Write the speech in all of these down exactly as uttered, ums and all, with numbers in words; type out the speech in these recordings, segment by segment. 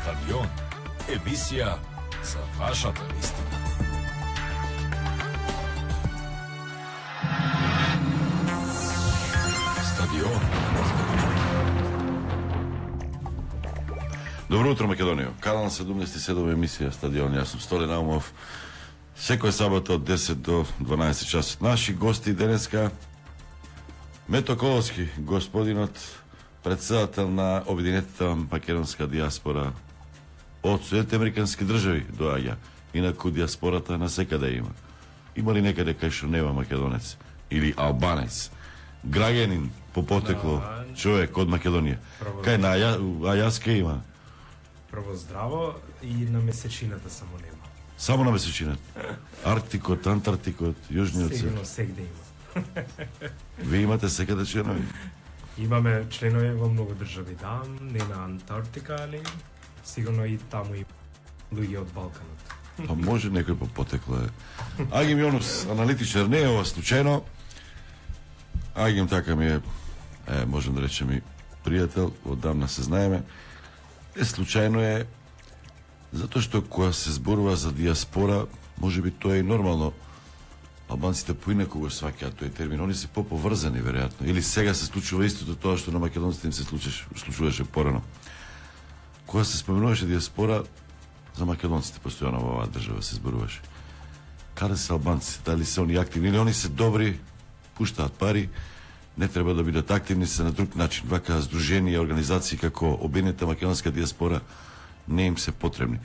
Стадион, емисија за вашата вистина. Стадион. Добро утро, Македонија. Канал седумдесет и седум емисија Стадион. Јас сум Столе Наумов. Секоја сабота од десет до дванаесет часот. Наши гости денеска Мето Коловски, господинот председател на Обединетата македонска диаспора од Соединетите американски држави доаѓа. Инаку диаспората на секаде има. Има ли некаде кај што нема македонец или албанец? Граѓанин по потекло, Да. човек од Македонија. Кај на Аја, Ајаска има. Прво здраво и на месечината само нема. Само на месечината. Арктикот, Антарктикот, Јужниот свет. Сигурно сегде има. Ви имате секаде членови? Имаме членови во многу држави, да, не на Антарктика, али сигурно и таму и луѓе од Балканот. Па може некој по потекло е. Агим Јонус, аналитичар, не е ова случајно. Агим така ми е, е, можем да речем и пријател, одамна се знаеме. Е, случајно е, затоа што кога се зборува за диаспора, може би тоа е и нормално. Албанците поинаку го сваќаат тој термин, они се поповрзани, веројатно. Или сега се случува истото тоа што на македонците им се случуваше, случуваше порано. Кога се споменуваше диаспора, за македонците постојано во оваа држава се зборуваше. Каде се албанци? Дали се они активни или они се добри, пуштаат пари, не треба да бидат активни, се на друг начин. Вака здруженија, организации како Обединета македонска диаспора не им се потребни.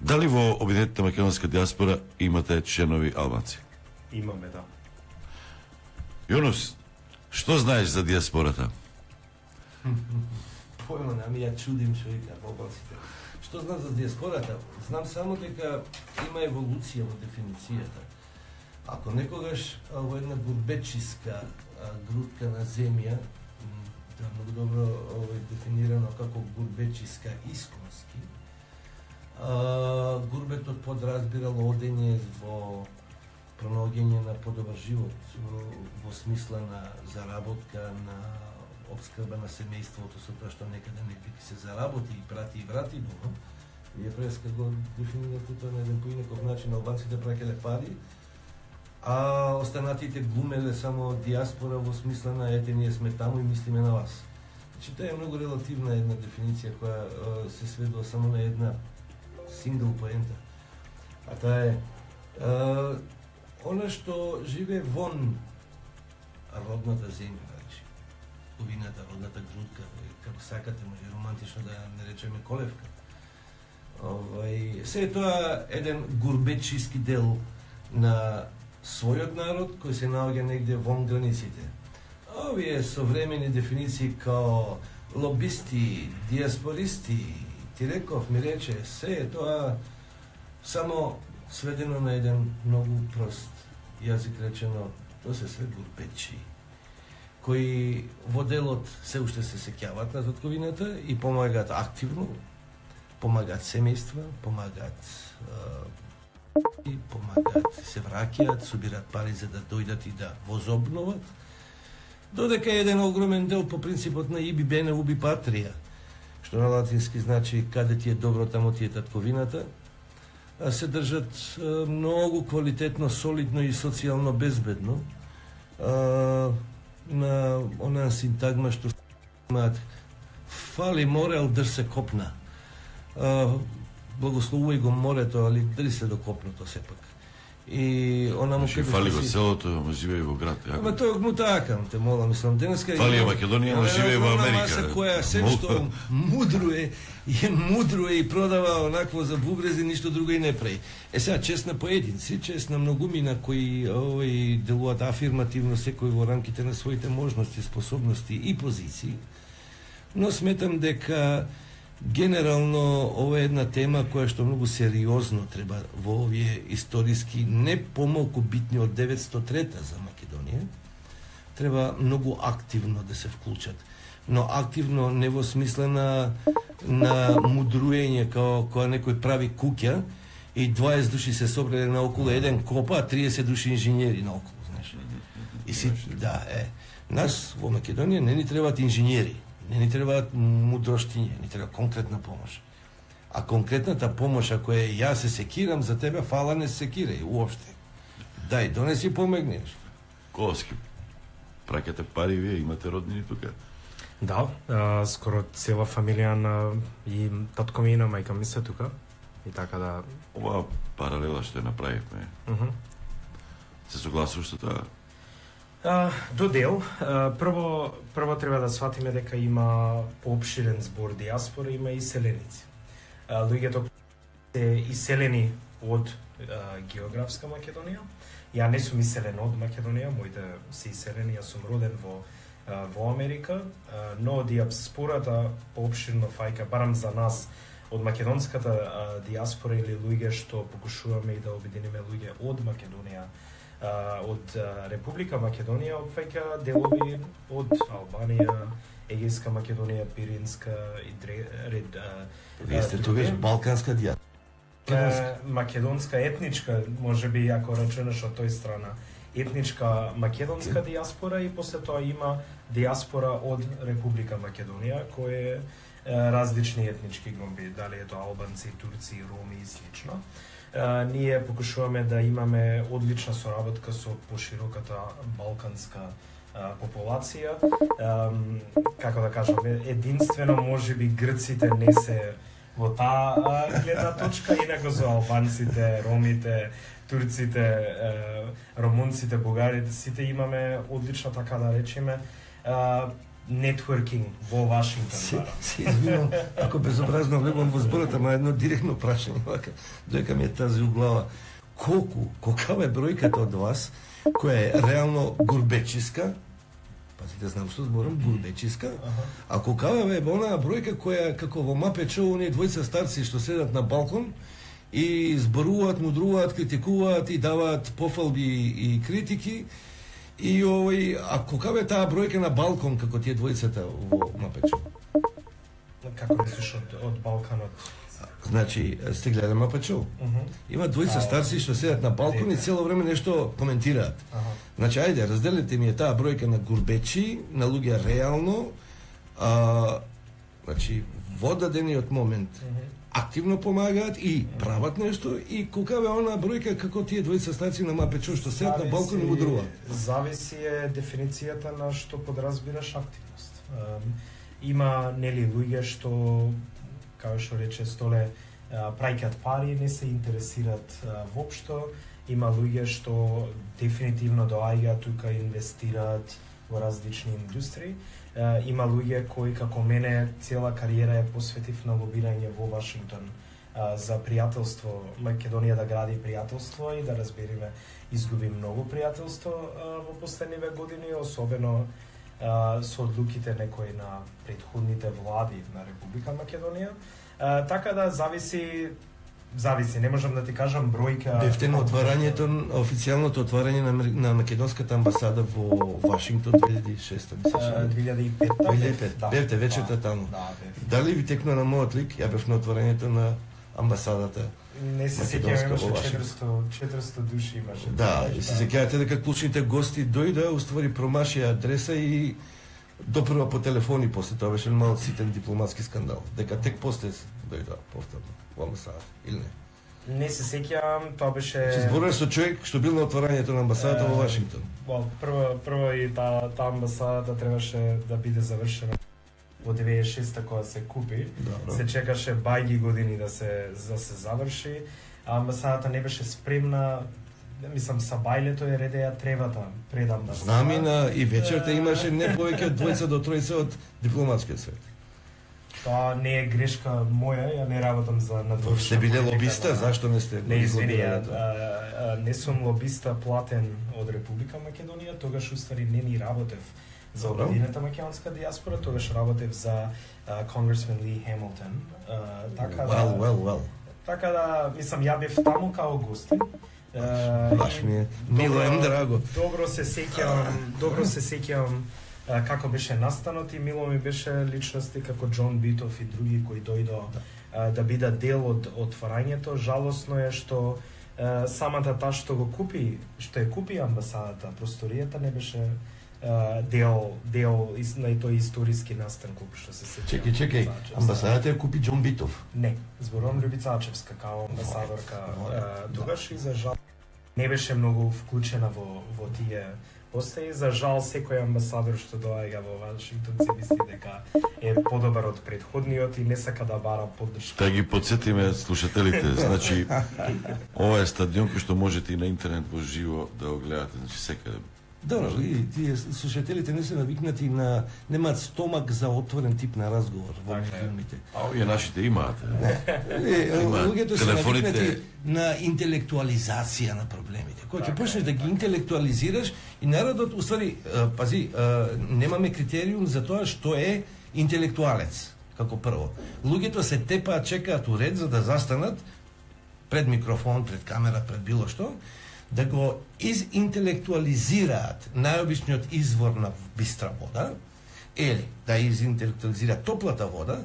Дали во Обединетата македонска диаспора имате членови албанци? Имаме, да. Јонус, што знаеш за диаспората? Појма, ами ја чудим што вика албанците. Што знам за диаспората? Знам само дека има еволуција во дефиницијата. Ако некогаш а, во една гурбечиска а, грудка на земја, м, тоа е многу добро овој дефинирано како гурбечиска исконски, а, гурбетот подразбирало одење во пронаоѓање на подобар живот, во, во смисла на заработка, на обскрба на семејството со тоа што некаде некој се заработи и прати и врати дома. Вие преска го дефинирате тоа на еден поинаков начин, албанците праќале пари, а останатите глумеле само диаспора во смисла на ете ние сме таму и мислиме на вас. Значи тоа е многу релативна една дефиниција која е, се сведува само на една сингл поента. А таа е, е она што живее вон родната земја, значи овината, родната грудка, како сакате, може романтично да не речеме колевка. Овај, се е тоа еден гурбечиски дел на својот народ кој се наоѓа негде вон границите. Овие современи дефиниции као лобисти, диаспористи, ти реков, ми рече, се е тоа само сведено на еден многу прост јазик речено, тоа се све гурбечи, кои во делот се уште се сеќаваат на татковината и помагаат активно, помагаат семејства, помагаат и помагаат, се враќаат, собираат пари за да дојдат и да возобноват, додека еден огромен дел по принципот на иби бене уби патрија, што на латински значи каде ти е добро, тамо ти е татковината, се држат многу квалитетно, солидно и социјално безбедно на онаа синтагма што имаат фали море, ал држ се копна. Благословувај го морето, али дали се до копното сепак. И она му Значи, фали го селото, ама живее во град. Ама тоа му такам, те мола, мислам, денеска... Фали ја Македонија, ама живее во Америка. Маса која се што мудруе, е мудруе и продава онакво за бубрези, ништо друго и не прави. Е сега, чест на поединци, чест на многумина кои овој делуваат афирмативно секој во рамките на своите можности, способности и позиции, но сметам дека генерално ова е една тема која што многу сериозно треба во овие историски не помалку битни од деветстотина и трета за Македонија, треба многу активно да се вклучат. Но активно не во смисла на, на мудруење као кога некој прави куќа и дваесет души се собрале наоколу еден копа, а триесет души инженери наоколу, знаеш. И си, да, е. Нас во Македонија не ни требаат инженери, не ни требаат мудроштиња, ни треба конкретна помош. А конкретната помош, ако е јас се секирам за тебе, фала не се секирај уопште. Дај, донеси помогни. Коски, праќате пари вие, имате роднини тука? Да, а, скоро цела фамилија на и татко ми и на мајка ми се тука. И така да... Ова паралела што ја направивме, Uh -huh. се согласуваш со тоа? А, до дел, а, прво, прво треба да сватиме дека има поопширен збор диаспора, има и селеници. А, луѓето се иселени од а, географска Македонија. Ја не сум иселен од Македонија, моите се иселени, јас сум роден во а, во Америка, а, но диаспората поопширно фаќа, барам за нас, од македонската а, диаспора или луѓе што покушуваме и да обединиме луѓе од Македонија, а, од а, Република Македонија, опфаќа делови од Албанија, Егејска Македонија, Пиринска и дре, ред... А, Вие сте тогаш балканска дијаспора. Е, македонска етничка, може би ако рачунеш од тој страна, етничка македонска диаспора и после тоа има диаспора од Република Македонија, кој е различни етнички групи, дали е тоа албанци, турци, роми и слично. Е, ние покушуваме да имаме одлична соработка со пошироката балканска а, популација. Е, како да кажам, единствено можеби грците не се во таа гледна точка, инако со албанците, ромите, турците, е, румунците, бугарите, сите имаме одлична, така да речеме, нетворкинг во Вашингтон. Се, се извинувам, ако безобразно влегувам во зборот, ама едно директно прашање, вака, доека ми е тази у глава. Колку, колкава е бројката од вас, која е реално гурбечиска, пазите, знам што зборам, гурбечиска, а колкава е онаа бројка која, како во Мапечо, оние двојца старци што седат на балкон и зборуваат, мудруваат, критикуваат и даваат пофалби и критики. И овој, а колкава е таа бројка на балкон како тие двојцата во Мапечо? Како мислиш од, од Балканот? Значи, сте гледали Мапечо? Uh -huh. Има двојца старци што седат на балкон и цело време нешто коментираат. Uh -huh. Значи, ајде, разделете ми е таа бројка на гурбечи, на луѓе реално, а, значи, во дадениот момент Uh -huh. активно помагаат и прават нешто, и колкава е онаа бројка како тие двојца старци на Мапечо што седат на балкон и мудруваат. Зависи е дефиницијата на што подразбираш активност. Um, има нели луѓе што, како што рече Столе, праќаат пари, не се интересираат воопшто. Има луѓе што дефинитивно доаѓаат тука, инвестираат во различни индустрии. Uh, има луѓе кои, како мене, цела кариера ја посветив на лобирање во Вашингтон uh, за пријателство, Македонија да гради пријателство и да разбериме, изгуби многу пријателство uh, во последниве години, особено uh, со одлуките некои на претходните влади на Република Македонија. Uh, така да зависи Зависи, не можам да ти кажам бројка. Бевте на отварањето, официјалното отварање на, на македонската амбасада во Вашингтон две илјади и шеста, мислиш? две илјади и пета. две илјади и пета. Да, Бевте вечерта да, таму. Да, бев. Дали ви текна на мојот лик? Ја бев на отварањето на амбасадата. Не се македонска сеќавам, имаше во Вашингтон. четиристо, четиристо души имаше. Да, и се сеќавате дека клучните гости дојда, уствари промашија адреса и допрва по телефони, после тоа беше мал ситен дипломатски скандал. Дека тек после дојда повторно во амбасадата, или не? Не се сеќавам, тоа беше... Че зборуваш со човек што бил на отварањето на амбасадата во Вашингтон. Well, прво, прво и таа та амбасадата требаше да биде завршена во деветдесет и шеста кога се купи. Добро. Се чекаше бајги години да се да се заврши. А амбасадата не беше спремна. Мислам, са бајлето е редеја тревата пред амбасадата. Знам и на и вечерта имаше не повеќе од двојца до тројца од дипломатскиот свет. Тоа не е грешка моја, ја не работам за надворешна. Сте биле политика, лобиста, да. зашто не сте? Не, извини, ја, тоа? а, а, не сум лобиста платен од Република Македонија, тогаш уствари не ни работев за Добро. обединета македонска диаспора, тогаш работев за Конгресмен Ли Хемилтон. А, така Well, да, well, well. така да, мислам, ја бев таму као гостин. А, Баш и ми е мило ем драго. Добро се сеќавам, добро се сеќавам а, како беше настанот и мило ми беше личности како Џон Битов и други кои дојдо а, да бидат дел од отварањето. Жалосно е што а, самата таа што го купи, што ја купи амбасадата, просторијата не беше дел дел из на тој историски настан колку што се сеќавам. Чекај, чекај, амбасадата ја купи Џон Битов. Не, зборувам Љубица Ачевска као амбасадорка тогаш и за жал не беше многу вклучена во во тие постои. За жал секој амбасадор што доаѓа во Вашингтон се мисли дека е подобар од претходниот и не сака да бара поддршка. Да ги подсетиме слушателите, значи ова е стадион кој што можете и на интернет во живо да го гледате, значи секаде. Добро, и тие слушателите не се навикнати на немаат стомак за отворен тип на разговор во филмите. А овие нашите имаат. Луѓето се навикнати на интелектуализација на проблемите. Кога ќе почнеш да ги интелектуализираш и народот, уствари, пази, немаме критериум за тоа што е интелектуалец, како прво. Луѓето се тепаат, чекаат у ред за да застанат пред микрофон, пред камера, пред било што, да го изинтелектуализираат најобичниот извор на бистра вода, или да изинтелектуализираат топлата вода,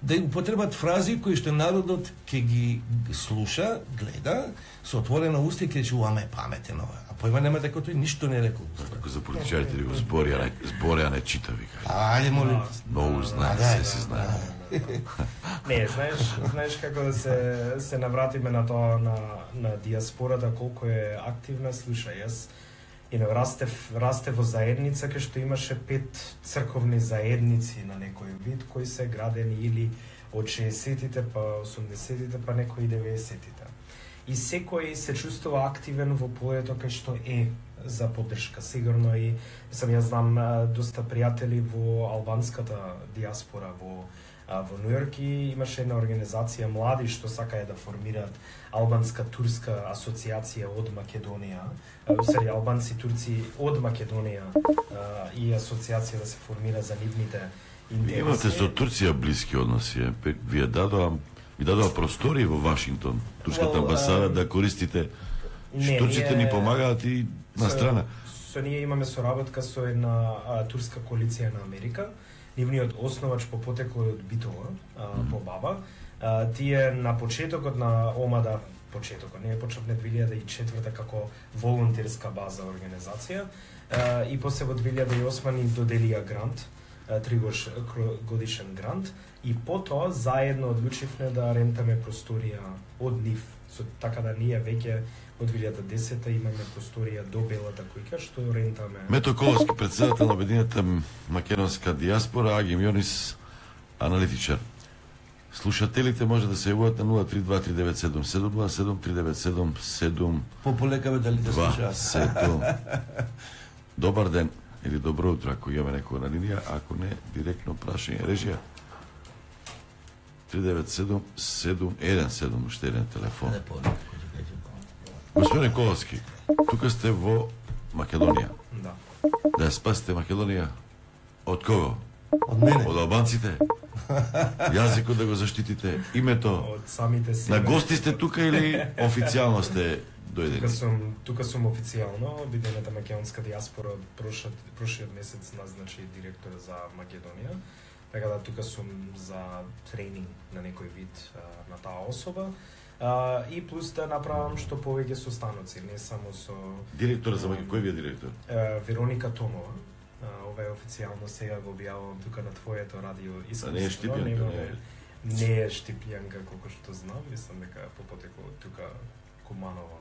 да употребат фрази кои што народот ќе ги слуша, гледа, со отворена уста и ќе рече, уаме паметен ова. А појма нема дека тој ништо не рекол. Како за политичарите да го збори, а не збори, а не чита, вика. Ајде, молим. Многу знае, се се знае. Не, знаеш, знаеш како да се се навратиме на тоа на на диаспората колку е активна, слушај, јас и на растев расте во заедница кај што имаше пет црковни заедници на некој вид кои се градени или од шеесеттите па осумдесеттите па некои деветдесеттите. И секој се чувствува активен во полето кај што е за поддршка. Сигурно и сам јас знам доста пријатели во албанската диаспора во во Нујорк и имаше една организација млади што сакаја да формираат албанска турска асоциација од Македонија, усари албанци турци од Македонија и асоциација да се формира за нивните интереси. Имате со Турција блиски односи, вие дадоа ви дадоа простори во Вашингтон, турската well, амбасада uh, да користите. Не, турците ни помагаат и на страна. Со, со ние имаме соработка со една а, турска коалиција на Америка. Нивниот основач по потекло од Битола, а, по баба. А, тие на почетокот на омада, почетокот, не е почнав две илјади и четврта како волонтерска база организација, а, и после во две илјади и осма ни доделија грант, три годишен грант, и потоа заедно одлучивме да рентаме просторија од нив. Со, така да ние веќе од две илјади и десета имаме просторија до Белата куќа што рентаме. Мето Коловски, председател на Обединета македонска диаспора, Агим Јонис, аналитичар. Слушателите може да се јавуваат на нула три два три девет седум седум нула седум три девет седум седум Пополека бе дали да слушаат. Добар ден или добро утро ако имаме некој на линија, ако не директно прашање режија. три девет седум седум еден седум уште еден телефон. Господин Коловски, тука сте во Македонија. Да. Да ја спасите Македонија од кого? Од мене. Од албанците? Јазикот да го заштитите, името. Од самите себе. На гости сте тука или официјално сте дојдени? Тука сум, тука сум официјално. Обединета македонска диаспора прошиот прошиот месец назначи директор за Македонија. Така да тука сум за тренинг на некој вид а, на таа особа. А, и плюс да направам што повеќе состаноци, не само со Директор за Македонија, кој ви е директор? А, Вероника Томова. А, ова е официјално, сега го објавувам тука на твоето радио. А не е Штипјанка, не е? Не е Штипјанка, колку што знам, мислам дека по потекло тука Куманова.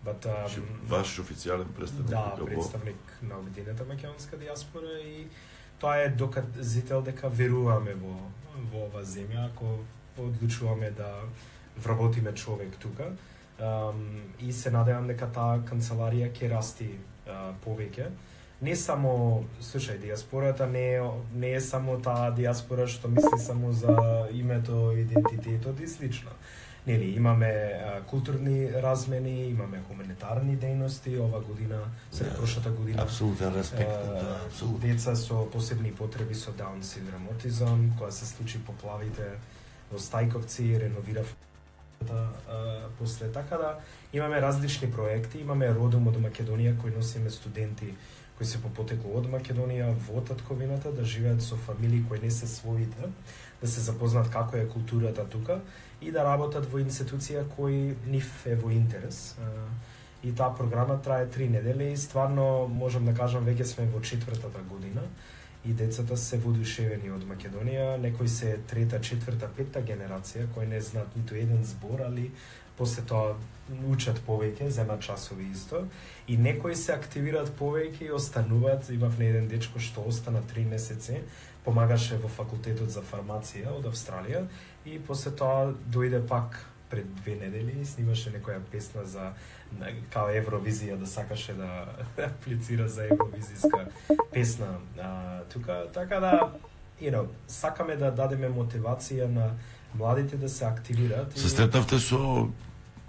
But, um, Ваш официјален представник? Да, представник на Обединета македонска диаспора и тоа е доказител дека веруваме во, во ова земја, ако одлучуваме да вработиме човек тука. Um, и се надевам дека таа канцеларија ќе расти uh, повеќе. Не само, слушај, диаспората не е, не е само таа диаспора што мисли само за името, идентитетот и слично. Нели, имаме а, културни размени, имаме хуманитарни дејности, ова година, сред yeah, прошата година. Апсолутен респект, а, да, апсолутно. Деца со посебни потреби со Даун синдром, аутизам, кога се случи поплавите во Стајковци, реновирав а, после така да имаме различни проекти, имаме Родом од Македонија кој носиме студенти кои се по потекло од Македонија во татковината да живеат со фамилии кои не се своите, да се запознаат како е културата тука и да работат во институција кои нив е во интерес. и таа програма трае три недели и стварно можам да кажам веќе сме во четвртата година и децата се воодушевени од Македонија, некои се трета, четврта, петта генерација кои не знаат ниту еден збор, али после тоа учат повеќе, земат часови исто и некои се активираат повеќе и остануваат. Имав не еден дечко што остана три месеци, помагаше во факултетот за фармација од Австралија и после тоа дојде пак пред две недели и снимаше некоја песна за као Евровизија, да сакаше да аплицира за евровизиска песна а, тука, така да you know, сакаме да дадеме мотивација на младите да се активираат. Се стретнавте со,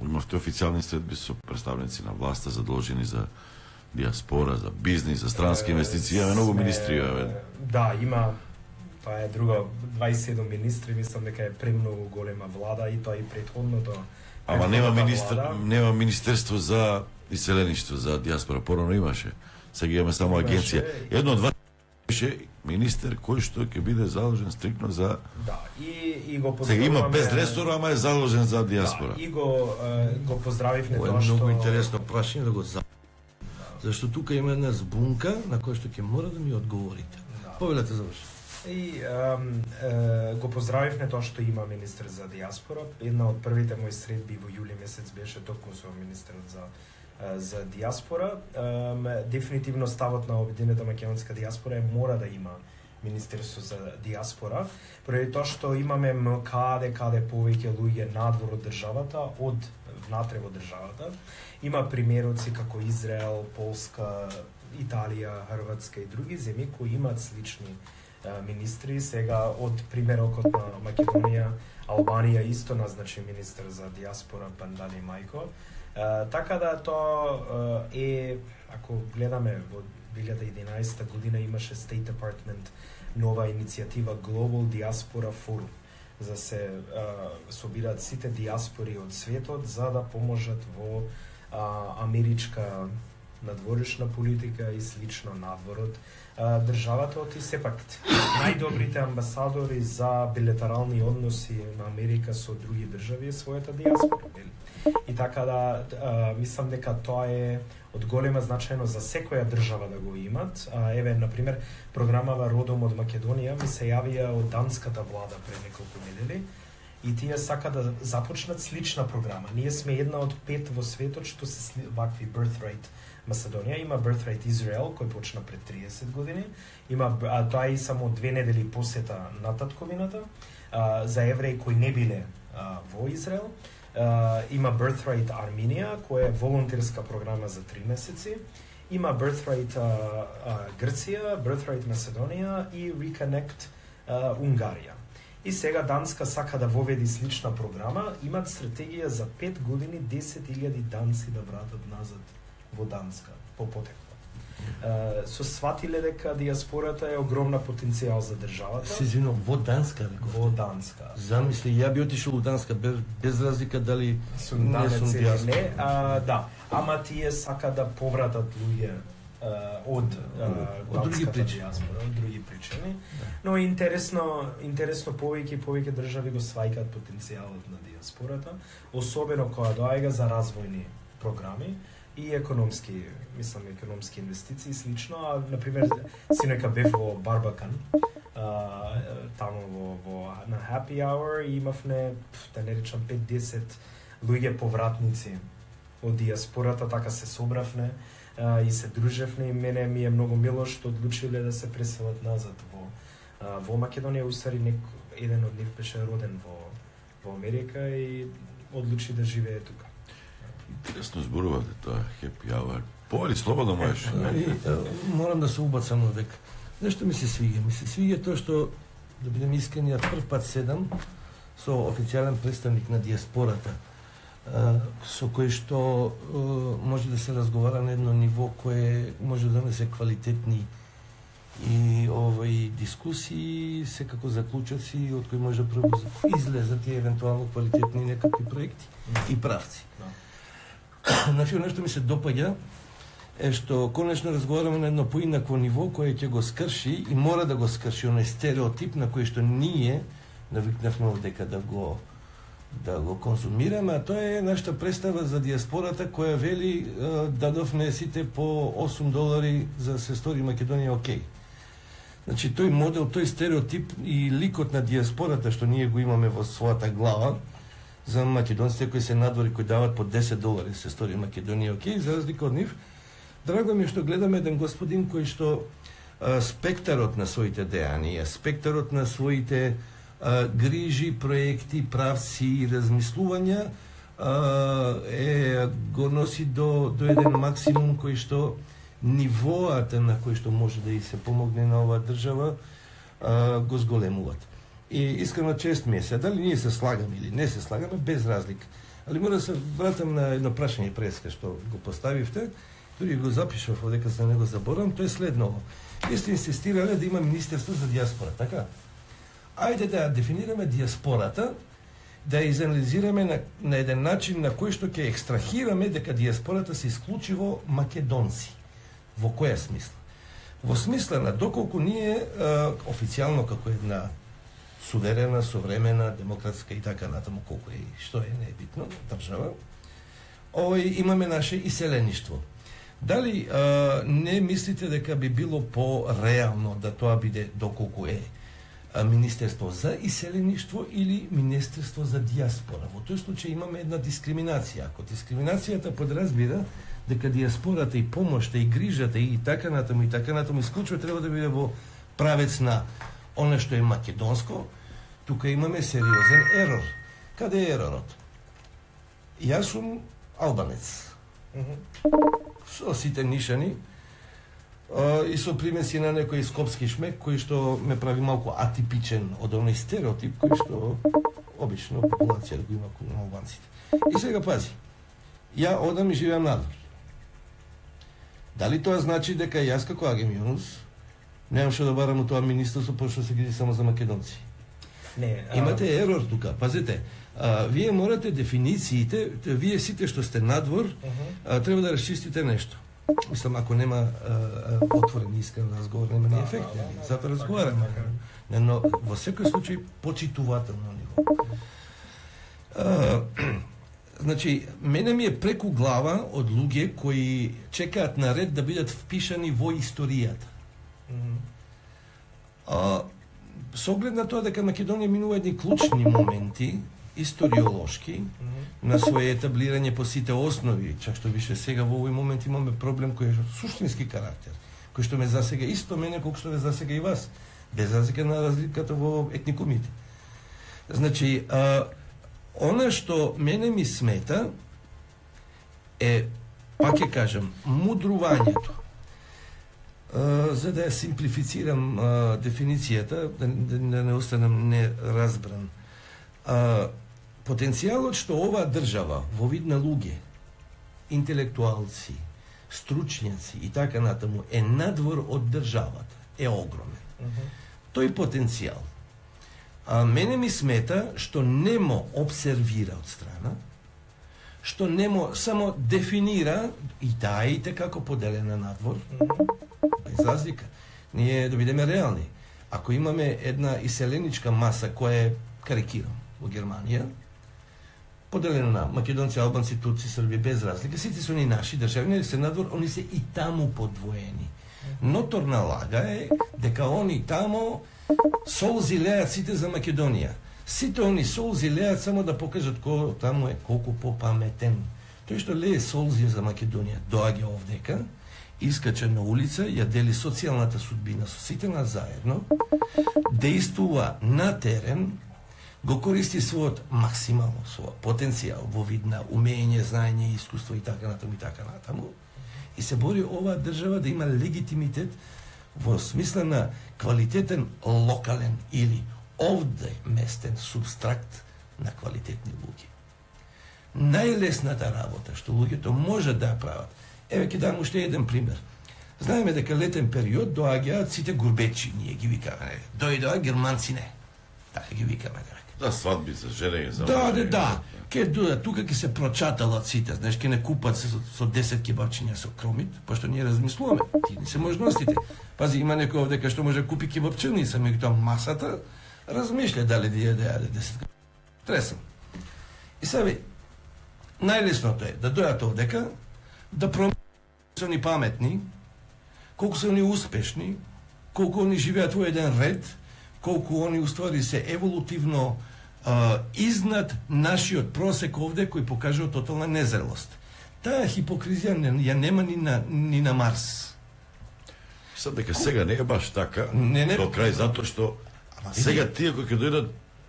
имавте официјални средби со представници на власта задолжени за диаспора, за бизнис, за странски инвестиции, имаме многу министри. Да, има, тоа е друго, дваесет и седум министри, мислам дека е премногу голема влада и тоа и претходното. Ама нема министер, нема министерство за иселеништво, за диаспора, порано имаше. Сега имаме само агенција. Едно од вас беше министер кој што ќе биде заложен стрикно за да, и и го поздравуваме. Сега има без ресор, ама е заложен за диаспора. Да, и го е, го поздравивме тоа што многу интересно прашање да го за. Зашто тука има една збунка на која што ќе мора да ми одговорите. Да. Повелете заврши. И ем, е, го поздравивме тоа што има министер за диаспора. Една од првите мои средби во јули месец беше токму со министерот за за диаспора. Ем, дефинитивно ставот на обединета македонска диаспора е мора да има Министерство за диаспора, поради тоа што имаме каде каде повеќе луѓе надвор од државата, од внатре во државата. Има примероци како Израел, Полска, Италија, Хрватска и други земји кои имаат слични а, министри. Сега од примерокот на Македонија, Албанија исто назначи министер за диаспора Пандали Мајко. Uh, така да тоа uh, е, ако гледаме во две илјади и единаесета година имаше State Department нова иницијатива Global Diaspora Forum, за се uh, собираат сите диаспори од светот за да поможат во uh, америчка надворешна политика и слично надворот uh, државата од и сепак најдобрите амбасадори за билатерални односи на Америка со други држави е својата диаспора. И така да, а, мислам дека тоа е од голема значајно за секоја држава да го имат. А, еве, например, програмава Родом од Македонија ми се јавија од данската влада пред неколку недели и тие сака да започнат слична програма. Ние сме една од пет во светот што се вакви Birthright Macedonија, има Birthright Израел кој почна пред триесет години, има а, тоа и само две недели посета на татковината а, за евреи кои не биле а, во Израел. Uh, има Birthright Armenia, која е волонтерска програма за три месеци. Има Birthright uh, uh, Грција, Birthright Macedonија и Reconnect uh, Унгарија. И сега Данска сака да воведи слична програма. Имат стратегија за пет години десет илјади данци да вратат назад во Данска по потекло. Uh, со сватиле дека диаспората е огромна потенцијал за државата. Се извинувам, во Данска реков? Во Данска. Замисли, ја би отишол во Данска без, без разлика дали сум данец или не. А, да, ама тие сака да повратат луѓе uh, од uh, од други причини, диаспора, од други причини. Да. Но интересно, интересно повеќе и повеќе држави го сваќаат потенцијалот на диаспората, особено кога доаѓа за развојни програми и економски, мислам, економски инвестиции слично, а например синека бев во Барбакан, а, таму во, во на Happy Hour и имавме, да не речам, пет-десет луѓе повратници од диаспората, така се собравме а, и се дружевме и мене ми е многу мило што одлучиле да се преселат назад во а, во Македонија. Устари нек еден од нив беше роден во во Америка и одлучи да живее тука. Интересно зборувате тоа, Happy Hour. Повели, слободно можеш. Морам да се убацам овек. Нешто ми се свиѓа. Ми се свиѓа тоа што, да бидем искрени, ја прв пат седам со официјален представник на диаспората, со кој што може да се разговара на едно ниво кое може да донесе квалитетни и овој дискусии, секако заклучоци од кои може да излезат и евентуално квалитетни некакви проекти и правци. Значи, нешто ми се допаѓа е што конечно разговараме на едно поинакво ниво кое ќе го скрши и мора да го скрши оној стереотип на кој што ние навикнавме дека да го да го консумираме, а тоа е нашата представа за диаспората која вели дадовме сите по осум долари за се стори Македонија окей. Значи тој модел, тој стереотип и ликот на диаспората што ние го имаме во својата глава за македонците кои се надвори, кои дават по десет долари се стори Македонија окей, за разлика од нив, драго ми е што гледаме еден господин кој што а, спектарот на своите дејанија, спектарот на своите а, грижи, проекти, правци и размислувања а, е го носи до до еден максимум кој што нивоата на кој што може да и се помогне на оваа држава а, го зголемуваат. И искрено чест ми е се, дали ние се слагаме или не се слагаме, без разлика. Али мора да се вратам на едно прашање преска што го поставивте, дури го запишав одека за него заборам, тоа е следново. Вие сте инсистирале да има Министерство за диаспора, така? Ајде да дефинираме диаспората, да ја изанализираме на, на еден начин на кој што ќе екстрахираме дека диаспората се исклучиво македонци. Во која смисла? Во смисла на доколку ние а, официјално како една суверена, современа, демократска и така натаму колку е, што е, не е битно, држава, овој имаме наше иселеништво. Дали а, не мислите дека би било по-реално да тоа биде доколку е а, Министерство за иселеништво или Министерство за диаспора? Во тој случај имаме една дискриминација. Ако дискриминацијата подразбира дека диаспората и помошта и грижата и така натаму и така натаму исклучува треба да биде во правец на оно што е македонско, тука имаме сериозен ерор. Каде е еророт? Јас сум албанец. Со сите нишани а, и со примеси на некој скопски шмек кој што ме прави малку атипичен од оној стереотип кој што обично популација го има кон албанците. И сега пази. Ја одам и живеам надвор. Дали тоа значи дека јас како Агим Јунус немам што да барам од тоа министерство пошто се грижи само за македонци? Не, а... Имате ерор тука, пазете. А, вие морате дефинициите, вие сите што сте надвор, uh-huh. а, треба да расчистите нешто. Мислам, ако нема а, а, отворен искрен разговор, нема ни ефект, да, да, затоа разговараме. Да, но во секој случај почитувателно ниво. А, значи, мене ми е преку глава од луѓе кои чекаат на ред да бидат впишани во историјата. Mm-hmm. А, со оглед на тоа дека Македонија минува едни клучни моменти, историолошки, mm-hmm. на своје етаблирање по сите основи, чак што више сега во овој момент имаме проблем кој е суштински карактер, кој што ме засега исто мене колку што ме засега и вас, без разлика на разликата во етникумите. Значи, а, она што мене ми смета е, пак ќе кажам, мудрувањето. Uh, за да ја симплифицирам uh, дефиницијата, да, да, да не останам неразбран. Uh, потенцијалот што оваа држава во вид на луѓе, интелектуалци, стручњаци и така натаму е надвор од државата, е огромен. Uh-huh. Тој потенцијал. А мене ми смета што немо обсервира од страна, што немо само дефинира и таите како поделена надвор. Uh-huh. Без разлика. Ние да бидеме реални. Ако имаме една иселеничка маса која е, карикирам, во Германија, поделена на македонци, албанци, турци, срби, без разлика, сите се они наши државни, се надвор, они се и таму подвоени. Ноторна лага е дека они таму солзи леат сите за Македонија. Сите они солзи леат само да покажат кој таму е колку попаметен. Тој што лее солзи за Македонија доаѓа овдека, искача на улица, ја дели социјалната судбина со сите нас заедно, действува на терен, го користи својот максимално својот потенцијал во вид на умење, знаење, искуство и така натаму и така натаму, и се бори оваа држава да има легитимитет во смисла на квалитетен локален или овде местен субстракт на квалитетни луѓе. Најлесната работа што луѓето можат да ја прават. Еве ќе дам уште еден пример. Знаеме дека летен период доаѓаат сите гурбечи, ние ги викаме. Дојдоа германци не. Така ги викаме. За свадби, за женење, за Да, да, да. Ке дојдат тука ќе се прочаталат сите, знаеш, ке не купат се со, со десет кебапчиња со кромит, пошто ние размислуваме. Ти не се можностите. Пази, има некој овде што може да купи кебапчиња и меѓутоа масата размишља дали да ја да јаде десет. Тресам. И сега, најлесното е да дојат овдека, да променат колку се они паметни, колку се они успешни, колку они живеат во еден ред, колку они уствари се еволутивно а, изнад нашиот просек овде, кој покажува тотална незрелост. Таа хипокризија не, ја нема ни на, ни на Марс. Сад дека сега не е баш така, Не, не. до крај, затоа што Ама, сега види. тие кои ќе дојдат,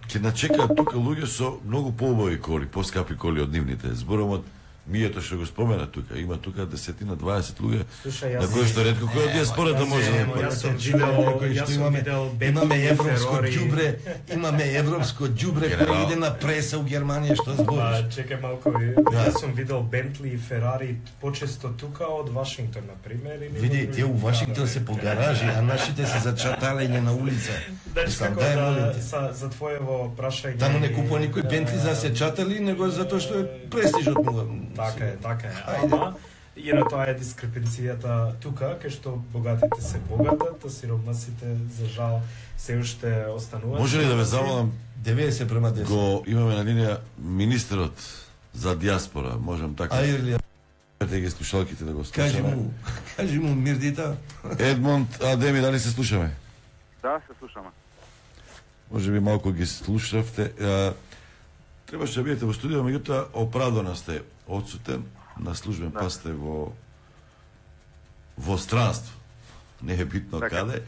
ќе начекаат тука луѓе со многу поубави коли, поскапи коли од нивните. Зборам од Мијето што го спомена тука, има тука десетина, дваесет луѓе, Слушај, на јас кои што ретко кој од диаспората може да Емо, има. јас сум Те видел, кои јас што сум имаме, видел имаме Бентли, европско Ферари. ѓубре, имаме европско ѓубре Генерал. кој иде на преса у Германија, што Па, збориш? чекај малку, јас сум видел Бентли и Ферари почесто тука од Вашингтон, на пример. или во Види, други тие у Вашингтон градови. се по гаражи, а нашите се за чаталење на улица. Знаеш Мислам, како дај, да, молим те. за, за твоево прашање... Таму не купува никој Бентли за се чатали, него затоа што е престижот му. Така е, така е. Ајде. Ама, ино тоа е дискрепенцијата тука, кај што богатите се богатат, а сиромасите, за жал, се уште остануваат. Може ли да ве замолам, деветдесет према десет. го имаме на линија министерот за диаспора, можам така? Ајде, Кажете ги слушалките да го кажи слушаме. му, кажи му Мирдита. Едмонд, Адеми, дали се слушаме? Да, се слушаме. Може би малку ги слушавте. А, требаше да бидете во студио, меѓутоа оправдано сте одсутен, на службен Да. пас сте во во странство. Не е битно Така. каде.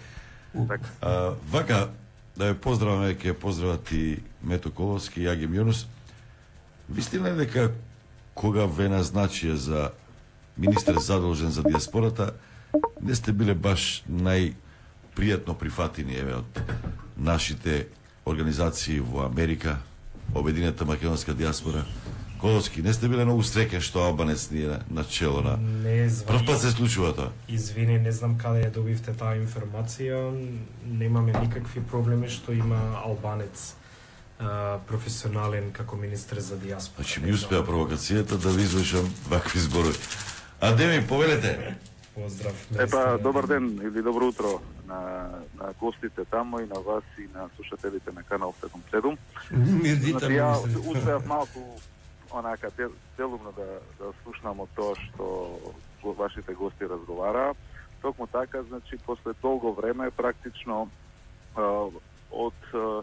Така. А, вака, да ја поздраваме, ќе ја поздрават и Мето Коловски и Агим Јунус. Вистина е дека кога ве назначија за министер задолжен за диаспората, не сте биле баш најпријатно прифатени еве од нашите организации во Америка, Обединета македонска диаспора. Коловски, не сте биле многу среќен што албанец ни е на чело на... Не Прв звани. пат се случува тоа. Извини, не знам каде ја добивте таа информација. Немаме никакви проблеми што има албанец а, професионален како министер за диаспора. Значи ми успеа провокацијата да ви извршам вакви зборови. Адеми, повелете. Поздрав. Епа, наистина. добар ден или добро утро на, на гостите таму и на вас и на слушателите на канал седум седум. Мирдита Значи, ја министр. успеав малку онака дел, делумно да, да слушнам од тоа што го- вашите гости разговара. Токму така, значи, после долго време, практично а, од а,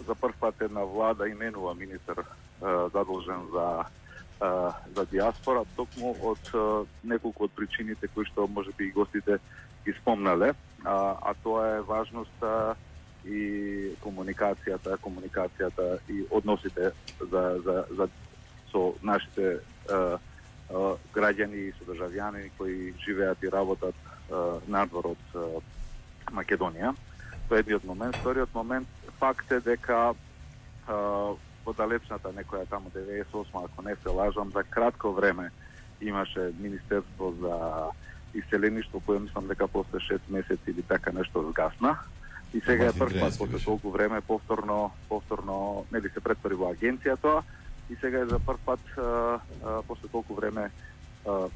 за прв пат една влада именува министер а, задолжен за а, за диаспора, токму од а, неколку од причините кои што можеби и гостите ги спомнале, а, а тоа е важноста и комуникацијата, комуникацијата и односите за, за, за со нашите а, а, граѓани и содржавјани кои живеат и работат а, надвор од а, Македонија. Тоа е едниот момент. Вториот момент, факт е дека а, во далечната некоја таму деветдесет и осма, ако не се лажам, за кратко време имаше Министерство за иселеништво, кое мислам дека после шест месеци или така нешто згасна. И сега е Мартин прв пат Дренски после беше. толку време повторно повторно нели се претвори во агенција тоа и сега е за прв пат а, а, после толку време а, а,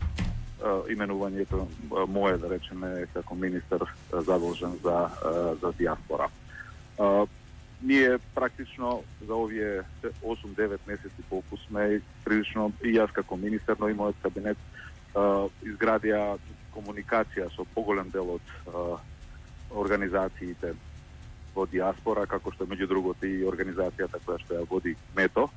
именувањето а, мое, да речеме, како министер а, задолжен за а, за диаспора. А, ние практично за овие осум-девет месеци колку сме прилично и јас како министер, но и мојот кабинет а, изградија комуникација со поголем дел од а, организациите во диаспора, како што меѓу другото и организацијата која што ја води Мето,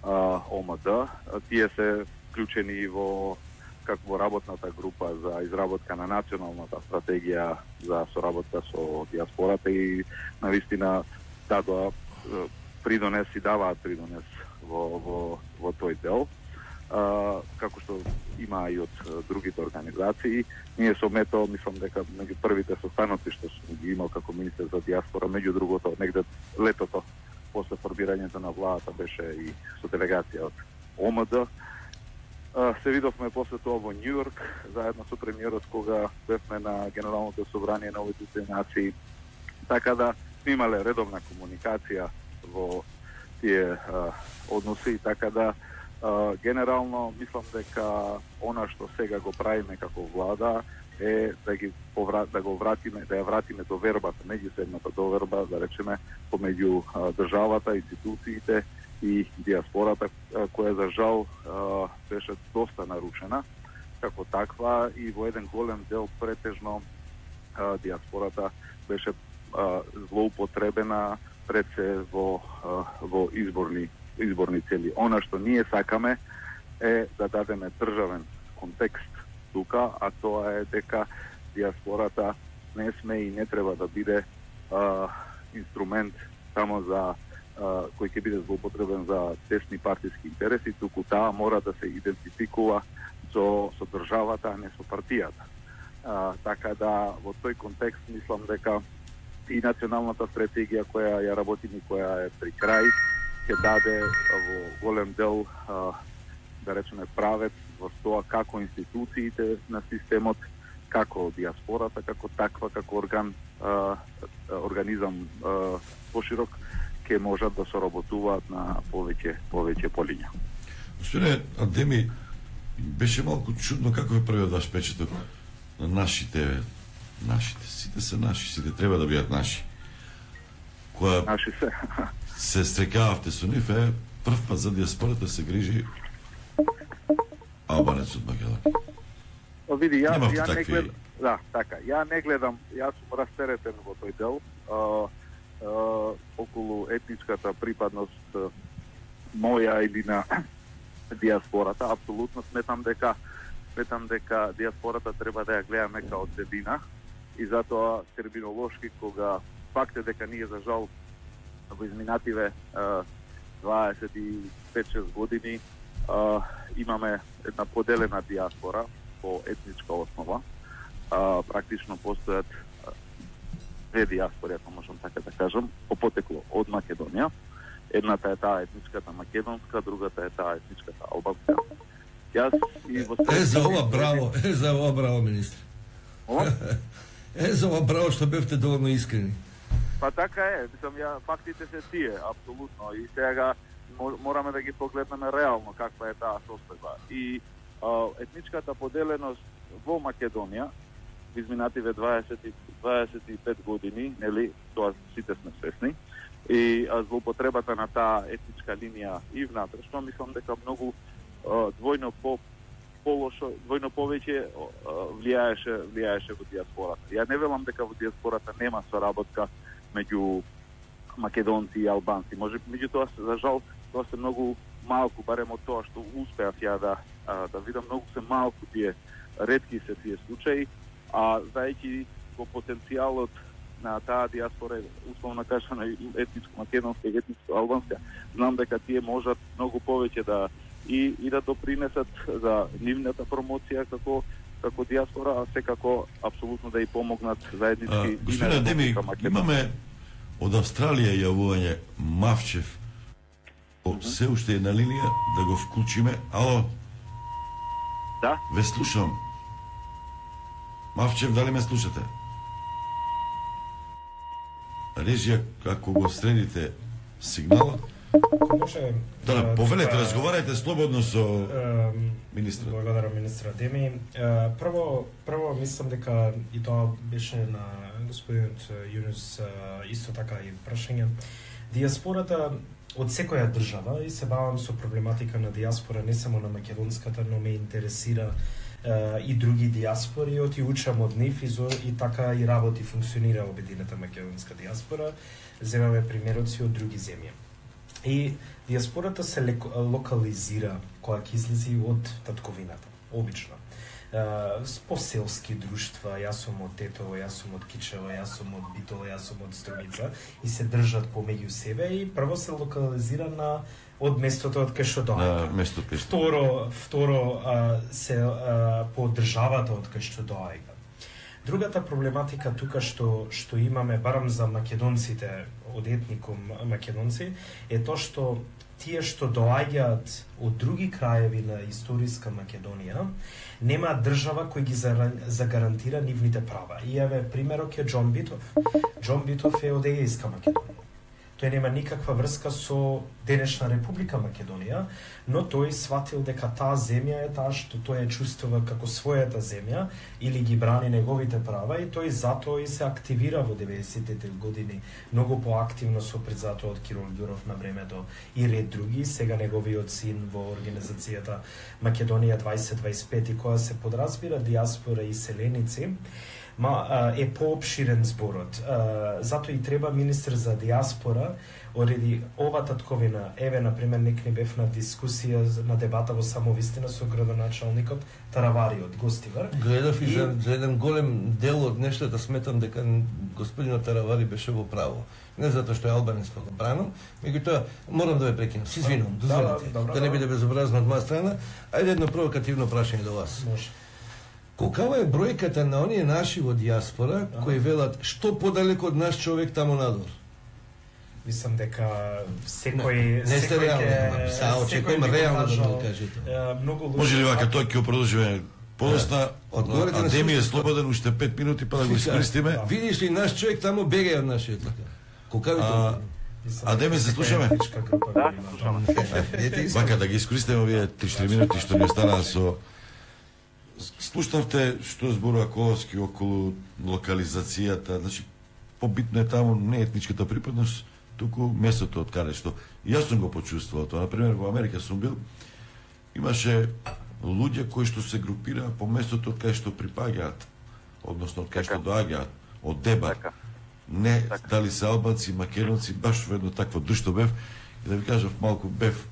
а, О М Д. А, Тие се вклучени и во како во работната група за изработка на националната стратегија за соработка со диаспората и навистина дадоа е, придонес и даваат придонес во, во, во тој дел. А, како што има и од е, другите организации. Ние со Мето, мислам дека меѓу првите состаноци што сум ги имал како министер за диаспора, меѓу другото, негде летото, после формирањето на владата, беше и со делегација од О М Д. А, се видовме после тоа во Њу Јорк, заедно со премиерот, кога бевме на Генералното собрание на Обединетите нации. Така да, сме имале редовна комуникација во тие а, односи, така да а, генерално мислам дека она што сега го правиме како влада е да ги повра... да го вратиме, да ја вратиме довербата, меѓусебната доверба, да речеме, помеѓу а, државата, институциите и диаспората, која за жал беше доста нарушена како таква, и во еден голем дел претежно диаспората беше злоупотребена пред се во во изборни изборни цели. Она што ние сакаме е да дадеме државен контекст тука, а тоа е дека диаспората не сме и не треба да биде а, инструмент само за а, кој ќе биде злоупотребен за тесни партиски интереси, туку таа мора да се идентификува со, со државата, а не со партијата. А, така да во тој контекст мислам дека и националната стратегија која ја работиме, која е при крај, ќе даде во голем дел а, да речеме правец во тоа како институциите на системот, како диаспората, како таква, како орган, а, организам а, поширок, ќе можат да соработуваат на повеќе повеќе полиња. Господине Адеми, беше малку чудно како е првиот ваш печаток на нашите, нашите, сите се наши, сите треба да бидат наши. Која Наши се. се стрекававте со нив, е прв пат за диаспората се грижи албанец од Македонија. Види, ја, Немавте ја не такви... гледам, да, така, ја не гледам, јас сум растеретен во тој дел, а, а, околу етничката припадност а, моја или на диаспората. Апсолутно сметам дека сметам дека диаспората треба да ја гледаме као целина, и затоа терминолошки, кога факт е дека ние за жал во изминативе дваесет и пет-шест години а, имаме една поделена диаспора по етничка основа. А, практично постојат две диаспори, ако можам така да кажам, по потекло од Македонија. Едната е таа етничката македонска, другата е таа етничката албанска. Јас и во Е, за ова браво, е, за ова браво, министр. Ова? Е, за ова браво што бевте доволно искрени. Па така е, мислам, ја, фактите се тие, апсолутно, и сега мораме да ги погледнеме реално каква е таа состојба. И а, етничката поделеност во Македонија, изминативе дваесет и пет години, нели, тоа сите сме свесни, и а, злоупотребата на таа етничка линија и внатрешно, мислам дека многу а, двојно по полошо, двојно повеќе влијаеше влијаеше во диаспората. Ја не велам дека во диаспората нема соработка меѓу македонци и албанци. Може меѓутоа, за жал, тоа се многу малку, барем од тоа што успеав ја да да видам, многу се малку тие, ретки се тие случаи, а знаејќи во потенцијалот на таа диаспора, условно кажано етничко македонска и етничко албанска, знам дека тие можат многу повеќе да и, и да допринесат за нивната промоција како како диаспора, а секако апсолутно да и помогнат заеднички. Господине Адеми, имаме од Австралија јавување Мавчев, се уште е на линија, да го вклучиме. Ало? Да? Ве слушам. Мавчев, дали ме слушате? Режија, ако го средите сигналот, може да, да, повелете, тука, разговарајте слободно со министрот. Благодарам, министр Адеми. Прво, прво мислам дека и тоа беше на господинот Јунус исто така и прашање. Диаспората од секоја држава, и се бавам со проблематика на диаспора, не само на македонската, но ме интересира и други диаспори, оти учам од нив и, и така и работи функционира обединета македонска диаспора. Земаме примероци од други земји. И диаспората се локализира кога ќе излези од татковината, обично. По селски друштва, јас сум од Тетово, јас сум од Кичево, јас сум од Битола, јас сум од Струмица, и се држат помеѓу себе, и прво се локализира на од местото од кај што доаѓа. На местото кај што. Второ, второ а, се а, по државата од кај што доаѓа. Другата проблематика тука што што имаме, барам за македонците од етникум македонци, е тоа што тие што доаѓаат од други краеви на историска Македонија, нема држава кој ги загарантира нивните права. И еве примерот е Џон Битов. Џон Битов е од Егејска Македонија. тој нема никаква врска со денешна Република Македонија, но тој сватил дека таа земја е таа што тој ја чувствува како својата земја или ги брани неговите права и тој затоа и се активира во деветдесетите години многу поактивно со призато од Кирил Ѓуров на времето и ред други, сега неговиот син во организацијата Македонија дваесет дваесет пет и која се подразбира диаспора и селеници, ма е поопширен зборот. Затоа и треба министр за диаспора, ореди ова татковина, еве, например, нек не бев на дискусија, на дебата во Самовистина со градоначалникот Таравари од Гостивар. Гледав и, и... За, за еден голем дел од нештата сметам дека господинот Таравари беше во право. Не затоа што е албанец па го бранам, меѓутоа морам да ве прекинам. Се извинувам, дозволете. Да, да, да не биде безобразно од моја страна. Ајде едно провокативно прашање до вас. Може. Колкава е бројката на оние наши во диаспора кои велат што подалеку од наш човек таму надвор? Мислам дека секој не сте реално, са очекувам реално да го кажете. Многу луѓе. Може ли вака тој ќе продолжиме подоцна? Одговорете на Адеми е слободен уште пет минути па да го искористиме. Видиш ли наш човек таму бега од нашиот лака? Колкави тоа? Адеми се слушаме? Да, слушаме. Вака да ги искористиме овие три-четири минути што ни останаа со слушнавте што зборува Коловски околу локализацијата, значи побитно е таму не етничката припадност, туку местото од каде што и јас сум го почувствувал тоа. Например, во Америка сум бил, имаше луѓе кои што се групираа по местото од каде што припаѓаат, односно од каде што доаѓаат, од Дебар. Не така. Дали се албанци, македонци, баш во едно такво друштво бев, и да ви кажав малку бев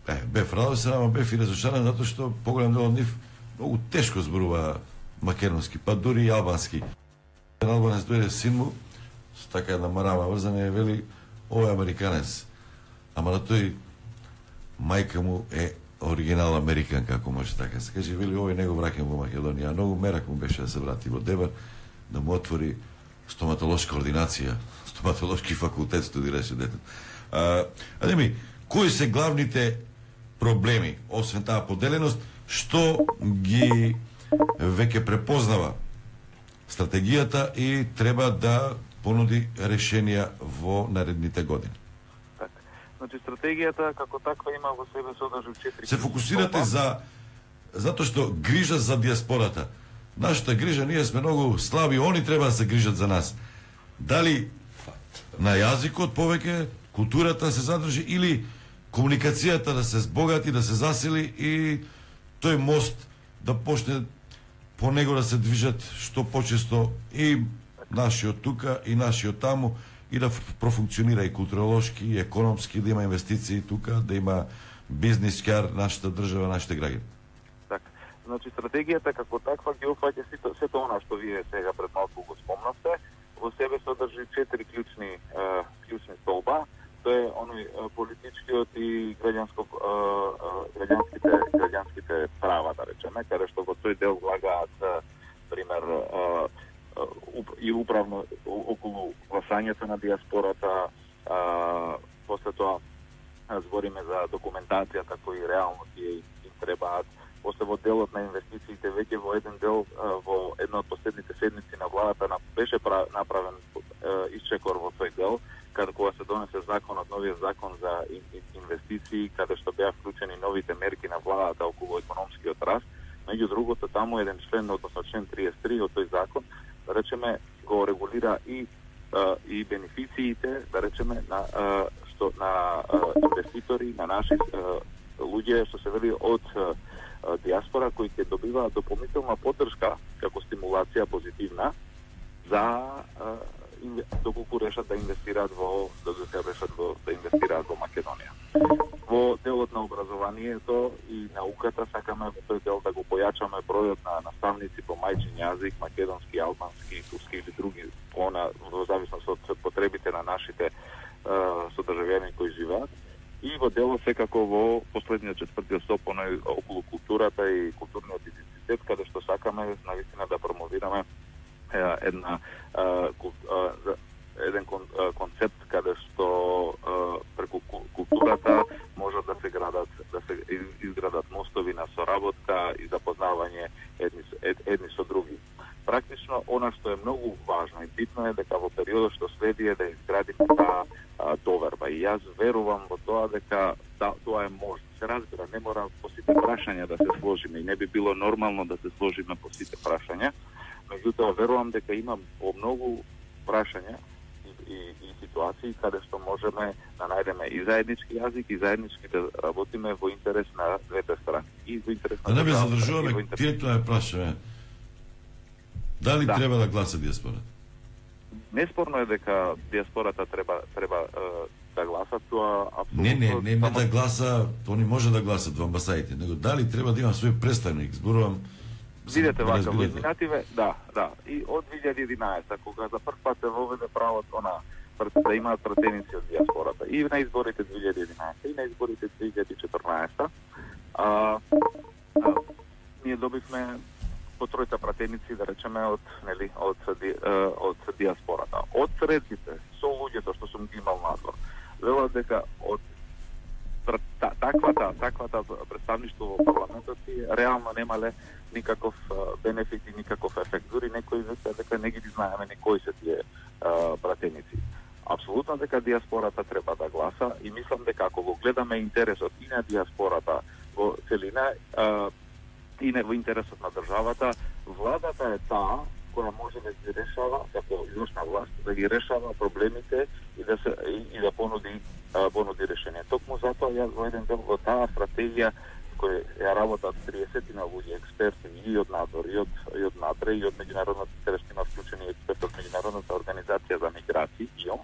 е, бев радосен, ама бев и разочаран затоа што поголем дел од нив многу тешко зборува македонски, па дури и албански. Еден албанец дојде син му, со така една марама врзана и вели, овој американец. Ама на тој мајка му е оригинал американка, ако може така се каже, вели овој него враќам во Македонија. Многу мерак му беше да се врати во Дебар, да му отвори стоматолошка ординација, стоматолошки факултет студираше детето. А, а ми, кои се главните проблеми, освен таа поделеност, што ги веќе препознава стратегијата и треба да понуди решенија во наредните години? Так. Значи стратегијата како таква има во себе содржи четири. Се фокусирате за затоа што грижа за диаспората. Нашата грижа, ние сме многу слаби, они треба да се грижат за нас. Дали на јазикот повеќе, културата се задржи или комуникацијата да се збогати, да се засили и тој мост да почне по него да се движат што почесто и нашиот тука и нашиот таму и да профункционира и културолошки, и економски, да има инвестиции тука, да има бизнис кар нашата држава, нашите граѓани. Така. Значи стратегијата како таква ги опфаќа сето сето она што вие сега пред малку го спомнавте, во себе содржи четири клучни е, клучни столба. Тоа е оној политичкиот и граѓанско граѓанските граѓанските права, да речеме, каде што во тој дел влагаат пример и управно околу гласањето на диаспората, после тоа збориме за документацијата кои реално тие им требаат. После во делот на инвестициите веќе во еден дел во една од последните седмици на владата беше направен исчекор во тој дел, каде кога се донесе законот, новиот закон за инвестиции, каде што беа вклучени новите мерки на владата околу економскиот раст. Меѓу другото, таму еден член, односно член триесет и три од тој закон, да речеме, го регулира и и бенефициите, да речеме, на што на инвеститори, на наши луѓе што се вели од диаспора кои ќе добиваат дополнителна поддршка како стимулација позитивна за доколку решат да инвестираат во да решат во да инвестираат во Македонија. Во делот на образованието и науката сакаме во тој дел да го појачаме бројот на наставници по мајчин јазик, македонски, албански, турски или други, она во зависност од потребите на нашите содржавјани кои живеат. И во делот секако во последниот четвртиот стоп оној околу културата и културниот идентитет, каде што сакаме навистина да промовираме една еден концепт каде што преку културата можат да се градат да се изградат мостови на соработка и запознавање едни едни со други. Практично она што е многу важно и битно е дека во периодот што следи е да изградиме таа јас верувам во тоа дека да, тоа е можно. Се разбира, не мора по сите прашања да се сложиме и не би било нормално да се сложиме по сите прашања. Меѓутоа верувам дека има по многу прашања и, и, и ситуации каде што можеме да најдеме и заеднички јазик и заеднички да работиме во интерес на двете страни. И во интерес на Да не бе државата, задржуваме, и во интерес- директно ја прашаме. Дали Да. треба да гласа диаспората? Неспорно е дека диаспората треба треба е, да гласа, тоа апсолутно. Не, не, не ме само- да гласа, они може да гласат во амбасадите, него дали треба да има свој представник, зборувам. Видете вака, во разбирате. изминативе, да, да. И од две илјади и единаесета, кога за прв пат се воведе правото на пр- да имаат пратеници од диаспората, и на изборите две илјади и единаесета, и на изборите две илјади и четрнаесета, а, а, ние добивме по тројта пратеници, да речеме, од, нели, од, ди- е, од диаспората. Од средбите, со луѓето што сум ги имал надвор, велат дека од пр- та- таквата, таквата представништво во парламентот си реално немале никаков а, бенефит и никаков ефект. Дури некои веќе дека не ги знаеме ни кои се тие а, пратеници. Апсолутно дека диаспората треба да гласа и мислам дека ако го гледаме интересот и на диаспората во целина а, и не во интересот на државата, владата е таа која може да ги решава, како извршна власт, да ги решава проблемите и да се и, и да понуди а, понуди решение. Токму затоа јас во еден дел во таа стратегија која ја работат триесет на луѓе експерти и од надвор, и од и од НАТРЕ, и од меѓународната терестина вклучени експерти од меѓународната организација за миграции ИОМ.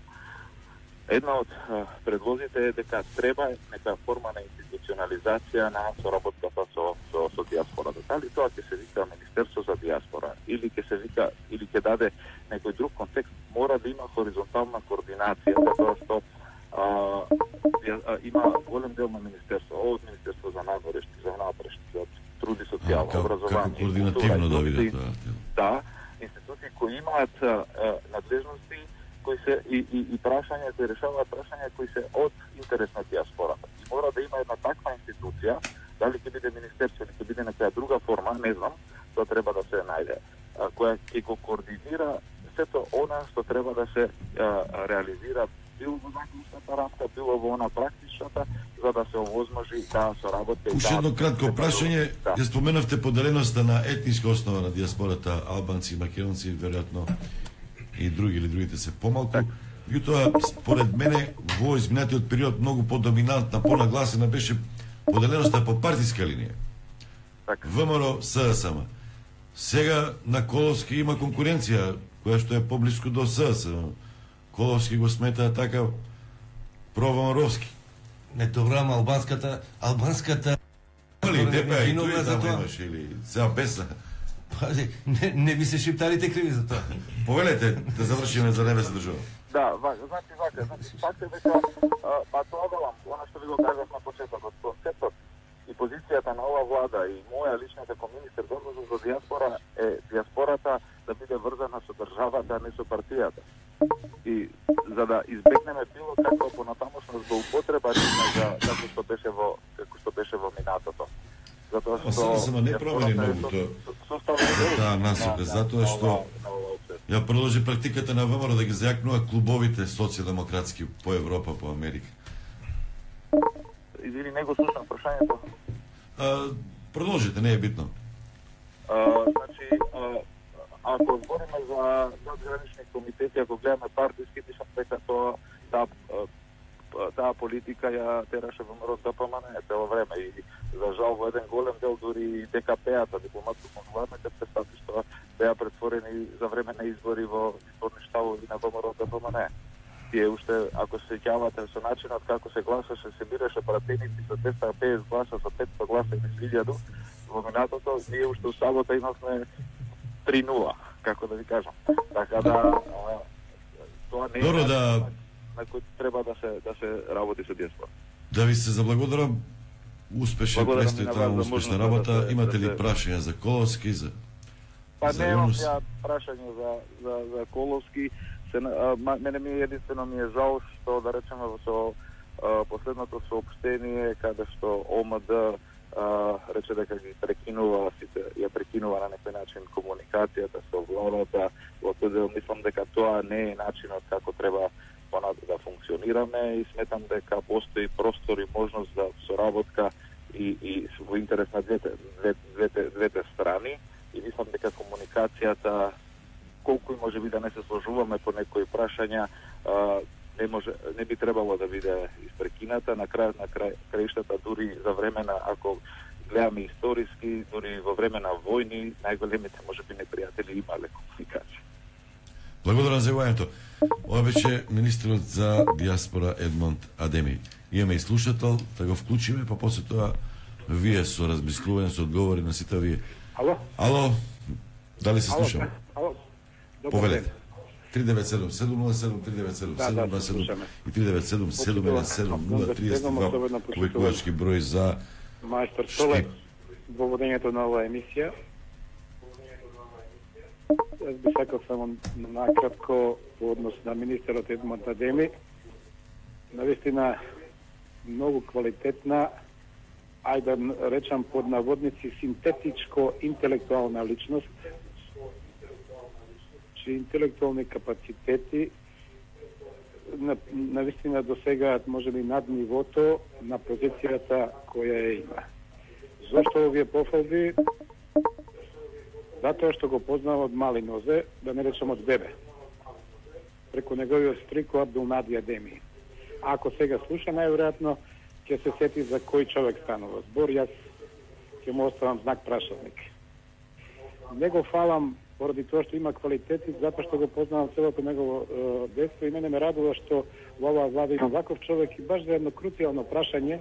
Една од а, предлозите е дека треба нека форма на институционализација на соработката со со, со диаспората. Дали тоа ќе се вика Министерство за диаспора или ќе се вика или ќе даде некој друг контекст, мора да има хоризонтална координација, затоа што а, а, има голем дел на министерство, од Министерство за надворешти, за внатрешни, од труд и социјално Како, образование, како координативно да култура, видат тоа. да, институции кои имаат а, а, надлежности кои се и, и, и прашања кои решаваат прашања кои се од интерес на диаспората. И мора да има една таква институција, дали ќе биде министерство или ќе биде некоја друга форма, не знам, тоа треба да се најде, а, која ќе го координира сето она што треба да се а, реализира било во законската рамка, било во она практичната, за да се овозможи таа соработка. и Уште таа- едно кратко прашање, Да. ја споменавте поделеноста на етниска основа на диаспората, албанци, македонци, веројатно и други или другите се помалку. Меѓутоа, според мене, во изминатиот период многу подоминантна, понагласена беше поделеноста по партиска линија. Така. ВМРО, СДСМ. Сега на Коловски има конкуренција, која што е поблиску до СДСМ. Коловски го смета така провамаровски. Не, добра, ама албанската, албанската... Али, тебе и виновна тој за таму тоа. имаш, или сега песна. Пази, не, не би се шиптарите криви за тоа. Повелете, да завршиме за небе се држава. Да, вака, значи вака, значи факт е дека а, па тоа велам, она што ви го кажав на почетокот, концептот и позицијата на ова влада и моја лична како министер задолжен за диаспора е диаспората да биде врзана со државата, а не со партијата. И за да избегнеме било каква понатамошна злоупотреба за како што беше во како што беше во минатото. Затоа Ма што сега само не промени диаспората е многу со- тоа. со- составен дел Да, насока, на- затоа на што ова- на ова опција. ја продолжи практиката на ВМРО да ги зајакнува клубовите социјалдемократски по Европа, по Америка. Извини, не го слушам прашањето. А, продолжите, не е битно. А, значи, а, ако говориме за надгранични комитети, ако гледаме партиски, мислам дека тоа таа а, таа политика ја тераше ВМРО ДПМН цело време и за жал во еден голем дел дури и ДКП-ата, дипломатско-консуларните представништва беа претворени за време на избори во изборни штабови на ВМРО ДПМН. Тие уште, ако се сеќавате со начинот како се гласаше, се бираше пратеници со двеста и педесет гласа, со петста гласа или илјаду, во минатото, ние уште у сабота имавме три нула, како да ви кажам. Така да, а, тоа не е Добро, начин да- на, на кој треба да се да се работи со диаспора. Да ви се заблагодарам. Успешен Благодарам престои и на таму, вас за успешна можноста работа. да се- Имате да ли се- прашања за Коловски, за Па за немам Јунус? ја прашање за, за, за Коловски. Се, а, ма- мене ми е единствено ми е жал што да речеме со а, последното соопштение каде што ОМД а, рече дека ги прекинува сите, ја прекинува на некој начин комуникацијата со владата. Во тој дел мислам дека тоа не е начинот како треба понатаму да функционираме и сметам дека постои простор и можност за соработка и, и во интерес на двете, двете, двете, двете страни и мислам дека комуникацијата, колку и може би да не се сложуваме по некои прашања, а, не може, не би требало да биде испрекината. На крај на крај краиштата, дури за време на, ако гледаме историски, дури во време на војни, најголемите можеби непријатели имале комуникација. Благодарам за јавањето. Ова беше министерот за диаспора Едмонд Адеми. Имаме и слушател, да го вклучиме, па после тоа вие со размислување, со одговори на сите вие. Ало? Ало, дали се слушаме? Ало? Повелете. три девет седум седум нула седум, три девет седум седум два седум и три девет седум седум еден седум нула триесет и два повикувачки број за Мајстор Столе, во водењето на оваа емисија. Јас би сакал само накратко по однос на министерот Едмонд Адеми. Навистина многу квалитетна, ајде да речам под наводници, синтетичко интелектуална личност, чии интелектуални капацитети на, навистина досегаат можеби над нивото на позицијата која ја има. Зошто овие пофалби? Затоа што го познава од мали нозе, да не речам од бебе. Преку неговиот стрико Абдулнади Адеми. Ако сега слуша, најверојатно ќе се сети за кој човек станува збор, јас ќе му оставам знак прашалник. Не го фалам поради тоа што има квалитети, затоа што го познавам целото негово е, детство и мене ме радува што во оваа влада има ваков човек и баш за едно круцијално прашање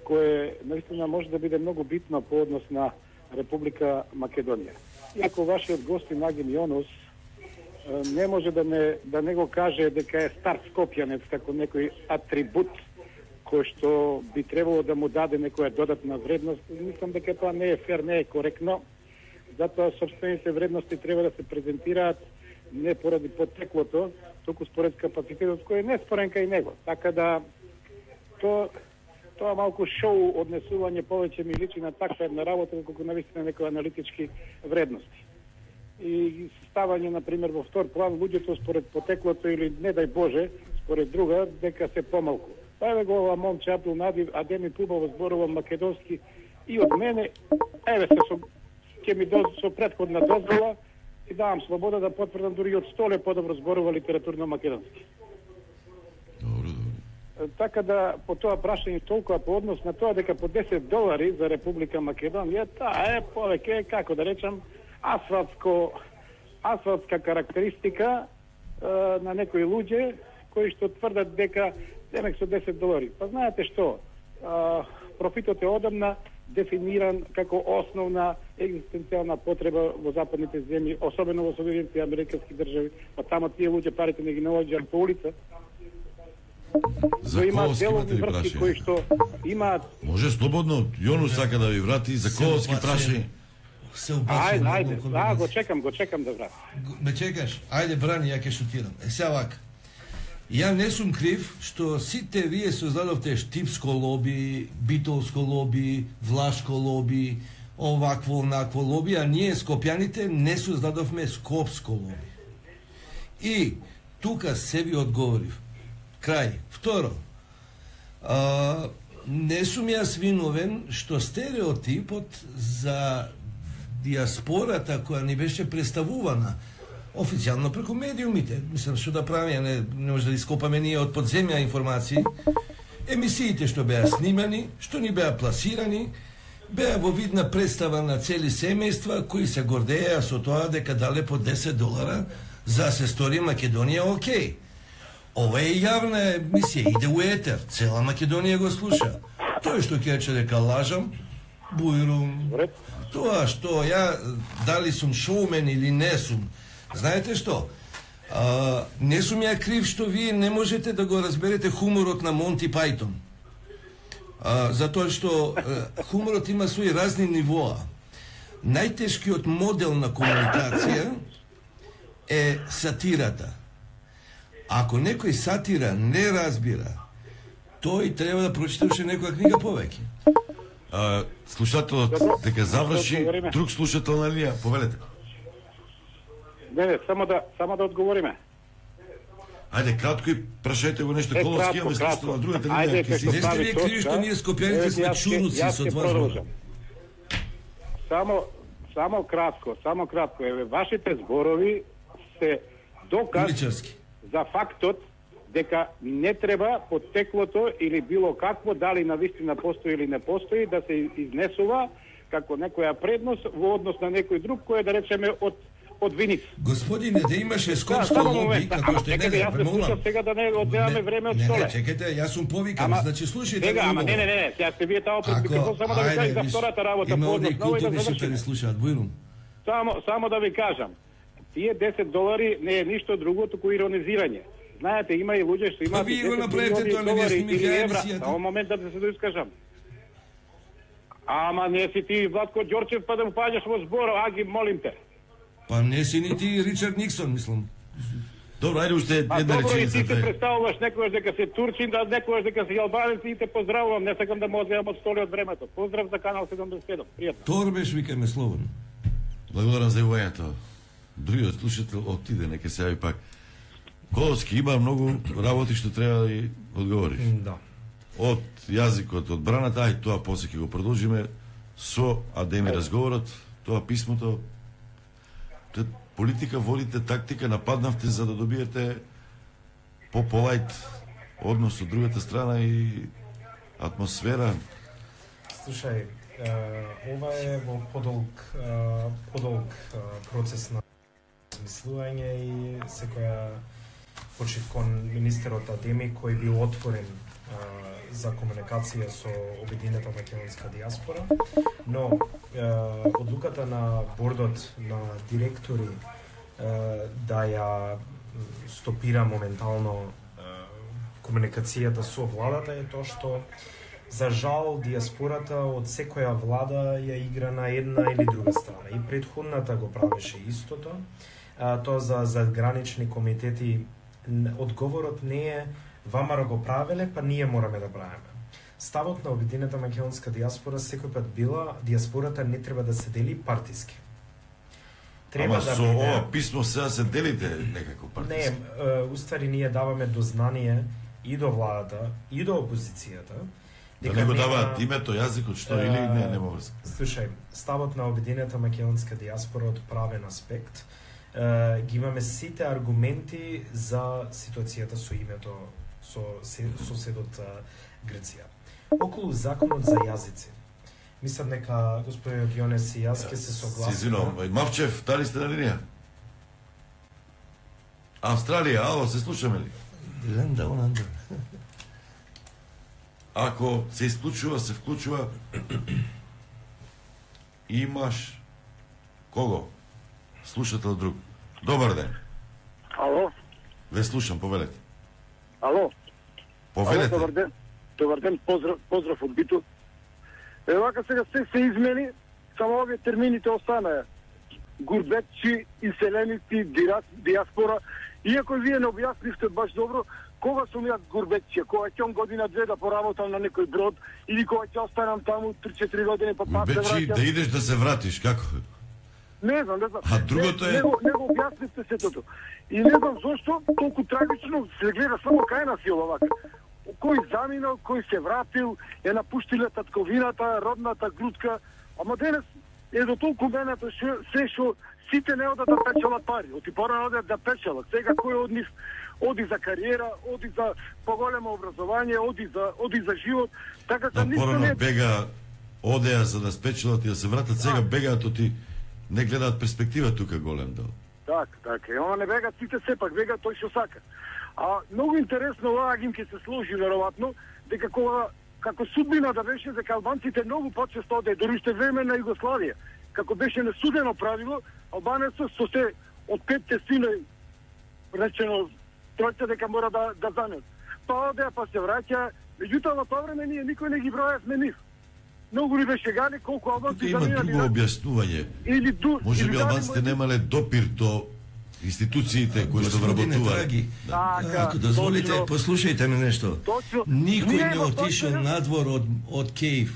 кое наистина може да биде многу битно по однос на Република Македонија. Иако вашиот гостин Агим Јонус е, не може да не, да не го каже дека е стар скопјанец како некој атрибут кој што би требало да му даде некоја додатна вредност, мислам дека тоа не е фер, не е коректно. Затоа собствените вредности треба да се презентираат не поради потеклото, туку според капацитетот кој е неспорен кај него. Така да то, тоа малку шоу однесување повеќе ми личи на таква една работа, колку навистина некои аналитички вредности. И ставање, например, во втор план луѓето според потеклото или, не дај Боже, според друга, дека се помалку. Па еве го ова момче Абдулнади Адеми пубаво зборува македонски и од мене, еве се со ќе ми доз, со претходна дозвола и давам слобода да потврдам дури од Столе подобро зборува литературно македонски. Добро, добро. Така да по тоа прашање толкова по однос на тоа дека по десет долари за Република Македонија, таа е повеќе, како да речам, асфалтско асфалтска карактеристика е, на некои луѓе кои што тврдат дека демек со десет долари. Па знаете што? А, профитот е одамна дефиниран како основна екзистенцијална потреба во западните земји, особено во Соединетите Американски држави, па таму тие луѓе парите не ги наоѓаат по улица. За колоски имате ли врски прашање? кои што имаат. Може слободно, Јонус сака да ви врати за колоски прашање. Се Ајде, убацува. ајде, да, го чекам, го чекам да врати. Ме чекаш? Ајде, брани, ја ќе шутирам. Е, сега вака. Ја не сум крив што сите вие создадовте штипско лоби, битолско лоби, влашко лоби, овакво, онакво лоби, а ние скопјаните не создадовме скопско лоби. И тука се ви одговорив. Крај. Второ, а, не сум јас виновен што стереотипот за диаспората која ни беше представувана официјално преку медиумите, мислам што да правиме, не, не може да ископаме ние од подземја информации, емисиите што беа снимани, што ни беа пласирани, беа во видна представа на цели семејства кои се гордеја со тоа дека дале по десет долара за се стори Македонија окей. Ова е јавна емисија, иде у етер, цела Македонија го слуша. Тој што ќе рече дека лажам, бујрум, тоа што ја, дали сум шоумен или не сум, знаете што? А, не сум ја крив што вие не можете да го разберете хуморот на Монти Пајтон. А, затоа што а, хуморот има своји разни нивоа. Најтешкиот модел на комуникација е сатирата. Ако некој сатира не разбира, тој треба да прочита уште некоја книга повеќе. А, слушателот дека заврши, друг слушател на линија, повелете. Не, не, само да само да одговориме. Ајде кратко и прашајте го нешто Е, Коловски, кратко, имаме кратко. слушател на другата Ајде, линија. како Ки Не си- сте стави вие криви точка. што ние скопјаните Еве, сме јас ќе- чуруци јас со ќе тоа продолжам. збора. Само само кратко, само кратко. Еве, вашите зборови се доказ Уличарски. за фактот дека не треба потеклото или било какво, дали навистина постои или не постои, да се изнесува како некоја предност во однос на некој друг кој е, да речеме, од од Виница. Господине, да имаше скопско само лоби, момент. како Ама што е, чекайте, не, јас не, се молам. слушам сега да не одземаме време од Не, столе. не, чекайте, јас сум повикан, Ама, значи слушајте сега, ме ама не, убаво. не, не, не, сега сте вие таму пред Ако, микрофон, само да ви кажам за виж, втората работа има по овде однос на овој да културни шипари завршиме. слушаат, бујрум. Само, само да ви кажам, тие десет долари не е ништо друго, туку иронизирање. Знаете, има и луѓе што имаат Па вие го десет направете милиони тоа, не долари снимите или евра. емисијата. Само момент да се доискажам. Ама не си ти Владко Ѓорчев па да му паѓаш во збор, аги, молим те. Па не си ни ти Ричард Никсон, мислам. Добро, ајде уште А една добро, и ти се реченица. представуваш некојаш дека си турчин, да некојаш дека си албанец и те поздравувам. Не сакам да му одземам од столи од времето. Поздрав за канал седумдесет и седум. Пријатно. Торбеш, викаме слободно. Благодарам за јавувањето. Другиот слушател отиде, нека се јави пак. Коловски има многу работи што треба да ги одговориш. Да. Од јазикот, од браната, ај тоа после ќе го продолжиме со Адеми разговорот, тоа писмото. Те политика водите, тактика, нападнавте за да добиете по-полајт однос од другата страна и атмосфера. Слушај, е, ова е во подолг, е, подолг е, процес на размислување и секоја почит кон министерот Адеми кој бил отворен е, за комуникација со Обединета македонска диаспора, но е, одлуката на бордот на директори е, да ја стопира моментално е, комуникацијата со владата е тоа што за жал диаспората од секоја влада ја игра на една или друга страна. И претходната го правеше истото. А, тоа за задгранични комитети н- одговорот не е вамара го правеле, па ние мораме да правиме. Ставот на Обединета македонска диаспора секој пат била диаспората не треба да се дели партиски. Треба Ама да со биде... ова писмо сега се делите некако Не, партиски. е, уствари ние даваме до знание и до владата, и до опозицијата, Да не го даваат името, јазикот, што или не, нема врска. Слушај, ставот на Обединета македонска диаспора од правен аспект, е, ги имаме сите аргументи за ситуацијата со името со се- соседот е, Грција. Околу законот за јазици. Мислам дека господинот Јонес и јас ќе се Си согласиме. извинувам, Мавчев, дали сте на линија? Австралија, ало, се слушаме ли? Ланда, Оланда. Ако се исклучува, се вклучува, имаш кого? Слушател друг. Добар ден. Ало, Ве слушам, повелете. ало. Повелете. Ало, добар ден. Добар ден, поздрав, поздрав од Биту. Е, вака сега се се измени, само овие термините останаа. Гурбетчи, иселеници, дира- диаспора. Иако вие не објаснивте баш добро, кога сум јас гурбетчи, кога ќе година две да поработам на некој брод, или кога ќе останам таму три-четири години па пак се Бечи, враќам. да идеш да се вратиш, како? Не знам, не знам. А другото е- Не, не, го, не го објаснивте сетото. И не знам зошто толку трагично се гледа само кај нас и ова вака. Кој заминал, кој се вратил, е напуштиле татковината, родната грудка, ама денес е до толку менето ше, се што сите не одат да печелат пари, оти порано одат да печелат. Сега кој од нив оди за кариера, оди за поголемо образование, оди за оди за живот, така Да, да ништо не порано е. бега, одеа за да спечелат и да се вратат, сега бегаат оти, не гледаат перспектива тука голем дел. Так, така. Ама не бегат сите сепак, бега тој што сака. А многу интересно ова агим ќе се сложи веројатно дека кога како судбина да беше дека албанците многу почесто оде дури уште време на Југославија, како беше несудено правило, албанецот со се од петте синови речено тројца дека мора да да занет. Па оде па се враќа, меѓутоа во тоа време ние никој не ги броевме нив. Многу ли беше гали колку албанци Тука има заминали друго на- објаснување. или ду Може или би дали албанците мој- немале допир до институциите кои што Господине вработуваат. Драги, Така, ако дозволите, точно. послушајте ме нешто. Точно. Никој Ние не во отишол Точно- надвор од, од Кејф.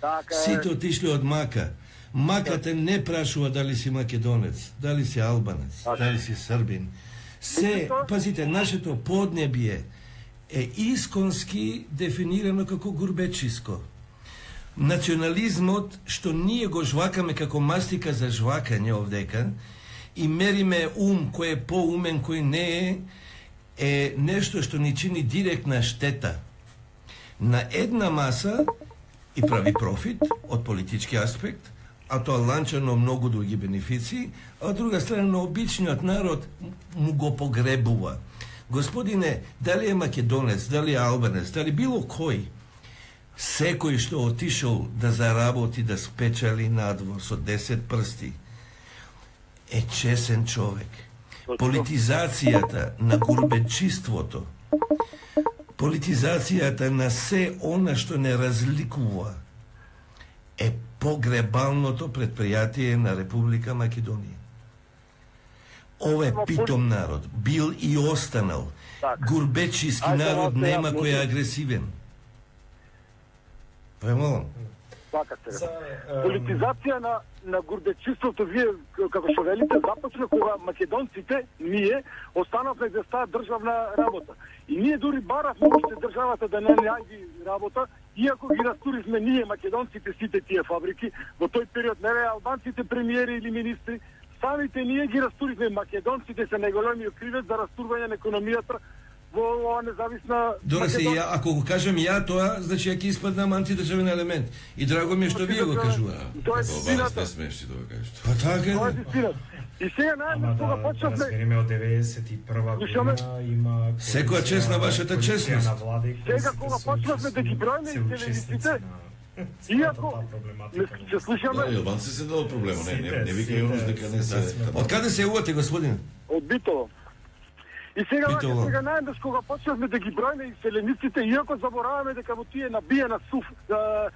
Така е. Сите отишли од Мака. Мака те не прашува дали си македонец, дали си албанец, дали си србин. се, пазите, нашето поднебје е исконски дефинирано како гурбечиско. Национализмот, што ние го жвакаме како мастика за жвакање овдека, и мериме ум кој е поумен, кој не е, е нешто што ни чини директна штета на една маса и прави профит од политички аспект, а тоа ланчано многу други бенефиции, а од друга страна на обичниот народ му го погребува. Господине, дали е македонец, дали е албанец, дали било кој, секој што отишол да заработи, да спечали надвор со десет прсти, е чесен човек. Политизацијата на гурбечиството, политизацијата на се она што не разликува, е погребалното предпријатие на Република Македонија. Ова е питом народ, бил и останал. Гурбечиски народ нема кој е агресивен. Премолам. За, политизација на на гурбечиството, вие како што велите, започна кога македонците, ние останавме за таа државна работа. И ние дури баравме уште државата да не најди работа, иако ги растурихме ние македонците сите тие фабрики, во тој период не беа албанците премиери или министри, самите ние ги растурихме. Македонците се најголемиот кривец за растурвање на економијата во ова независна Добре се, ја, ако го кажам ја тоа, значи ја ќе испаднам антидржавен елемент. И драго ми е што вие го кажувате. Тоа е вистината. Не смешни да го кажете. Па така Тоа е е. вистината. И сега најмногу кога да почнавме, разбереме од деветдесет и прва Слушаме? година има Секоја чест на вашата коалиција честност. на влади кои Сега се кога се почнавме да ги учествувачи- броиме се телевизиите, учесници на целата иако таа проблематика. не се слушаме Да, Албанци се дало проблема, не, не, не вика Јонус дека не се... Од каде се јавувате, господин? од Битово. И сега Битово. вака, сега најмногу кога почнавме да ги броиме иселениците, иако забораваме дека во тие набиена суф, а,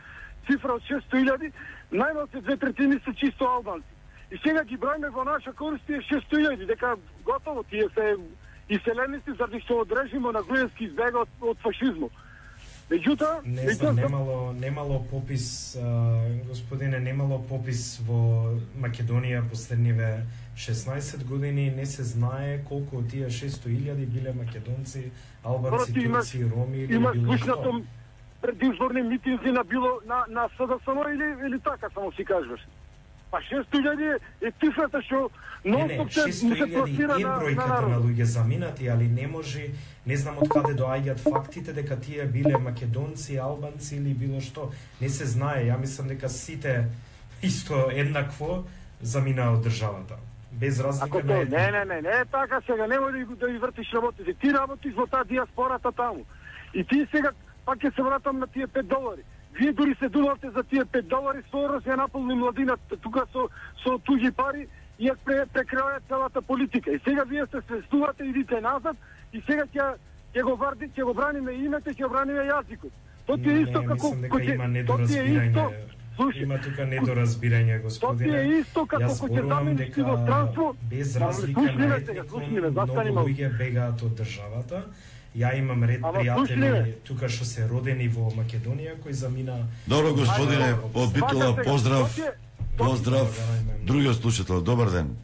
цифра од шестоста илјади, најмалку две третини се чисто албанци. И сега ги броиме во наша корист тие шестоста илјади, дека готово тие се иселеници заради што од режимот на Груевски избега од, од фашизмот. Меѓутоа, Не знам, немало, немало попис, а, господине, немало попис во Македонија последниве шеснаесет години, не се знае колку од тие шестоста илјади биле македонци, албанци, Брати, има- турци, роми или има било што. слушнато предизборни митинзи на било на на СДСМ или или така само си кажуваш. Па шестоста илјади е цифрата што Не, не, нон-стоп се шестоста се илјади пласира е на на бројката на народ. луѓе заминати, али не може, не знам од каде доаѓаат фактите дека тие биле македонци, албанци или било што. Не се знае, ја мислам дека сите исто еднакво заминаа од државата. Без разлика Ако на тоа, етника. не, не, не, не е така сега, немој да, ги- да ги вртиш работите. Ти работиш во таа диаспората таму. И ти сега, пак ќе се вратам на тие пет долари. Вие дури се думавте за тие пет долари, Сорос ја наполни младината тука со, со туѓи пари и ја пре, прекраја целата политика. И сега вие се свестувате, идите назад и сега ќе ќе го варди, ќе го браниме името, ќе го браниме јазикот. Тоа ти е Не, исто како мислам дека ќе- има тоа ти е исто. недоразбирање. Слушај, Има тука недоразбирање, тоа ти господине. е исто како Јас кога ќе зборувам замениш дека во странство. без Ама, разлика слушни на ме сега, етникум, слушни ме, многу застани малку. луѓе бегаат од државата. Ја имам ред Ама, слушни пријатели ме. тука што се родени во Македонија кои замина. Добро, господине, Ајде, од Битола, Вака сега, поздрав. тоа ти е- Поздрав. Благодарам. Другиот слушател, добар ден.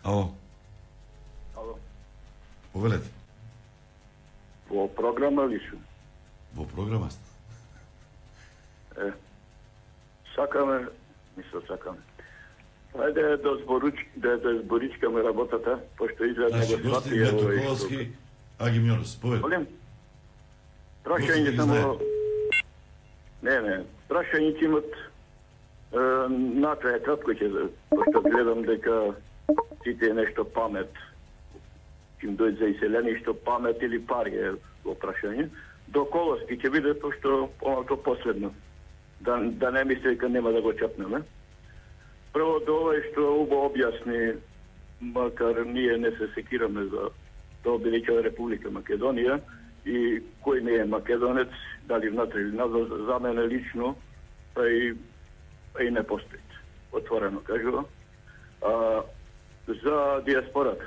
Ало, Ало, повелете. во програма ли су? Во програма сте. Е, сакаме, мисло сакаме. Ајде да зборуч, да, да зборичкаме работата, пошто изгледа Значи, го гостин свати Мето овој Ковалски, Агим Јонус, повелете. Молим? Гостин Прашање ги само... знае. Не, не, прашање ќе имат е, накрај кратко ќе, пошто гледам дека сите е нешто памет. Ким дојде за иселеништо памет или пари е во прашање. До Колоски ќе биде, пошто помалку последно. Да, да не мисли дека нема да го чапнеме. Прво до ова што убо објасни, макар ние не се секираме за тоа велика Република Македонија и кој не е македонец, дали внатре или назад, за мене лично, па и, па и не постои. Отворено кажува. А, за диаспората,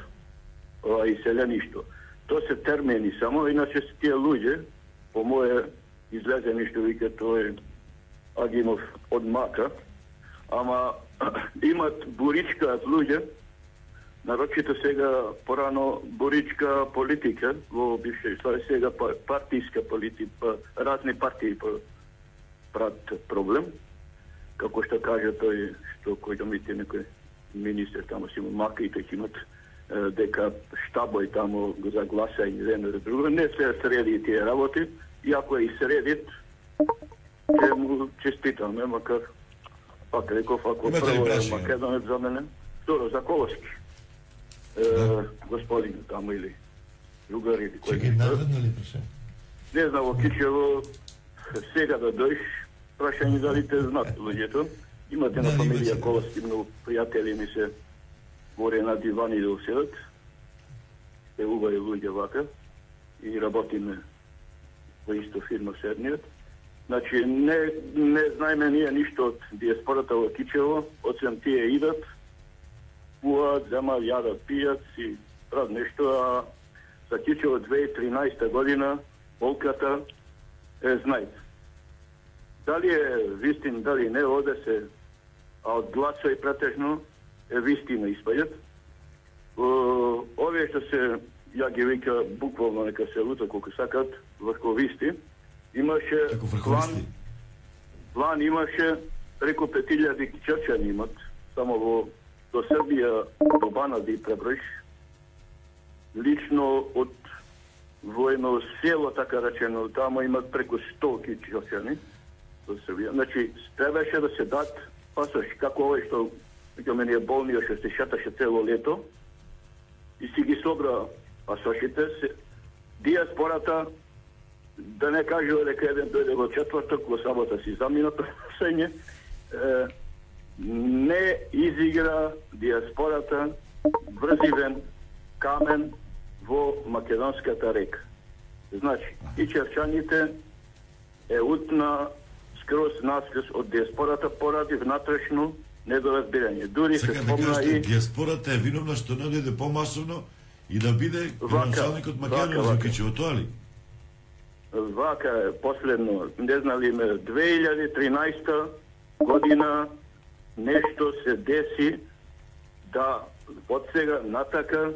ова иселеништо, тоа се термини само, иначе се тие луѓе, по моје излезени што вика тој Агимов од Мака, ама имат буричкаат луѓе нарочито сега порано боричка политика во бившеј Југославија, сега партиска политика, разни партии прават проблем. Како што кажа тој, што кој да мите некој министер тамо си му мака и тој имат дека штабој тамо го загласа и едно или друго. Не се среди тие работи, и ако е и средит, ќе му честитаме, макар пак реков, ако прво е Македонец за мене, второ за Колоски. Да. Господин тамо или другар или кој. Чекај, наведно ли прашање? Не знам, во Кичево сега да дојш, прашање дали те знаат луѓето. Имате на фамилија Колоски, многу пријатели ми се горе на дивани да уседат. Те убави луѓе вака и работиме во исто фирма седниот. Значи, не, не знаеме ние ништо од диаспората во Кичево, освен тие идат, пуат, земат, јадат, пијат и прават нешто, а за Кичево две тисаци и тринаесета година болката е знаете. Дали е вистин, дали не, оде се, а од гласови претежно е вистина испаѓат. Овие што се, ја ги вика буквално нека се лута колку сакат, врховисти, имаше план, план имаше преку пет илјади чрчани имат, само во до Србија, до Бана да и преброиш, лично од воено село, така речено, тамо имат преку сто чрчани до Србија. Значи, требаше да се дат пасош, како овој што ќе мене е болниот, што се шаташе цело лето, и си ги собра пасошите. Диаспората, да не кажува дека еден дојде во четврток, во сабота си замина прашање, не изигра диаспората врзивен камен во македонската река. Значи, и черчаните е утна скроз наскрз од диаспората поради внатрешно недоразбирање. Дури се спомна и диаспората е виновна што не дојде помасовно и да биде градоначалникот Македонија во Кичево, тоа ли? Вака е последно, не знали ме, две илјади и тринаесета година нешто се деси да од сега натака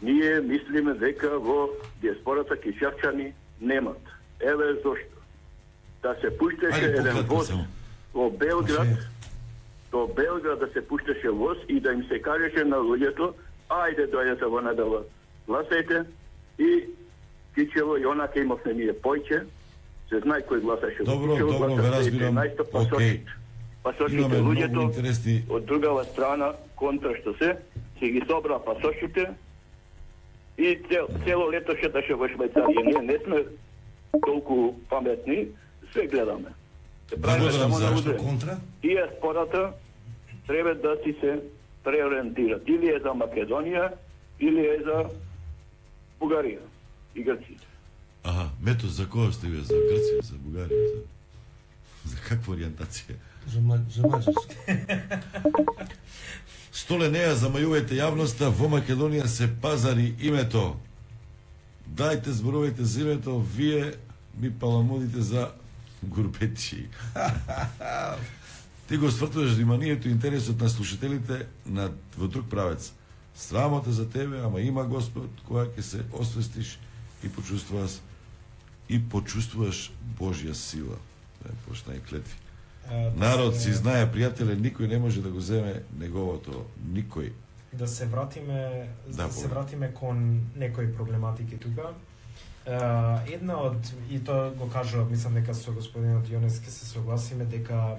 ние мислиме дека во диаспората кичевчани немат. Еве зошто. Да се пуштеше еден воз во Белград, до Белград да се пуштеше воз и да им се кажеше на луѓето, ајде дојдете во недела, гласајте, и Кичево и онака имавме ние појче, се знае кој гласаше во Кичево. Добро, добро, ве разбирам. Океј. Пасошите луѓето од другава страна, контра што се, се ги собра пасошите и цел, цело лето шеташе во Швајцарија. Ние не сме толку паметни, се гледаме. Се правиме само на удрен. Контра? Диаспората треба да си се преориентира. Или е за Македонија, или е за Бугарија и Грција. Аха, мето за кого сте вие? За Грција, за Бугарија? За, за каква ориентација? За, за Маđarска. Столе неа замајувајте јавноста, во Македонија се пазари името. Дајте, зборувајте за името, вие ми паламудите за гурбечи. Ти го свртуваш вниманието и интересот на слушателите на, во друг правец. Срамота за тебе, ама има Господ, која ќе се освестиш и почувствуваш и почувствуваш Божја сила. Почна и клетви. Народ си знае, пријателе, никој не може да го земе неговото, никој. Да се вратиме, да, да се вратиме кон некои проблематики тука. Uh, една од, и тоа го кажува, мислам дека со господинот Јонески се согласиме, дека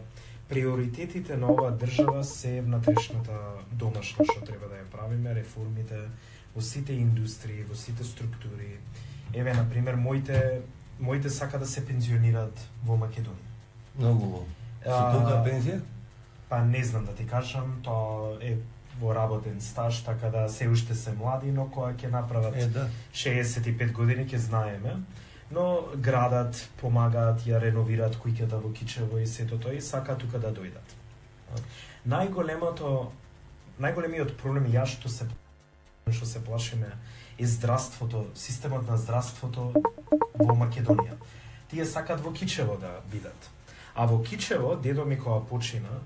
приоритетите на оваа држава се внатрешната домашна што треба да ја правиме, реформите во сите индустрии, во сите структури. Еве, например, моите, моите сака да се пензионираат во Македонија. Многу. Со колка пензија? Па не знам да ти кажам, тоа е во работен стаж, така да се уште се млади, но кога ќе направат е, да. шеесет и пет години ќе знаеме. Но градат, помагаат, ја реновираат куќата во Кичево и сето тоа и сака тука да дојдат. Најголемото, најголемиот проблем ја што се што се плашиме е здравството, системот на здравството во Македонија. Тие сакат во Кичево да бидат. А во Кичево, дедо ми кога почина,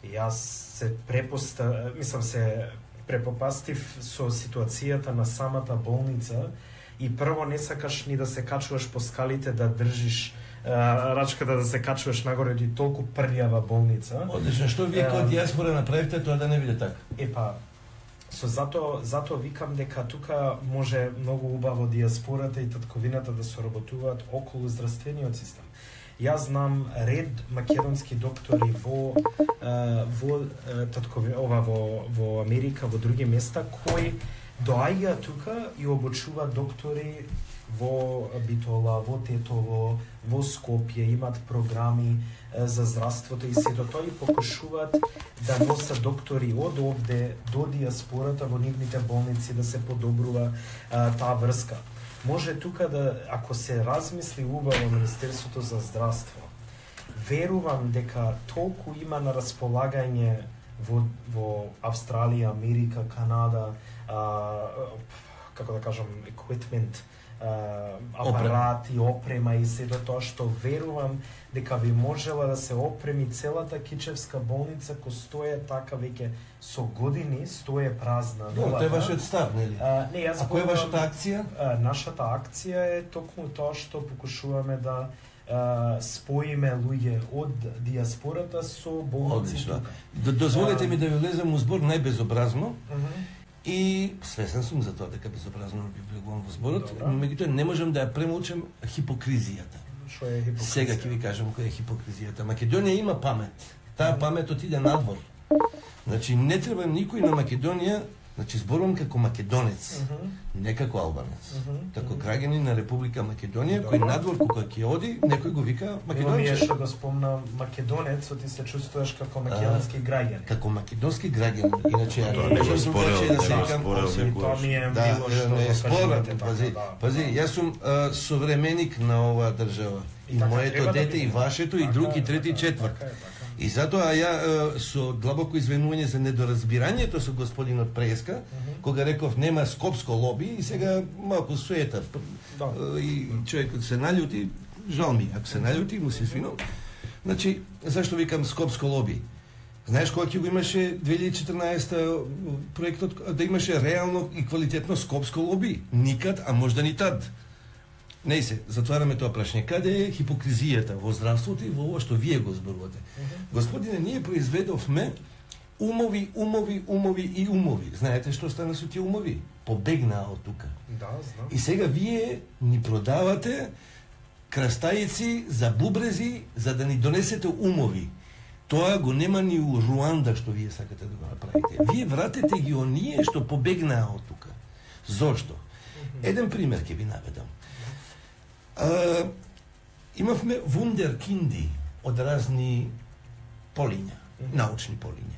јас се препоста, мислам се препопастив со ситуацијата на самата болница и прво не сакаш ни да се качуваш по скалите да држиш а, рачката да се качуваш нагоре и толку прљава болница. Одлично, што вие како диаспора направите тоа да не биде така? Епа, со зато зато викам дека тука може многу убаво диаспората и татковината да соработуваат околу здравствениот систем. Јас знам ред македонски доктори во во таткови ова во во Америка, во други места кои доаѓаат тука и обучуваат доктори во Битола, во Тетово, во Скопје, имат програми за здравството и сето тоа и покушуваат да носат доктори од овде до диаспората во нивните болници да се подобрува а, таа врска. Може тука да, ако се размисли убаво Министерството за здравство, верувам дека толку има на располагање во, во Австралија, Америка, Канада, а, како да кажам, equipment, апарати, опрема и сето тоа што верувам дека би можела да се опреми целата Кичевска болница кој стои така веќе со години, стои празна. Но тоа е вашиот став, нели? А, не, јас а која е вашата акција? А, нашата акција е токму тоа што покушуваме да а, споиме луѓе од диаспората со болници тука. Дозволете а, ми да ви влезам у збор најбезобразно. Uh-huh. И свесен сум за тоа дека безобразно би влегувам во зборот, меѓутоа не можам да ја премолчам хипокризијата. Што е хипокризија? Сега ќе ви кажам која е хипокризијата. Македонија има памет. Таа памет отиде надвор. Значи не треба никој на Македонија, значи зборувам како македонец, uh-huh. не како албанец, uh-huh. како граѓанин на Република Македонија, кој надвор кога ќе оди, некој го вика македонче. Ние што го спомна македонец, ти се чувствуваш како македонски граѓанин. Како македонски граѓанин. Иначе ја не можам спорел, да се викам. Тоа ми е мило што не спорам. Пази, така. пази, јас сум современик на оваа држава. И моето дете, и вашето, и друг, и трети, и четврт. И затоа ја со длабоко извинување за недоразбирањето со господинот Преска, uh-huh. кога реков нема скопско лоби и сега малку суета. Да. И човекот се наљути, жал ми, ако се наљути, му се извинувам. Значи, зашто викам скопско лоби? Знаеш кога ќе го имаше две илјади и четрнаесета проектот да имаше реално и квалитетно скопско лоби? Никад, а можда ни тад. Не се, затвараме тоа прашање. Каде е хипокризијата во здравството и во ова што вие го зборувате? Uh-huh. Господине, ние произведовме умови, умови, умови и умови. Знаете што стана со тие умови? Побегнаа од тука. Да, знам. И сега вие ни продавате крастаици за бубрези за да ни донесете умови. Тоа го нема ни у Руанда што вие сакате да го направите. Вие вратете ги оние што побегнаа од тука. Зошто? Uh-huh. Еден пример ќе ви наведам. Uh, имавме вундеркинди од разни полиња, mm-hmm. научни полиња,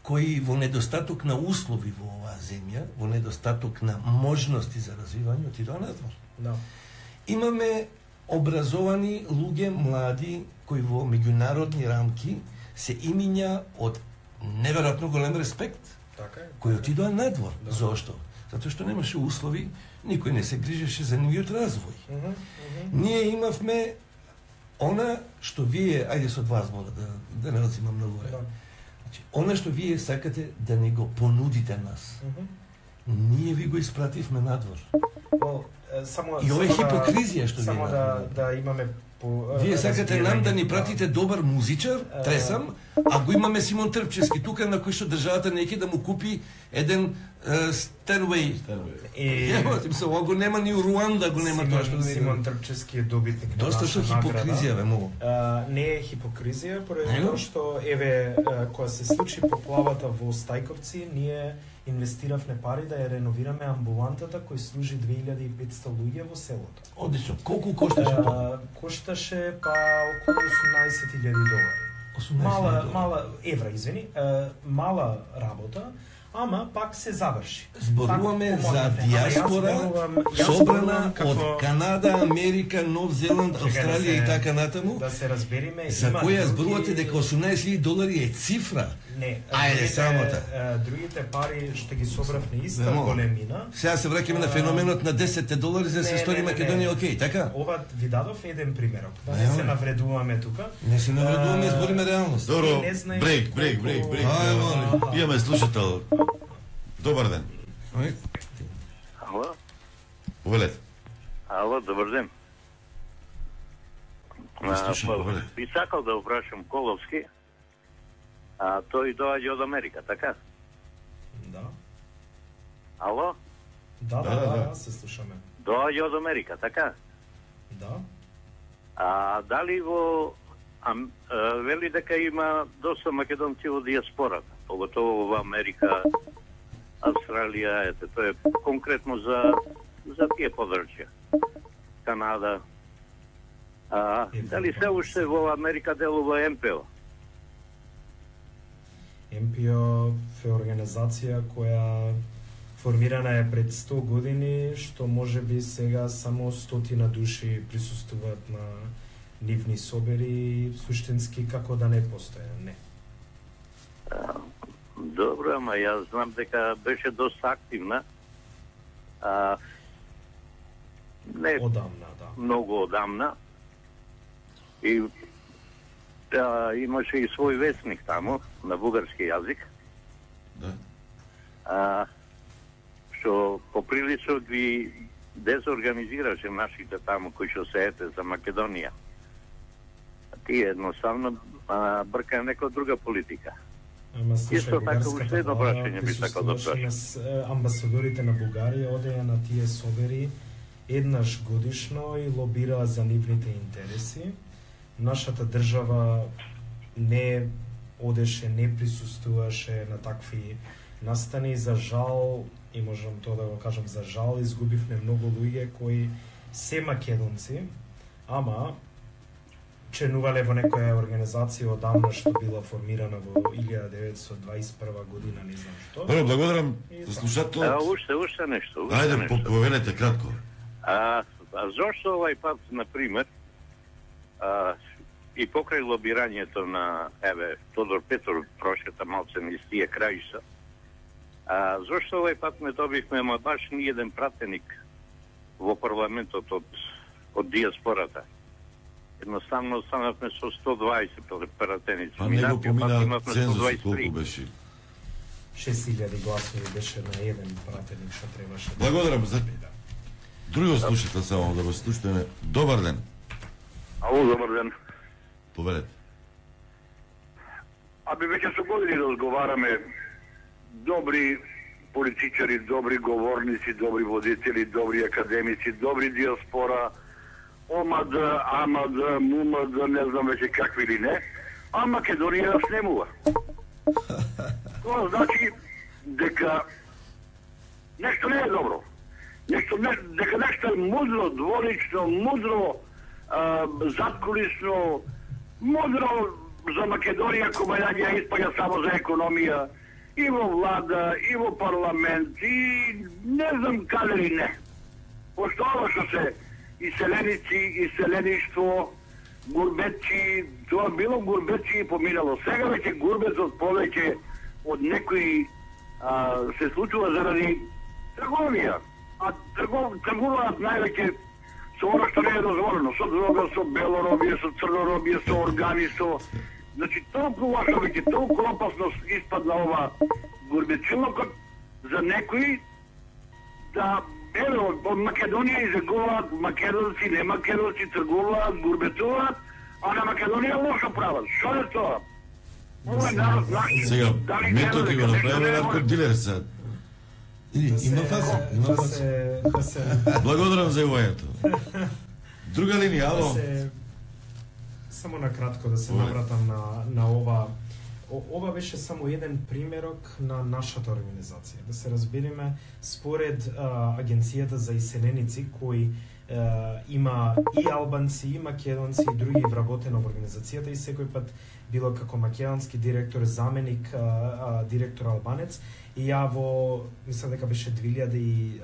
кои во недостаток на услови во оваа земја, во недостаток на можности за развивање, отидоа надвор. No. Имаме образовани луѓе, млади, кои во меѓународни рамки се имиња од неверојатно голем респект, така е, кои отидоа надвор. Да. Зошто? Затоа што немаше услови, никој не се грижеше за нивиот развој. Uh-huh, uh-huh. Ние имавме она што вие, ајде со два збора, да, да не одзимам многу време. Да. Значи, она што вие сакате да ни го понудите нас, uh-huh. ние ви го испративме надвор. Well, само, и ова е хипокризија што само вие да, да имаме по, вие сакате нам да ни пратите добар музичар, тресам, а го имаме Симон Трпчевски тука на кој што државата неќе да му купи еден Стенвей. И Ево, се ова го нема ни у Руанда, го нема тоа што Симон Трпчевски е добитник на доста што хипокризија ве многу. Не е хипокризија, поради тоа што еве кога се случи поплавата во Стајковци, ние инвестиравме пари да ја реновираме амбулантата кој служи две илјади и петстотини луѓе во селото. Одлично. Колку кошташе тоа? Кошташе па околу осумнаесет илјади долари. Мала мала евра, извини, мала работа, ама пак се заврши. Зборуваме так, за диаспора собрана од Канада, Америка, Нов Зеланд, Австралија да и така натаму. Да се разбериме, за која зборувате дека осумнаесет илјади долари е цифра. Не, ајде самота. Другите пари што ги собравме иста големина. Сега се враќаме на феноменот на десет долари за да се стори Македонија окей, така? Ова ви дадов еден примерок. Да не се навредуваме тука. Не се навредуваме, збориме реалност. Добро, брейк, брейк, брейк, брейк. Имаме слушател. Добар ден. Ало? Повелете. Ало, добар ден. Слушам, би сакал да опрашам Коловски, а тој доаѓа од Америка, така? Да. Ало? Да, да, да, да, се слушаме. Доаѓа од Америка, така? Да. А дали во а, а, вели дека има доста македонци во диаспората, поготово во Америка, Австралија, ете, тоа е конкретно за за тие подрачја. Канада. А, дали се уште во Америка делува Ем Пе О? Ем Пе О е организација која формирана е пред сто години, што може би сега само стотина души присуствуваат на нивни собери, суштински како да не постоја, не. А, добро, ама јас знам дека беше доста активна. А, не одамна, да. Многу одамна. И а, имаше и свој весник таму, на бугарски јазик. Да. А, што поприлично ги дезорганизираше нашите таму кои што се ете за Македонија. Тие едноставно а, брка некоја друга политика. Ама слушај, Исто така уште едно прашање би сакал да прашам. Амбасадорите на Бугарија одеа на тие собери еднаш годишно и лобираа за нивните интереси. Нашата држава не одеше, не присуствуваше на такви настани. За жал, и можам тоа да го кажам, за жал, изгубивме многу луѓе кои се македонци, ама членувале во некоја организација одамна што била формирана во илјада деветстотини дваесет и прва година, не знам што. Добро, благодарам за слушателот. А, уште, уште нешто. Уште Ајде, нешто. повелете кратко. А, а зошто овај пат, например, а, и покрај лобирањето на, еве, Тодор Петров прошета малце низ тие краишта, а, зошто овај пат не добивме, ама баш ни еден пратеник во парламентот од, од диаспората? Едноставно останавме со сто дваесет пратеници. Па него помина сто цензус, дваесет и три. колку беше? шест илјади гласови беше на еден пратеник што требаше. Благодарам за друго слушате, само да го слушате. Добар ден. Ало, добар ден. Повелете. Аби веќе со години разговараме, добри политичари, добри говорници, добри водители, добри академици, добри диаспора, ОМАД, АМАД, МУМАД, не знам веќе какви или не, а Македонија снемува. Тоа значи дека нешто не е добро. Нешто не, дека нешто е мудро, дворично, мудро, а, задкулисно, мудро за Македонија која ја испаѓа само за економија, и во влада, и во парламент, и не знам каде ли не. Пошто ова што се иселеници, иселеништво, гурбетчи, тоа било гурбетчи и поминало. Сега веќе гурбетот повеќе од некои а, се случува заради трговија. А тргов, тргуваат највеќе со оно што не е дозволено, со дрога, со белоробие, со црноробие, со органи, со... Значи, толку лошо веќе, толку опасно испадна ова гурбетчилокот за некои да, еве, од Македонија изегуваат македонци, не македонци, тргуваат, гурбетуваат, а на Македонија лошо прават. Што е тоа? Ова е народ наш. Сега, метод го направи наркодилер се. Има фаза, има Да фаза. се, да се, Благодарам за јавањето. Друга линија, да ало. се, само на кратко да се Ова. навратам на, на ова. О, ова беше само еден примерок на нашата организација. Да се разбереме, според а, Агенцијата за иселеници, кои а, има и албанци, и македонци, и други вработени во организацијата, и секој пат било како македонски директор, заменик, а, а, директор албанец, и ја во, мислам дека беше две илјади и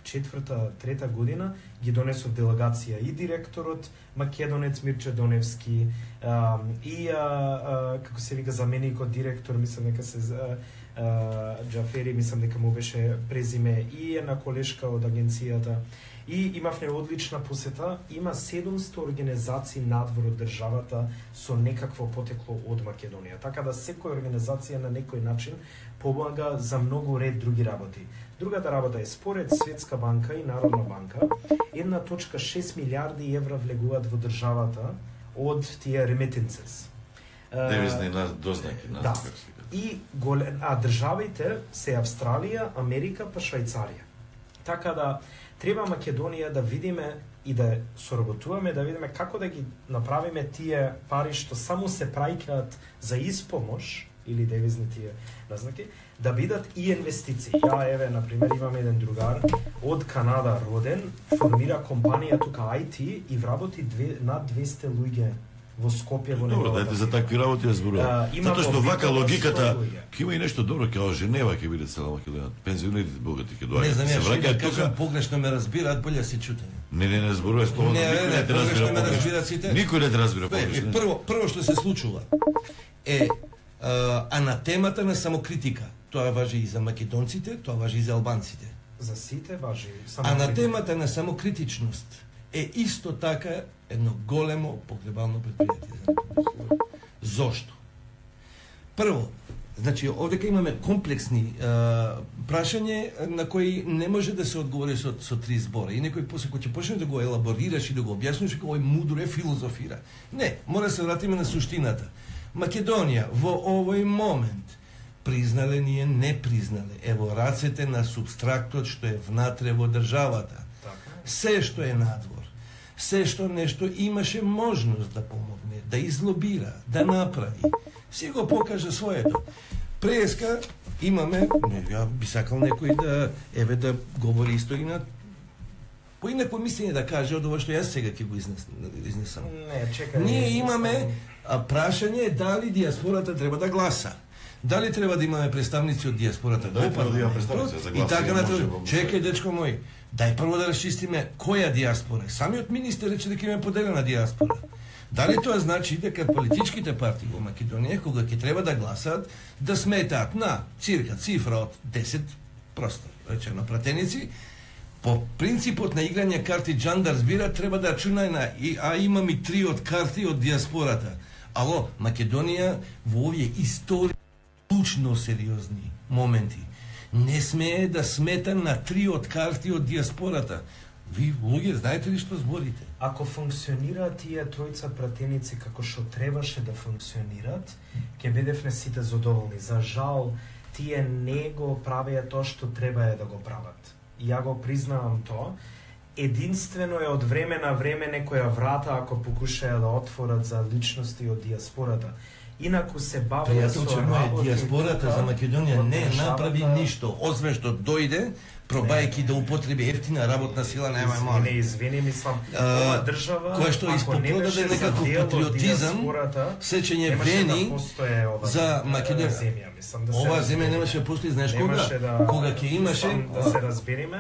четврта, трета година, ги донесов делегација и директорот македонец Мирче Доневски, а, и а, а, како се вика заменикот директор, мислам дека се а, а, Џафери, мислам дека му беше презиме, и една колешка од агенцијата. И имавме одлична посета, има седумсто организации надвор од државата со некакво потекло од Македонија. Така да секоја организација на некој начин помага за многу ред други работи. Другата работа е според Светска банка и Народна банка, една точка шест милиарди евра влегуваат во државата од тие remittances. Девизни дознаки, на да. И голем, а државите се Австралија, Америка па Швајцарија. Така да треба Македонија да видиме и да соработуваме, да видиме како да ги направиме тие пари што само се праќаат за испомош или девизни тие назнаки, да бидат и инвестиции. Ја, еве, например, имам еден другар од Канада роден, формира компанија тука ај ти и вработи две, над двесте луѓе во Скопје, во Добро, дајте за такви работи ја зборувам. Затоа што вака логиката, ќе има и нешто добро, како Женева ќе биде цела Македонија. Пензионерите богати ќе доаѓаат. Не знам, се ја враќаат тука. Погрешно ме разбираат, боле се чутење. Не, не, не зборувај слово. Не, Никој не, не те погрешно разбира ме погрешно. разбираат сите. Никој не те разбира Бе, погрешно. Прво, прво што се случува е а, анатемата на самокритика. Тоа важи и за македонците, тоа важи и за албанците. За сите важи Анатемата на самокритичност е исто така едно големо погребално предпријатие. Зошто? Прво, значи, овдека имаме комплексни а, прашање на кои не може да се одговори со, со три збора. И некој после кој ќе почне да го елаборираш и да го објасниш, како ој мудро е филозофира. Не, мора да се вратиме на суштината. Македонија во овој момент признале, ние не признале. Ево рацете на субстрактот што е внатре во државата. Се што е надвор, се што нешто имаше можност да помогне, да излобира, да направи, си го покаже своето. Преска имаме, не, ја би сакал некој да, еве да говори исто и на поинакво мислење да каже од ова што јас сега ќе го изнес, изнесам. Не, чекај. Ние имаме а, прашање дали диаспората треба да гласа. Дали треба да имаме представници од диаспората Дали во треба да имаме парламентот представници за и гласа, така може, натаму. може. Чекај, дечко мој, дај прво да расчистиме која диаспора. Самиот министер рече дека има поделена диаспора. Дали тоа значи дека политичките партии во Македонија, кога ќе треба да гласаат, да сметаат на цирка цифра од десет, просто речено, пратеници, по принципот на играње карти Джандар збира, треба да рачунај на, а имам и три од карти од диаспората. Ало, Македонија во овие истории клучно сериозни моменти не смее да смета на три од карти од диаспората. Ви, луѓе, знаете ли што зборите? Ако функционираат тие тројца пратеници како што требаше да функционират, ќе бидевме сите задоволни. За жал, тие не го правеа тоа што треба е да го прават. И ја го признавам тоа. Единствено е од време на време некоја врата ако покушаја да отворат за личности од диаспората. Инаку се бавеа со работи. Диаспората за Македонија не направи ништо, освен што дојде, пробајки да употреби ефтина работна сила, нема мали. Не, извини, мислам, ова држава која што испопродаде некаков патриотизам, сеќање вени да за Македонија. Да ова земја немаше да постои, знаеш кога? Да, кога ќе имаше да се разбереме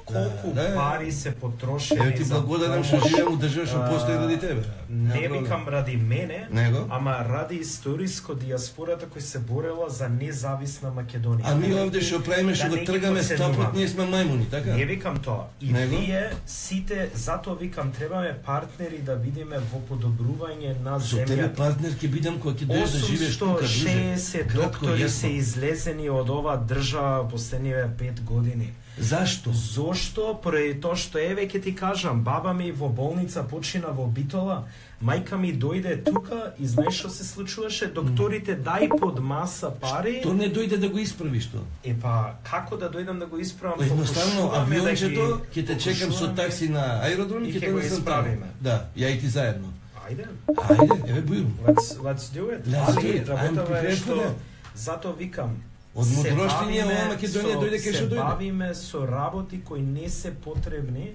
колку да, пари се потрошени. Ево ти благодарам што живеам у држава што постои ради тебе. Не викам ради мене, Него? ама ради историско диаспората кој се борела за независна Македонија. А ми овде што правиме, што го тргаме стопот, ние сме мајмуни, така? Не викам тоа. И Него? вие сите, затоа викам, требаме партнери да видиме во подобрување на Со земјата. тебе партнер ќе бидам кога ќе дојдеш да живееш тука, друже. осумсто шеесет доктори се излезени од оваа држава последниве пет години. Зашто? Зошто? Поради тоа што еве ќе ти кажам, баба ми во болница почина во Битола, мајка ми дојде тука и знаеш што се случуваше? Докторите дај под маса пари. То не дојде да го исправиш тоа. Е па, како да дојдам да го исправам? Едноставно авиончето да ќе те чекам со такси на аеродром и ќе го донесам исправиме. Да, ја и ти заедно. Ајде. Ајде, еве бујум. Let's, let's do it. Let's Али, do it. работава е I'm што prepared. затоа викам, Од се мудроштиња бавиме ова Македонија со- дојде кај што Се дојде. бавиме со работи кои не се потребни,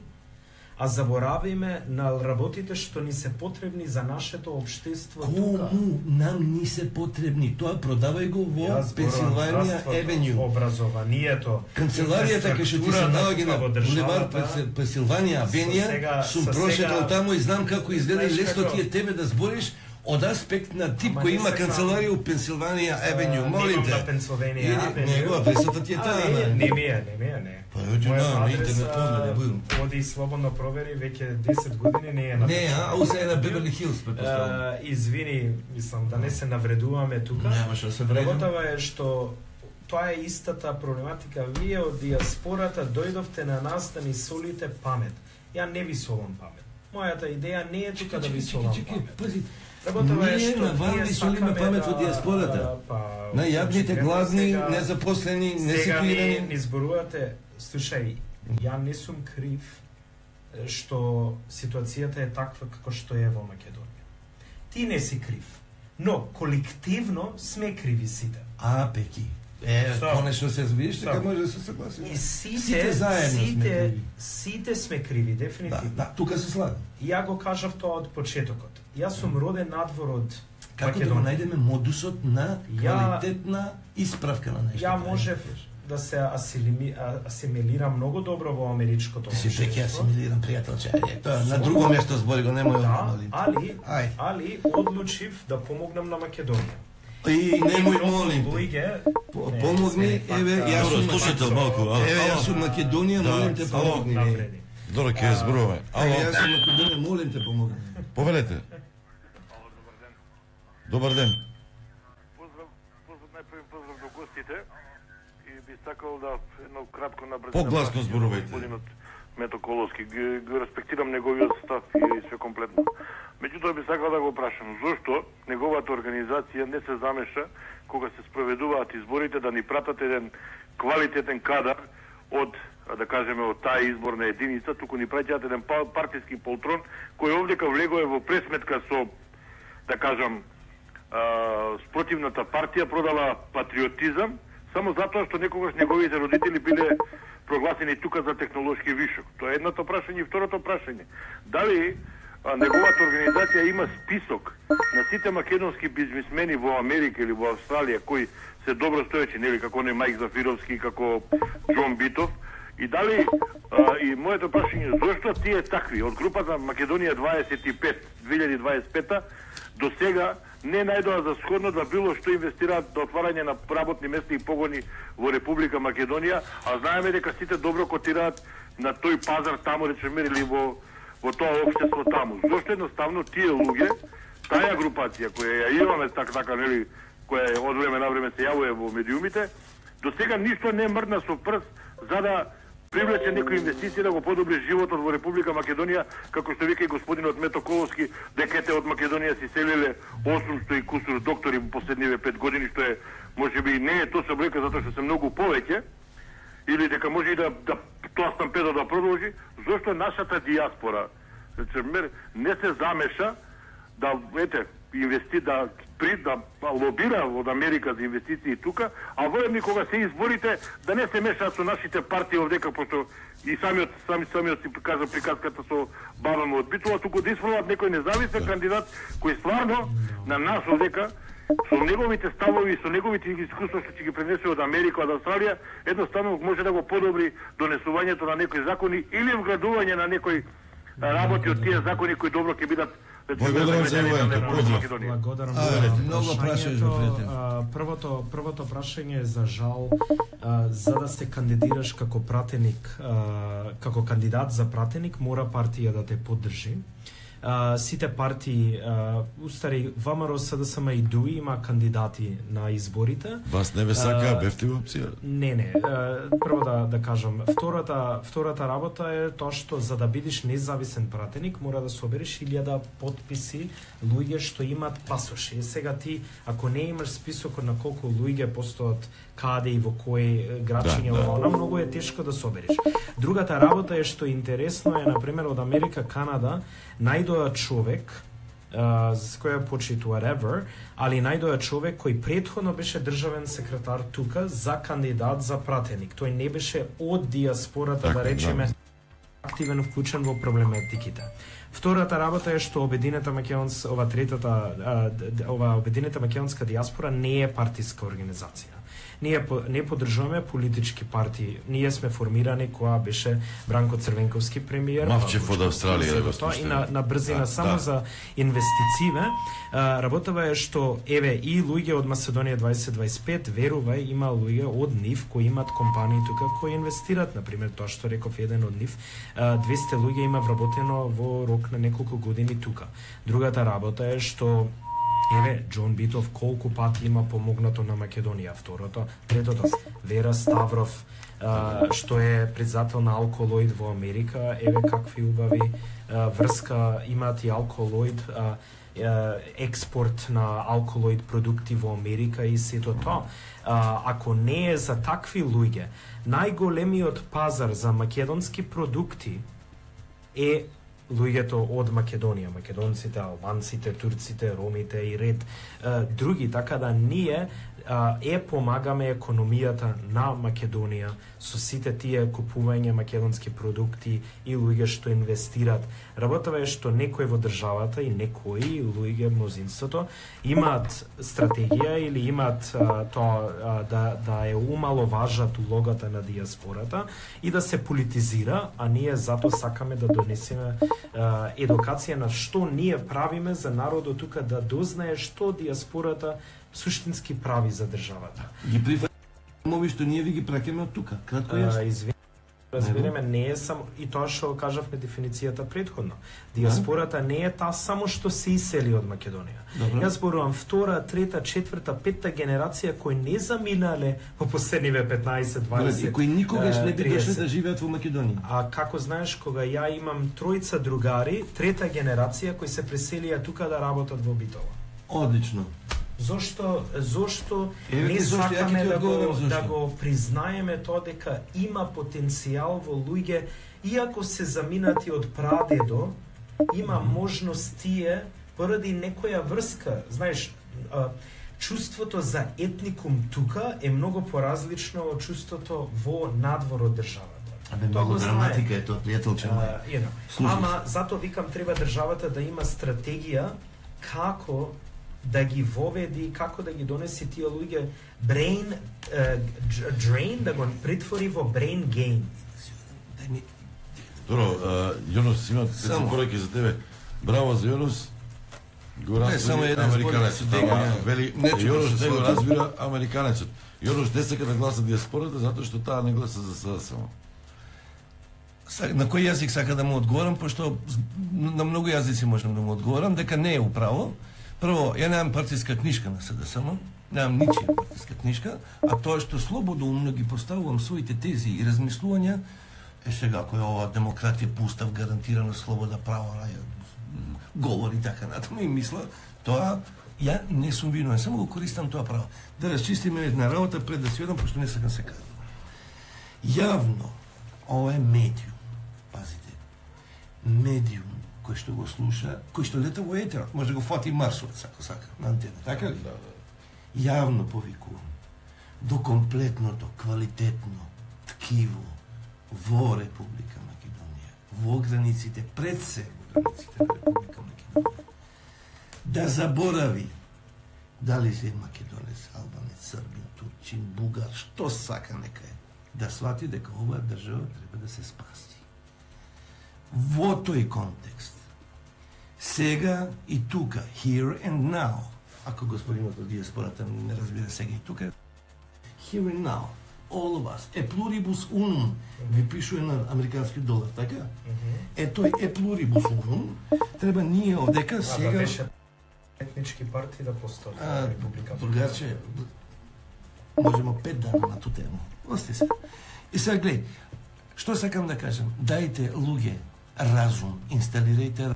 а заборавиме на работите што ни се потребни за нашето општество тука. Кому нам ни се потребни? Тоа продавај го во Јас зборувам Пенсилванија здравството, Евенју. Образованието, Канцеларијата кај што ти се наоѓа на во булевар државата, Пенсилванија со Авенија, сега- сум со прошетал сега- таму и знам како изгледа и Знаеш лесно како? ти е тебе да збориш од аспект на тип кој има канцеларија у Пенсилванија Авеню, молим те. На Пенсилванија Авеню. Него адресата ти е таа. Не ми е, не ми е, не. Па оѓу на интернет погледа будам. Оди слободно провери, веќе десет години не е на. Не, а усе е на Беверли Хилс, претпоставувам. Извини, мислам да не се навредуваме тука. Немаше да се вредуваме. Работава е што тоа е истата проблематика. Вие од диаспората дојдовте на нас да ни солите памет. Ја не ви солам памет. Мојата идеја не е тука да ви солам памет. Пази, Работава е што на вам ви солиме памет во диаспората. На јадните, гладни, незапослени, неситуирани. Сега ни зборувате, слушај, ја не сум крив што ситуацијата е таква како што е во Македонија. Ти не си крив, но колективно сме криви сите. А, пеки. Е, конечно се видиш, така може да се согласиш. И сите, сите заедно сите, сме криви. Сите сме криви, дефинитивно. Да, да, тука се слагам. Ја го кажав тоа од почетокот. Јас сум роден надвор од Како Македонија. да го најдеме модусот на квалитетна исправка на нешто? Ја можев да се асилими, асимилирам многу добро во америчкото Ти си општество. веќе асимилирам, пријателче. Тоа на друго место збори го, немој Да, молим. али, Ај. али одлучив да помогнам на Македонија. И немој молим. Луѓе, По- не, Помогни, се пак, еве, а, јас Добро, сум слушате малку. ало, Еве, јас ало. сум Македонија, Да, молим те само помогни. напреди. Добро, ќе ја зборуваме. Еве, Ало, јас сум Македонија, молим те помогни. повелете. Добар ден. Поздрав, поздрав, најпрви поздрав до гостите и би сакал да едно кратко набрзо Погласно зборувајте. Господинот Мето Коловски, ги, ги респектирам неговиот став и све комплетно. Меѓутоа би сакал да го прашам, зошто неговата организација не се замеша кога се спроведуваат изборите да ни пратат еден квалитетен кадар од, да кажеме, од таа изборна единица, туку ни праќаат еден па- партиски полтрон кој овдека влегува во пресметка со, да кажам, а, спротивната партија, продала патриотизам, само затоа што некогаш неговите родители биле прогласени тука за технолошки вишок. Тоа е едното прашање. И второто прашање, дали а, неговата организација има список на сите македонски бизнисмени во Америка или во Австралија кои се добро стоечи, нели, како не Мајк Зафировски, како Џон Битов, и дали а, и моето прашање, зошто тие такви од групата Македонија дваесет и пет две илјади дваесет и пета до сега не најдоа за сходно да било што инвестираат до отварање на работни места и погони во Република Македонија, а знаеме дека сите добро котираат на тој пазар таму, речеме, или во во тоа општество таму. Зошто едноставно тие луѓе, таа групација која ја имаме така така, нели, која од време на време се јавува во медиумите, до сега ништо не мрдна со прст за да привлече некои инвестиции да го подобри животот во Република Македонија, како што вика и господинот Мето Коловски, дека ете од Македонија си селиле осумсто и кусур доктори во последниве пет години, што е можеби не е точна бројка затоа што се многу повеќе, или дека може и да, да тоа стампедо да продолжи, зошто нашата диаспора не се замеша да ете инвести да при да лобира од Америка за инвестиции тука, а воедно кога се изборите да не се мешаат со нашите партии овдека, пошто и самиот сами самиот си кажа приказката со баба му од Битола, туку да испробат некој независен кандидат кој стварно на нас овдека со неговите ставови и со неговите искуства што ќе ги пренесе од Америка, од Австралија, едноставно може да го подобри донесувањето на некои закони или вградување на некои работи од тие закони кои добро ќе бидат. Благодарам за Благодарам за Многу прашањето. Првото првото прашање е за жал, а, за да се кандидираш како пратеник, а, како кандидат за пратеник, мора партија да те поддржи. Uh, сите партии, uh, устари ВМРО, СДСМ и ДУИ има кандидати на изборите. Вас не ве сака, бевте во опција? Не, не. Uh, прво да да кажам, втората втората работа е тоа што за да бидеш независен пратеник мора да собереш илјада потписи луѓе што имаат пасоши. И сега ти ако не имаш списокот на колку луѓе постојат каде и во кој градчиња, да, да, да. Многу е тешко да собереш. Другата работа е што интересно е, например, од Америка, Канада, најдоа човек, uh, за која почит whatever, али најдоа човек кој претходно беше државен секретар тука за кандидат за пратеник. Тој не беше од диаспората, така, да речеме, да, активен вклучен во проблематиките. Втората работа е што обединета македонска, ова третата, ова обединета македонска диаспора не е партиска организација. Ние не поддржуваме политички партии. Ние сме формирани кога беше Бранко Црвенковски премиер. Мавчев од Австралија да го слушате. И на, на брзина да, само да. за инвестициите. Работава е што еве и луѓе од Македонија дваесет дваесет и пет, верувај, има луѓе од нив кои имаат компании тука кои инвестираат, на пример тоа што реков еден од нив, двесте луѓе има вработено во рок на неколку години тука. Другата работа е што еве, Џон Битов колку пати има помогнато на Македонија. Второто, третото, Вера Ставров, а, што е председател на Алколоид во Америка, еве какви убави а, врска имаат и Алколоид, а, а, експорт на Алколоид продукти во Америка и сето тоа. А, ако не е за такви луѓе, најголемиот пазар за македонски продукти е луѓето од Македонија, македонците, албанците, турците, ромите и ред а, други, така да ние а, е помагаме економијата на Македонија со сите тие купување македонски продукти и луѓе што инвестираат. Работава е што некои во државата и некои луѓе, мнозинството, имаат стратегија или имаат а, тоа а, да, да е умаловажат улогата на диаспората и да се политизира, а ние затоа сакаме да донесеме а, едукација на што ние правиме за народот тука да дознае што диаспората суштински прави за државата. Ги прифатиме што ние ви ги праќаме од тука. Кратко јасно. Извини, разбереме, не е само и тоа што кажавме дефиницијата претходно. Диаспората не е таа само што се исели од Македонија. Добро. Јас зборувам втора, трета, четврта, петта генерација кои не заминале во последниве петнаесет, дваесет, и кои никогаш не би дошле да живеат во Македонија. А како знаеш, кога ја имам тројца другари, трета генерација кои се преселија тука да работат во Битола. Одлично. Зошто зошто Еве не зошто, сакаме да го зошто. да го признаеме тоа дека има потенцијал во луѓе, иако се заминати од прадедо, има можност тие поради некоја врска, знаеш, а, чувството за етникум тука е многу поразлично од чувството во надвор од државата. Абе, многу драматика е тоа, пријателче мој. Ама затоа викам треба државата да има стратегија како да ги воведи, како да ги донеси тие луѓе brain uh, drain, да го претвори во brain gain. Добро, Јонус, има само пораки за тебе. Браво за Јонус. Го разбира американецот. Ама вели Јонус не го разбира американецот. Јонус не сака да гласа диаспората затоа што таа не гласа за СДС само. На кој јазик сака да му одговорам, пошто на многу јазици можам да му одговорам, дека не е управо. Прво, ја немам партиска книжка на СДСМ, немам ничија партиска книжка, а тоа што слободоумно ги поставувам своите тези и размислувања, е сега кој ова демократија пустав, гарантирано слобода, право, говори така натаму и мисла, тоа ја не сум виновен, само го користам тоа право. Да расчистиме една работа пред да си одам, пошто не сакам се кажам. Јавно, ова е медиум, пазите, медиум кој што го слуша, кој што лета во етерот, може да го фати Марсовец, ако сака, на антена, така ли? Да, да. Јавно повикувам до комплетното, квалитетно ткиво во Република Македонија, во границите, пред се во границите на Република Македонија, да заборави дали се македонец, албанец, србин, турчин, бугар, што сака нека е, да свати дека оваа држава треба да се спаси. Во тој контекст, сега и тука, here and now, ако господинот од диаспората не разбира сега и тука, here and now, all of us, e pluribus unum, ви пишува на американски долар, така? Е тој e pluribus unum, треба ние овдека сега... А да беше етнички партии да постои Република. Другарче, можемо пет дана на ту тему. Ости се. И сега гледај, што сакам да кажам? Дајте луѓе разум, инсталирајте,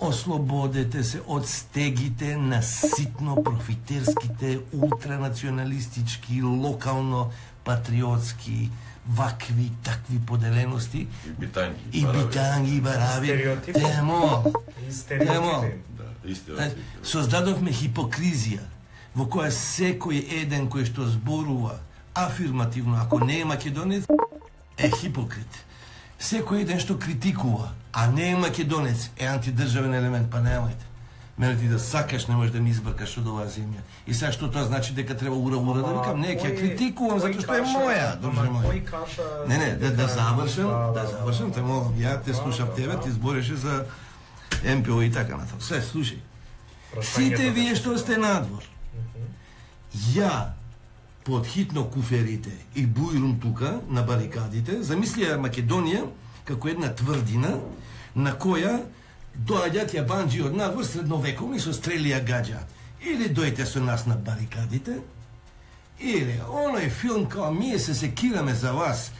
ослободете се од стегите на ситно профитерските, ултранационалистички, локално патриотски, вакви, такви поделености и битанги, и битанги, бараби. Темо, темо. Создадовме хипокризија во која секој еден кој што зборува афирмативно, ако не е македонец, е хипокрит. Секој еден што критикува, а не е македонец, е антидржавен елемент, па немајте. Мене ти да сакаш, не можеш да ми избркаш од оваа земја. И сега што тоа значи дека треба ура ура да викам? Не, ќе критикувам затоа што е моја, друже мој. Не, не, да, да завршам, да завршам, те молам, ја те слушав тебе, ти збореше за Ем Пе О и така натаму. Се, слушај. Сите вие што сте надвор. Ја под хитно куферите и бујрум тука на барикадите, замислија Македонија како една тврдина на која доаѓаат јабанџи од надвор средновековни со стрели ја гаѓаат. Или дојте со нас на барикадите, или оној филм као ние се секираме за вас.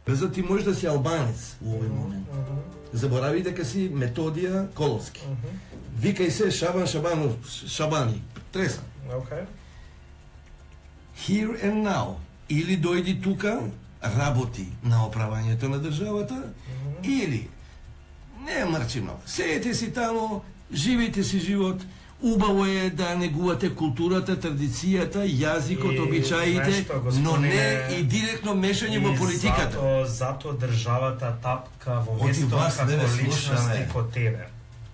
За ти можеш да си албанец во овој момент. Заборави дека си Методија Коловски. Викај се Шабан Шабанов Шабани. Треса. Okay. Here and now. Или дојди тука, работи на оправањето на државата, mm-hmm. или не мрчи многу. Сеете си тамо, живите си живот. Убаво е да негувате културата, традицијата, јазикот, обичаите, но не и директно мешање во политиката. Зато, зато државата тапка во место како личности ко тебе.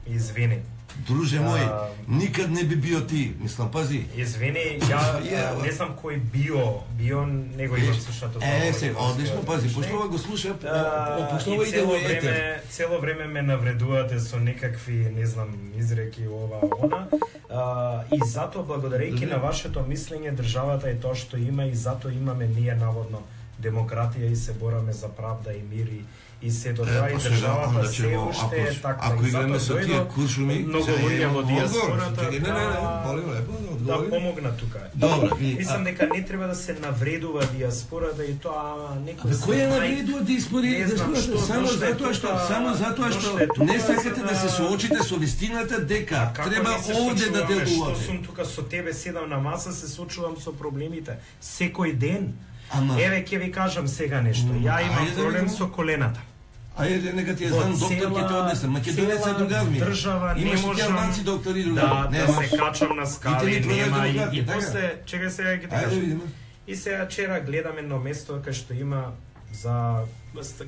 Извини. Друже мој, а, никад не би био ти, мислам, пази. Извини, ја yeah, не знам кој био, био него имам слушато. Е, се, одлично, пази, пошто ова го слуша, пошто ова иде во етер. Цело време ме навредувате со некакви, не знам, изреки ова, она. А, и затоа, благодарејќи на вашето мислење, државата е тоа што има и затоа имаме ние наводно демократија и се бораме за правда и мир и и се до тоа и државата се уште е така. Ако играме со тие куршуми, многу луѓе во диаспората да помогна тука. Мислам дека не треба да се навредува диаспората и тоа некој се кој навредува диаспората? Само затоа што само затоа што не сакате да се соочите со вистината дека треба овде да делувате. Што сум тука со тебе, седам на маса, се соочувам со проблемите секој ден. Ама... Еве ќе ви кажам сега нешто. Ја имам проблем со колената. Ајде, нека ти е знам доктор ќе те однесам. Македонец е другар ми. Држава не можам доктори другари. Да, да се качам на скали, нема и, и после, чекај сега ќе ти кажам. И сега вчера гледам едно место кај што има за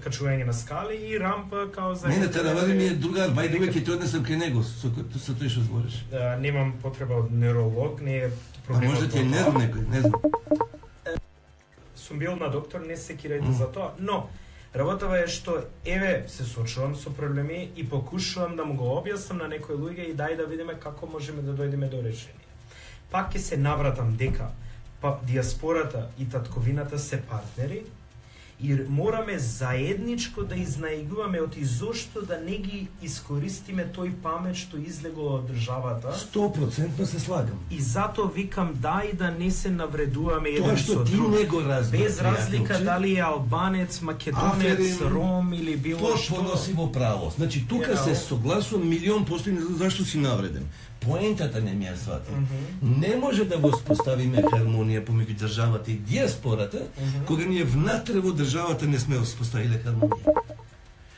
качување на скали и рампа као за... Не, не, Таравари ми е другар, бајде веќе ќе те однесам кај него, со, со тој што збориш. Да, немам потреба од невролог, не е проблемот. А може ти е нерв некој, не знам. Сум бил на доктор, не се кирајте mm. за тоа, но работава е што еве се соочувам со проблеми и покушувам да му го објаснам на некои луѓе и дај да видиме како можеме да дојдеме до решение. Пак ќе се навратам дека па диаспората и татковината се партнери и мораме заедничко да изнаигуваме од изошто да не ги искористиме тој памет што излегол од државата. сто проценти се слагам. И затоа викам дај да не се навредуваме еден со друг. Тоа што ти не го разбраш. Без разлика дали е албанец, македонец, Аферин, ром или било што. Потpuno си во право. Значи тука you know. се согласувам милион постои, не знам зашто си навреден. Поентата не ми ја свати. Mm -hmm. Не може да воспоставиме хармонија помеѓу државата и диаспората, mm -hmm. кога ние внатре во државата не сме воспоставиле хармонија.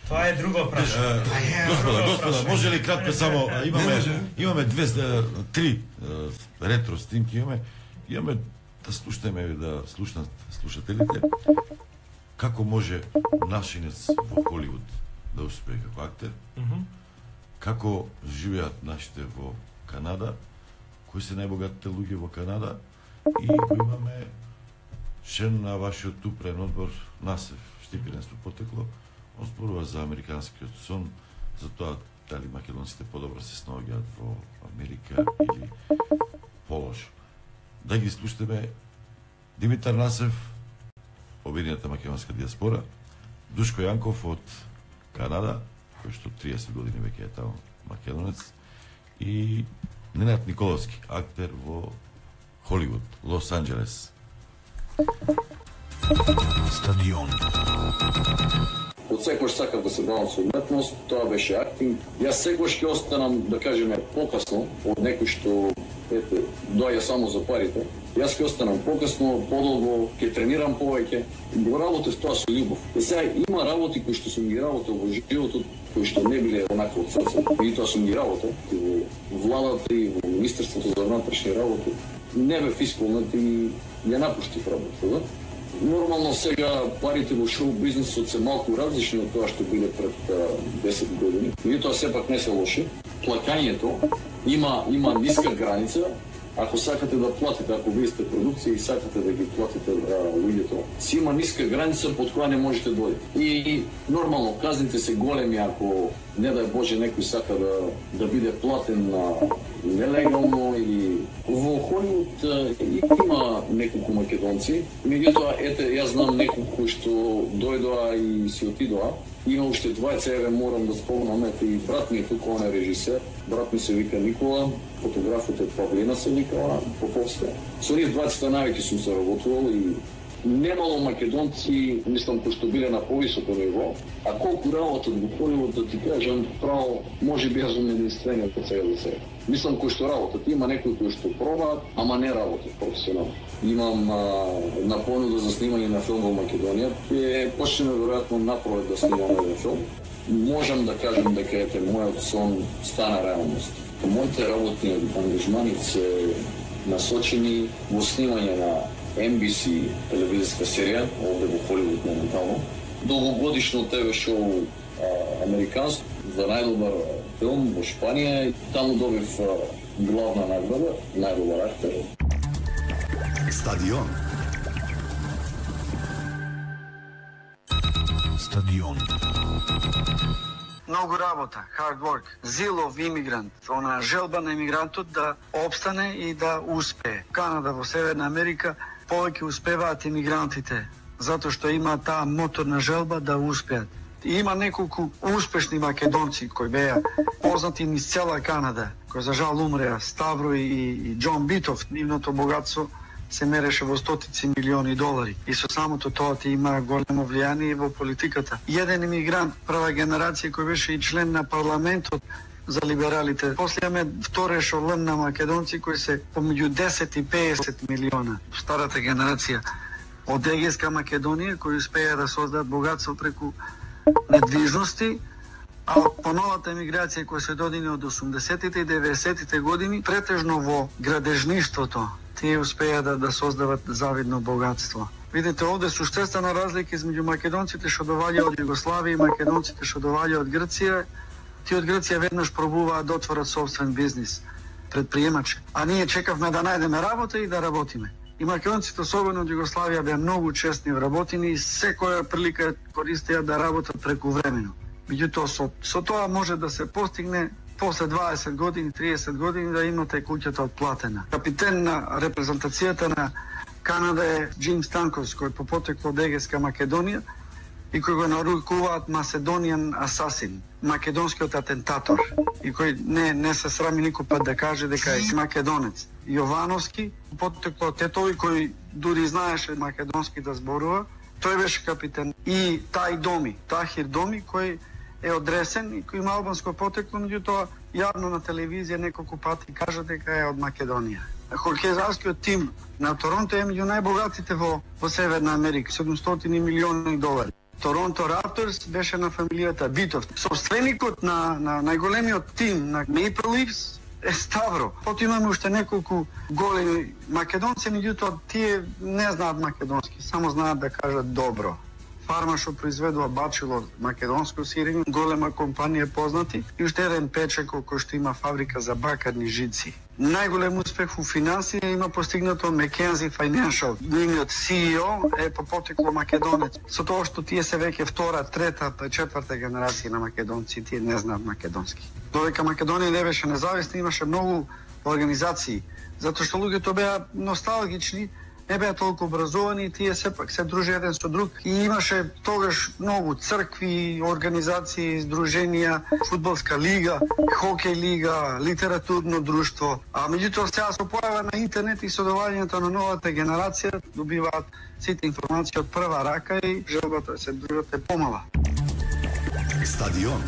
Тоа е друго прашање. Господа, господа, може ли кратко само имаме имаме две три ретро снимки имаме. Имаме да слушаме да слушнат слушателите како може нашинец во Холивуд да успее како актер. Mm -hmm. Како живеат нашите во Канада, кои се најбогатите луѓе во Канада и го имаме член на вашиот упрен одбор Насев Штипиренство потекло, он зборува за американскиот сон, за тоа дали македонците подобро се снаоѓаат во Америка или полошо. Да ги слушаме Димитар Насев, Обединета македонска диаспора, Душко Јанков од Канада, кој што триесет години веќе е таму македонец, и Ненад Николовски, актер во Холивуд, Лос Анџелес. Стадион. Од секојаш сакав да се бавам со уметност, тоа беше актинг. Јас секојаш ќе останам, да кажеме, покасно од некој што ете, доаѓа само за парите. Јас ќе останам покасно, подолго, ќе тренирам повеќе. Го работев тоа со љубов. И сега има работи кои што сум ги работел во животот, кои што не биле онака од срце. И тоа сум ги работел и во владата и во Министерството за внатрешни работи. Не бев исполнет и ја напуштив работата. Нормално сега парите во шоу бизнисот се малку различни од тоа што биле пред десет години. И тоа сепак не се лоши. Плакањето има има ниска граница. Ако сакате да платите, ако вие сте продукција и сакате да ги платите луѓето, си има ниска граница под која не можете да дојдете. И нормално казните се големи ако не дај Боже некој сака да да биде платен на нелегално или во Холивуд има неколку македонци, меѓутоа ете јас знам неколку што дојдоа и си отидоа. Има уште двајца, еве морам да спомнам, ете и брат ми е тука, он е режисер, брат ми се вика Никола, фотографот е Павлина се викала, Поповска. Со нив двајцата највеќе сум се работувал и немало македонци, мислам, кои што биле на повисоко ниво, а колку работат во Холивуд, да ти кажам, право, може би јас сум единствениот од сега до сега. Мислам, кои што работат, има некои кои што пробаат, ама не работат професионално. Имам а, на понуда за снимање на филм во Македонија, е почнеме веројатно напролет да снимаме еден филм. Можам да кажам дека ете мојот сон стана реалност. Моите работни ангажмани се насочени во снимање на Ен Би Си телевизиска серија, овде во Холивуд моментално. Долгогодишно те ве шоу американско за најдобар филм во Шпанија и таму добив а, главна награда, најдобар актер. Стадион. Стадион. Многу работа, hard work, зилов имигрант, она желба на имигрантот да опстане и да успее. Канада во Северна Америка повеќе успеваат имигрантите, затоа што има таа моторна желба да успеат. И има неколку успешни македонци кои беа познати низ цела Канада, кои за жал умреа, Ставро и, и Џон Битов, нивното богатство се мереше во стотици милиони долари. И со самото тоа ти има големо влијание во политиката. Еден имигрант, прва генерација кој беше и член на парламентот за либералите. После имаме втора ешелон на македонци кои се помеѓу десет и песет милиона. Старата генерација од Егејска Македонија кои успеа да создадат богатство преку недвижности, а по новата емиграција која се додини од осумдесетите и деветдесетите години, претежно во градежништвото, тие успеа да, да создават завидно богатство. Видите, овде суштествена разлика измеѓу македонците што доаѓаат од Југославија и македонците што доаѓаат од Грција. Тие од Грција веднаш пробуваат да отворат собствен бизнис, предприемачи. А ние чекавме да најдеме работа и да работиме. И македонците, особено од Југославија, беа многу честни вработени и секоја прилика користеа да работат прекувремено. Меѓутоа, со, со тоа може да се постигне после дваесет години, триесет години да имате куќата отплатена. Капитен на репрезентацијата на Канада е Џим Станковс, кој по потекло од Егејска Македонија и кој го нарекуваат Macedonian Assassin, македонскиот атентатор, и кој не, не се срами никој пат да каже дека е македонец. Јовановски, потекло од тетови кој дури знаеше македонски да зборува, тој беше капитен. И Тај Доми, Тахир Доми, кој е одресен и кој има албанско потекло, меѓутоа јавно на телевизија неколку пати кажа дека е од Македонија. Хокејскиот тим на Торонто е меѓу најбогатите во, во Северна Америка, седумстотини милиони долари. Торонто Рапторс беше на фамилијата Битов. Собственикот на, на најголемиот тим на Maple Leafs е Ставро. Потоа имаме уште неколку големи македонци, меѓутоа тие не знаат македонски, само знаат да кажат добро. Фарма што произведува бачило македонско сирење, голема компанија познати и уште еден печеко кој што има фабрика за бакарни жици. Најголем успех во финансија има постигнато Mackenzie Financial. Нивниот Си И О е по потекло македонец. Со тоа што тие се веќе втора, трета, четврта генерација на македонци, тие не знаат македонски. Додека Македонија не беше независна, имаше многу организации, затоа што луѓето беа носталгични, не беа толку образовани и тие сепак се дружи еден со друг. И имаше тогаш многу цркви, организации, здруженија, фудбалска лига, хокеј лига, литературно друштво. А меѓутоа сега се појава на интернет и со доаѓањето на новата генерација добиваат сите информации од прва рака и желбата се дружат е помала. Стадион.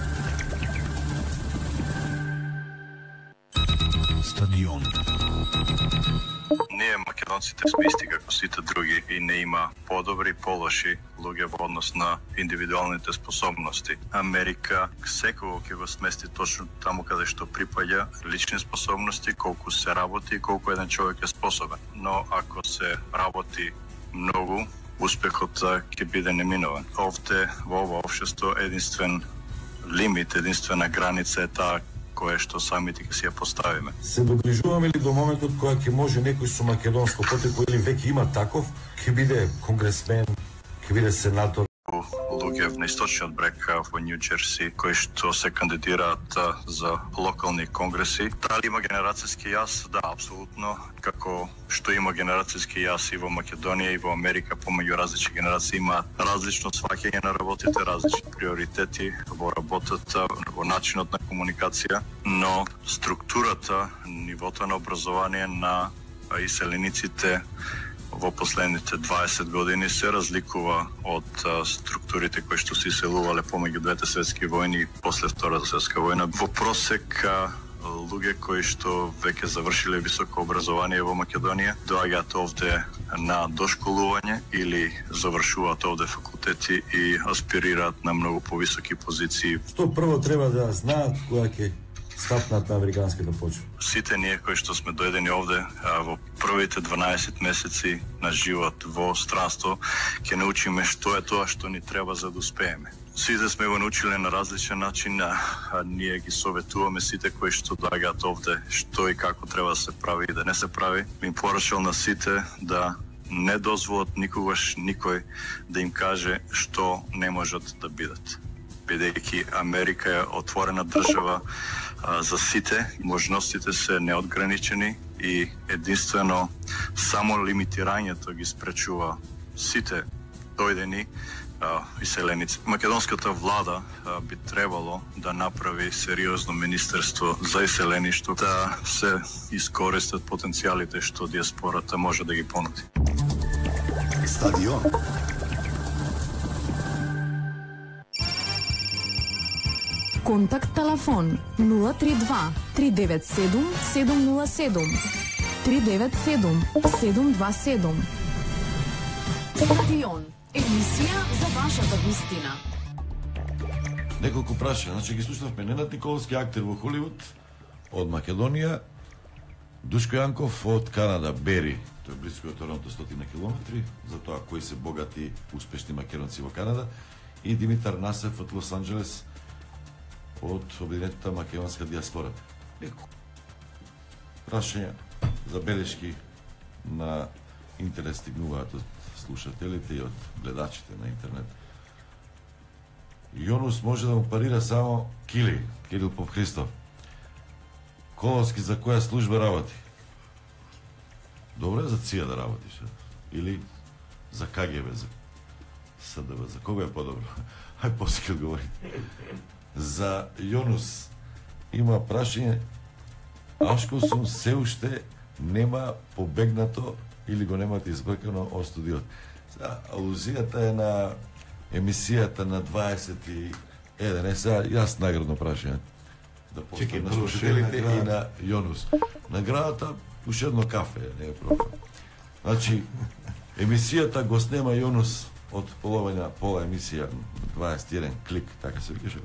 Стадион. Ние македонците сме исти како сите други и не има подобри, полоши луѓе во однос на индивидуалните способности. Америка секој ќе го смести точно таму каде што припаѓа лични способности, колку се работи и колку еден човек е способен. Но ако се работи многу успехот ќе биде неминован. Овде во ова општество единствен лимит, единствена граница е таа која што самите ќе си ја поставиме. Се доближуваме ли до моментот кога ќе може некој со македонско потекло или веќе има таков, ќе биде конгресмен, ќе биде сенатор? Луѓе на источниот брег во Нью Џерси кои што се кандидираат за локални конгреси. Дали има генерацијски јас? Да, апсолутно. Како што има генерацијски јас и во Македонија и во Америка, помеѓу различни генерации има различно сваќање на работите, различни приоритети во работата, во начинот на комуникација, но структурата, нивото на образование на иселениците во последните дваесет години се разликува од а, структурите кои што се иселувале помеѓу двете светски војни и после Втората светска војна. Во просек а, луѓе кои што веќе завршиле високо образование во Македонија доаѓаат овде на дошколување или завршуваат овде факултети и аспирираат на многу повисоки позиции. Што прво треба да знаат кога ќе стапнат на американската почва? Сите ние кои што сме дојдени овде а, во првите дванаесет месеци на живот во странство ќе научиме што е тоа што ни треба за да успееме. Сите сме го научиле на различен начин, а, а ние ги советуваме сите кои што доаѓаат овде што и како треба да се прави и да не се прави. Им порачал на сите да не дозволат никогаш никој да им каже што не можат да бидат. Бидејќи Америка е отворена држава а, за сите, можностите се неодграничени и единствено само лимитирањето ги спречува сите дојдени а, иселеници. Македонската влада а, би требало да направи сериозно министерство за иселеништво, да се искористат потенцијалите што диаспората може да ги понуди. Стадион. Контакт телефон нула три два три девет седум седум нула седум три девет седум седум два седум. Стадион. Емисија за вашата вистина. Неколку прашања, значи ги слушнавме Ненад Николовски, актер во Холивуд, од Македонија, Душко Јанков од Канада, Бери, тој е близко од Торонто стотина километри, за тоа кои се богати, успешни македонци во Канада, и Димитар Насев од Лос Анџелес, од Обединетата македонска диаспора. Неколку прашања, забелешки на интернет стигнуваат од слушателите и од гледачите на интернет. Јонус може да му парира само Кили, Кирил Попхристов. Коловски за која служба работи? Добро е за ЦИА да работиш, или за КГБ, за СДБ, за кога е подобро? Ај после одговорите. За Јонус има прашање, Ашко сум се уште нема побегнато или го немате избркано од студиот. Алузијата е на емисијата на дваесет и еден. Е, сега јас наградно прашање да поставам на слушателите и на Јонус. Наградата уш едно кафе, не е проблем. Значи, емисијата го снема Јонус од половина пола емисија дваесет и еден клик, така се викаше.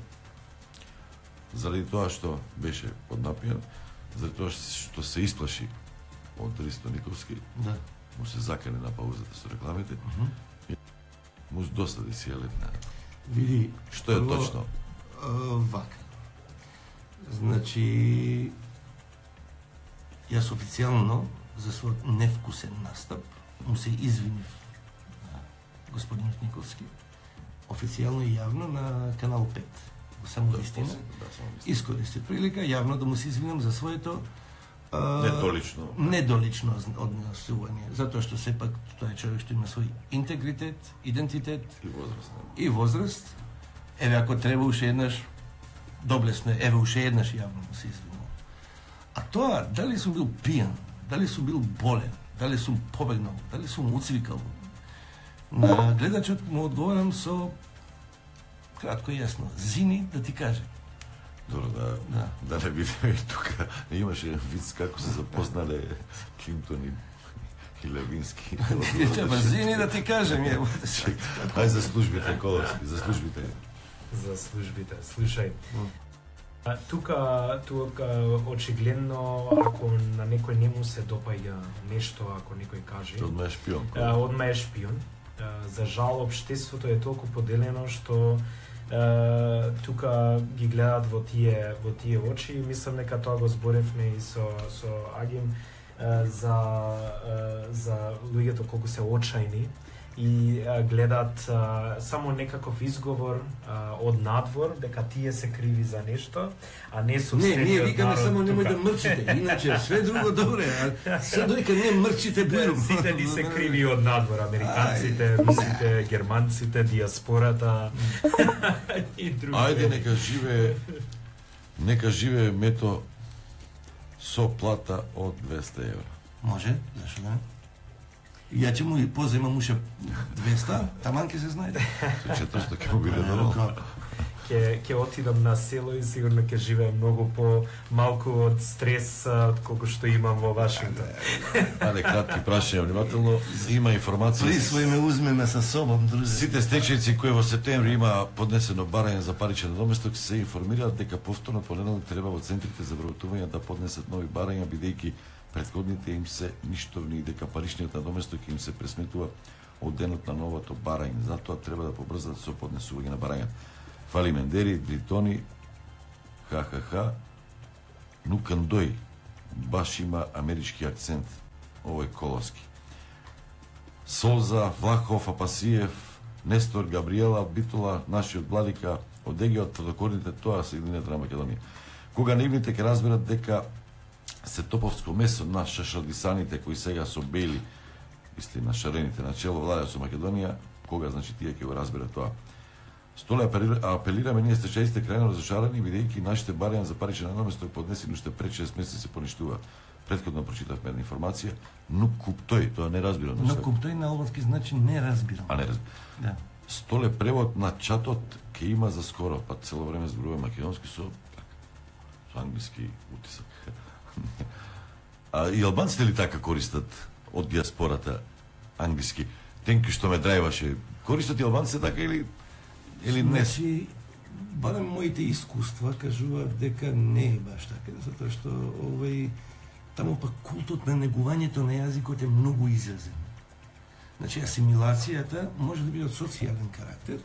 Заради тоа што беше поднапијан, заради тоа што се исплаши од Ристо Николски, да. Му се закане на паузата со рекламите, uh -huh. и му досади си е летна. Види, што е прво, точно? А, вака. Значи, јас официјално за својот невкусен настап му се извинив господин Николски. Официјално и јавно на Канал пет. Само да, вистина. Да, искористи прилика јавно да му се извинам за своето недолично недолично однесување, затоа што сепак тоа е човек што има свој интегритет, идентитет и возраст. И возраст. Еве ако треба уште еднаш доблесно, еве уште еднаш јавно му се извинувам. А тоа дали сум бил пијан, дали сум бил болен, дали сум побегнал, дали сум уцвикал, на гледачот му одговарам со кратко и јасно. Зини да ти кажем. Добро, да, да. да не видиме и тука. Имаше виц како се запознале Клинтон и, и Левински. Треба зини да ти кажем. Ај за службите, Коловски, за службите. За службите. Слушај, а, тука, тука очигледно, ако на некој не му се допаѓа нешто, ако некој каже... Одма е шпион. А, одма е шпион. За жал, општеството е толку поделено што Uh, тука ги гледат во тие во тие очи и мислам дека тоа го зборевме и со со Агим uh, за uh, за луѓето колку се очајни и uh, гледат uh, само некаков изговор uh, од надвор дека тие се криви за нешто, а не со Не, ние викаме само немој да мрчите, иначе све друго добре, а се додека не мрчите бујрум. Сите ни се криви од надвор, американците, русите, германците, диаспората и други. Ајде нека живее нека живее Мето со плата од двеста евра. Може, зашто да? Ја ќе му и поземам уште двеста, таман ќе се знајде. Се четврсто ќе му биде нормално. Ќе ќе отидам на село и сигурно ќе живеем многу по малку од стрес од колку што имам во Вашингтон. Ајде кратки прашања внимателно. Има информација. Присвои ме узмеме со собом, друже. Сите стечајци кои во септември има поднесено барање за паричен наместок се информираат дека повторно понеделник треба во центрите за вработување да поднесат нови барања бидејќи претходните им се ништовни и дека паричниот надоместок им се пресметува од денот на новото барање. Затоа треба да побрзат со поднесување на барања. Фали Мендери, Бритони, ха-ха-ха, Нукандој, баш има амерички акцент, овој колоски. Солза, Влахов, Апасиев, Нестор, Габриела, Битола, нашиот владика, од Егеот, тврдокорните, тоа се Единета на Македонија. Кога наивните ќе разберат дека се топовско месо на шашадисаните кои сега со бели, мисли на шарените на чело владеат со Македонија, кога значи тие ќе го разберат тоа. Столе апелираме ние стечајците крајно разочарани бидејќи нашите барања за паричен наместок поднесени уште пред шест месеци се поништува. Предходно прочитавме една информација, но куптој, тоа не разбирам. Но куптој на албански значи не разбирам. А не разбирам. Да. Столе превод на чатот ќе има за скоро, па цело време зборува македонски со со англиски утисак. А и албанците ли така користат од диаспората англиски? Тенки што ме драјваше. Користат и албанците така или или не? Значи, барем моите искуства кажуваат дека не е баш така, затоа што овој таму пак култот на негувањето на јазикот е многу изразен. Значи, асимилацијата може да биде од социјален карактер.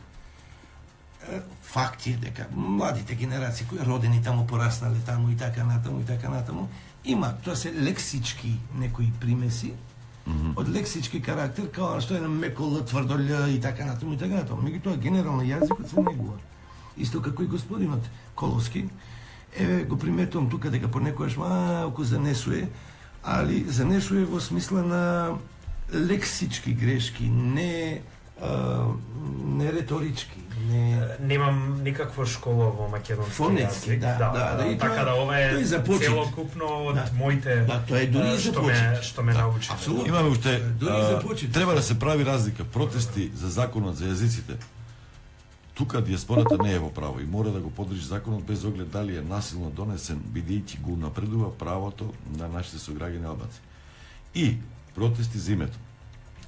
Факт е дека младите генерации кои родени таму, пораснале таму и така натаму и така натаму, има, тоа се лексички некои примеси, mm-hmm. од лексички карактер, као што е на меко Л, тврдо Л и така натаму и така натаму. Меѓутоа генерално јазикот се негува. Исто како и господинот Коловски, еве го приметувам тука дека понекогаш малку занесуе, али занесуе во смисла на лексички грешки, не а, не реторички, не немам никаква школа во македонски фонетски, јазик. Да, да, да, да, така да ова е целокупно од да, моите да, тоа е дури што ме што ме да, научи. Имаме уште а, треба да се прави разлика протести за законот за јазиците. Тука диаспората не е во право и мора да го подржи законот без оглед дали е насилно донесен, бидејќи го напредува правото на нашите сограѓани албанци. И протести за името.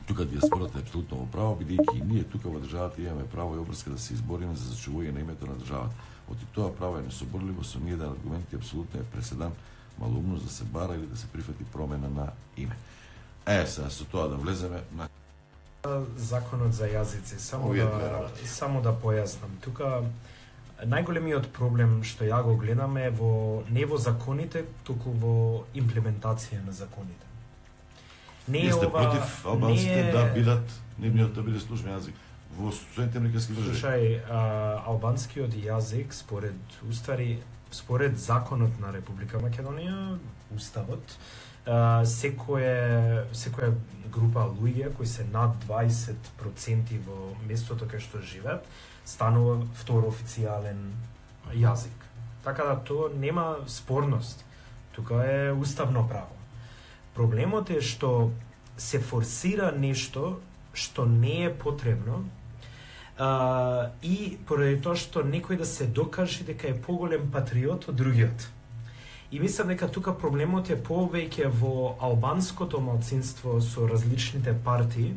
Тука диаспората е апсолутно во право, бидејќи и ние тука во државата имаме право и обврска да се избориме за зачувување на името на државата. Оти тоа право е несоборливо со ниеден аргумент и апсолутно е преседан малумност да се бара или да се прифати промена на име. Е, сега со тоа да влеземе на законот за јазици, само да само да појаснам. Тука најголемиот проблем што ја го гледам е во не во законите, туку во имплементација на законите. Не е ова против албанците е... да бидат нивниот да биде службен јазик во Соединетите американски држави. Слушај, а, албанскиот јазик според устави, според законот на Република Македонија, уставот, Uh, секоја секоја група луѓе кои се над дваесет проценти во местото кај што живеат станува втор официјален јазик. Така да тоа нема спорност. Тука е уставно право. Проблемот е што се форсира нешто што не е потребно uh, и поради тоа што некој да се докаже дека е поголем патриот од другиот. И мислам дека тука проблемот е повеќе во албанското малцинство со различните партии,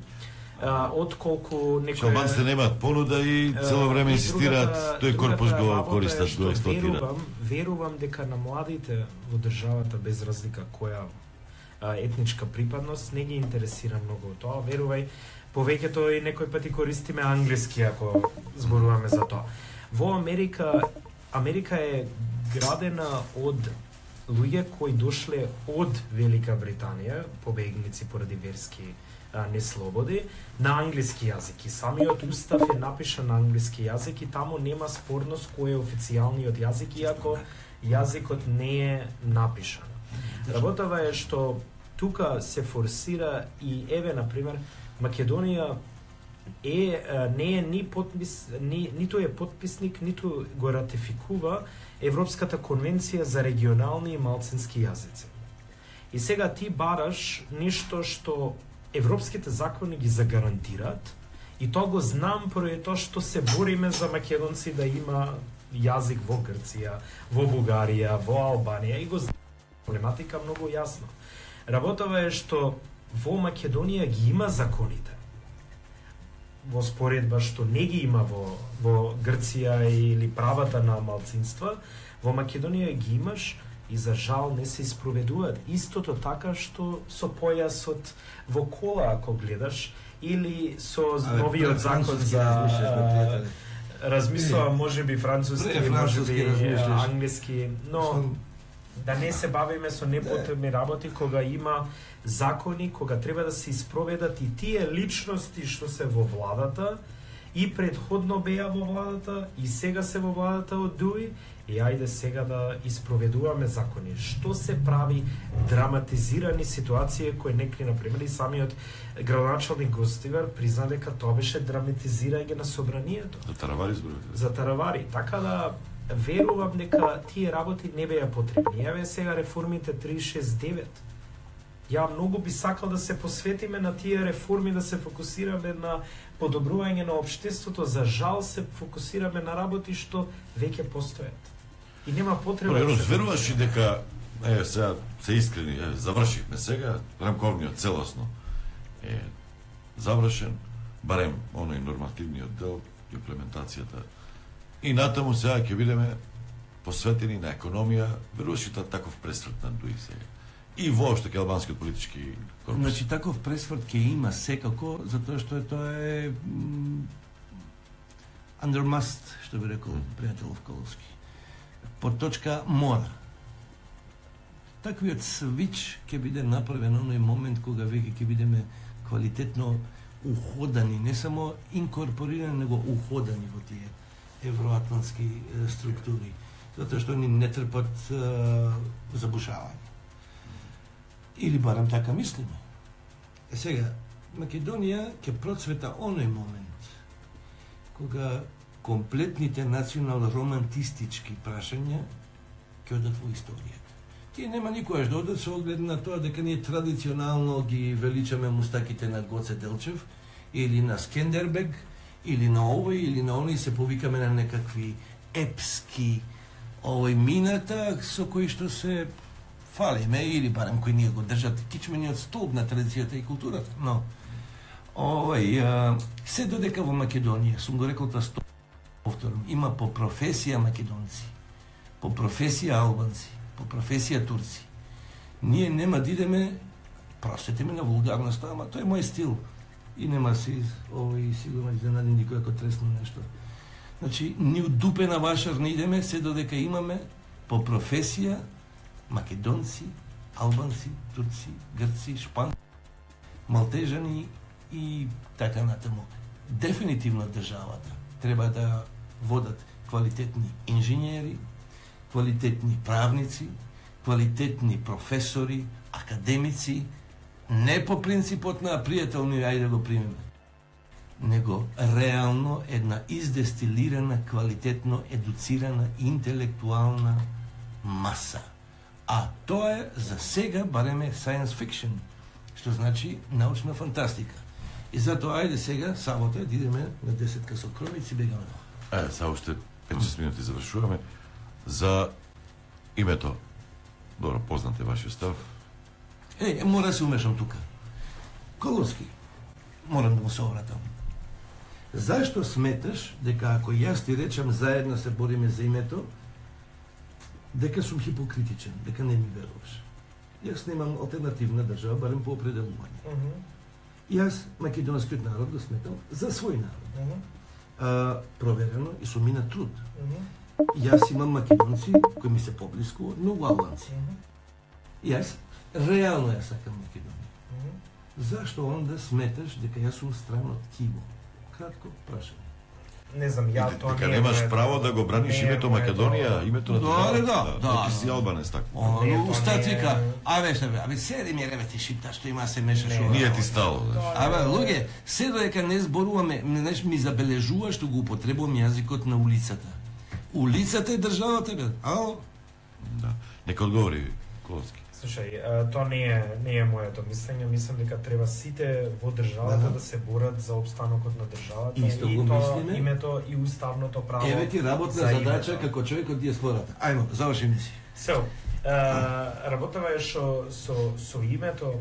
а, отколку некој... Албанците немаат понуда и цело време инсистираат, тој корпус го користат, го експлоатираат. Верувам, верувам дека на младите во државата, без разлика која а, етничка припадност, не ги интересира многу тоа. Верувај, повеќето и некој пати користиме англиски ако зборуваме за тоа. Во Америка, Америка е градена од луѓе кои дошле од Велика Британија, побегници поради верски а, неслободи, на англиски јазик. И самиот устав е напишан на англиски јазик и таму нема спорност кој е официјалниот јазик, иако јазикот не е напишан. Работава е што тука се форсира и еве, например, Македонија е, не е ни подпис, ни, ниту е подписник, ниту го ратификува Европската конвенција за регионални и малцински јазици. И сега ти бараш ништо што европските закони ги загарантираат, и тоа го знам поради тоа што се бориме за македонци да има јазик во Грција, во Бугарија, во Албанија, и го знам проблематика многу јасно. Работава е што во Македонија ги има законите, во споредба што не ги има во, во Грција или правата на малцинства, во Македонија ги имаш и за жал не се испроведуваат. Истото така што со појасот во кола, ако гледаш, или со новиот закон за... Размислувам, може би француски, може би англиски, но да не се бавиме со непотребни работи кога има закони, кога треба да се испроведат и тие личности што се во владата и предходно беа во владата и сега се во владата од Дуи, и ајде сега да испроведуваме закони. Што се прави драматизирани ситуации кои некои, например, и самиот градоначалник Гостивар призна дека тоа беше драматизирање на собранието. За таравари зборувате? За таравари. Така да верувам дека тие работи не беа потребни. Еве сега реформите три шест девет. Ја многу би сакал да се посветиме на тие реформи, да се фокусираме на подобрување на општеството. За жал се фокусираме на работи што веќе постојат. И нема потреба да се... Веруваш и дека, е, сега, се искрени, е, завршихме сега, рамковниот целосно е завршен, барем оној нормативниот дел, имплементацијата. И натаму сега ќе бидеме посветени на економија, веруваш и таков пресврт на Дуи сега. И воопшто ке албанскиот политички корпус. Значи таков пресврт ќе има секако, затоа што е тоа е under must, што би рекол mm. пријателов Коловски. Под точка мора. Таквиот свич ќе биде направен оној момент кога веќе ќе бидеме квалитетно уходани, не само инкорпорирани, него уходани во тие евроатлантски структури, затоа што ни не трпат uh, забушавање. Или барем така мислиме. Е сега, Македонија ќе процвета оној момент кога комплетните национал-романтистички прашања ќе одат во историјата. Тие нема никогаш да одат со оглед на тоа дека ние традиционално ги величаме мустаките на Гоце Делчев или на Скендербег или на овој или на оној, се повикаме на некакви епски овој мината со кои што се фалиме или барем кои ние го држат кичмениот столб на традицијата и културата. Но овој а, се додека во Македонија, сум го рекол тоа сто повторам, има по професија македонци, по професија албанци, по професија турци. Ние нема да идеме, простете ме на вулгарноста, ама тој е мој стил. И нема си овој сигурно изненади никој ако тресне нешто. Значи, ни удупена вашар не идеме, се додека имаме по професија македонци, албанци, турци, грци, шпанци, малтежани и така натаму. Дефинитивно државата треба да водат квалитетни инженери, квалитетни правници, квалитетни професори, академици, не по принципот на пријателни, ајде да го примеме, него реално една издестилирана, квалитетно едуцирана, интелектуална маса. А тоа е за сега бареме science fiction, што значи научна фантастика. И затоа ајде сега, сабота, да идеме на десет со кровици, бегаме. Е, сега уште пет-шест минути завршуваме. За името, добро, познате вашиот став. Е, мора да се умешам тука. Коловски, морам да му се обратам. Зашто сметаш дека ако јас ти речам заедно се бориме за името, дека сум хипокритичен, дека не ми веруваш? Јас немам алтернативна држава, барем по определување. Mm -hmm. Јас македонскиот народ го сметам за свој народ. А, проверено и со мина труд. Јас имам македонци кои ми се поблиску, многу албанци. Јас реално ја сакам Македонија. Зашто онда сметаш дека јас сум стран од Киво? Кратко прашање. Не знам, ја тоа дека немаш право да го браниш името Македонија, името на државата. Да, да, ти си албанец така. Оно устат вика, абе што бе, абе седи ми реве ти шипта што има се мешаш. Ние ти стало. Абе луѓе, се додека не зборуваме, знаеш, ми забележува што го употребувам јазикот на улицата. Улицата е државата бе. Ало? Да. Нека одговори Коловски. Слушај, тоа не е не е моето мислење, мислам дека треба сите во државата да се борат за опстанокот на државата Исто и го тоа мислиме. името и уставното право. Еве ти работна за задача името. како човек од диаспората. Ајмо, заврши си. So, работава е што со со името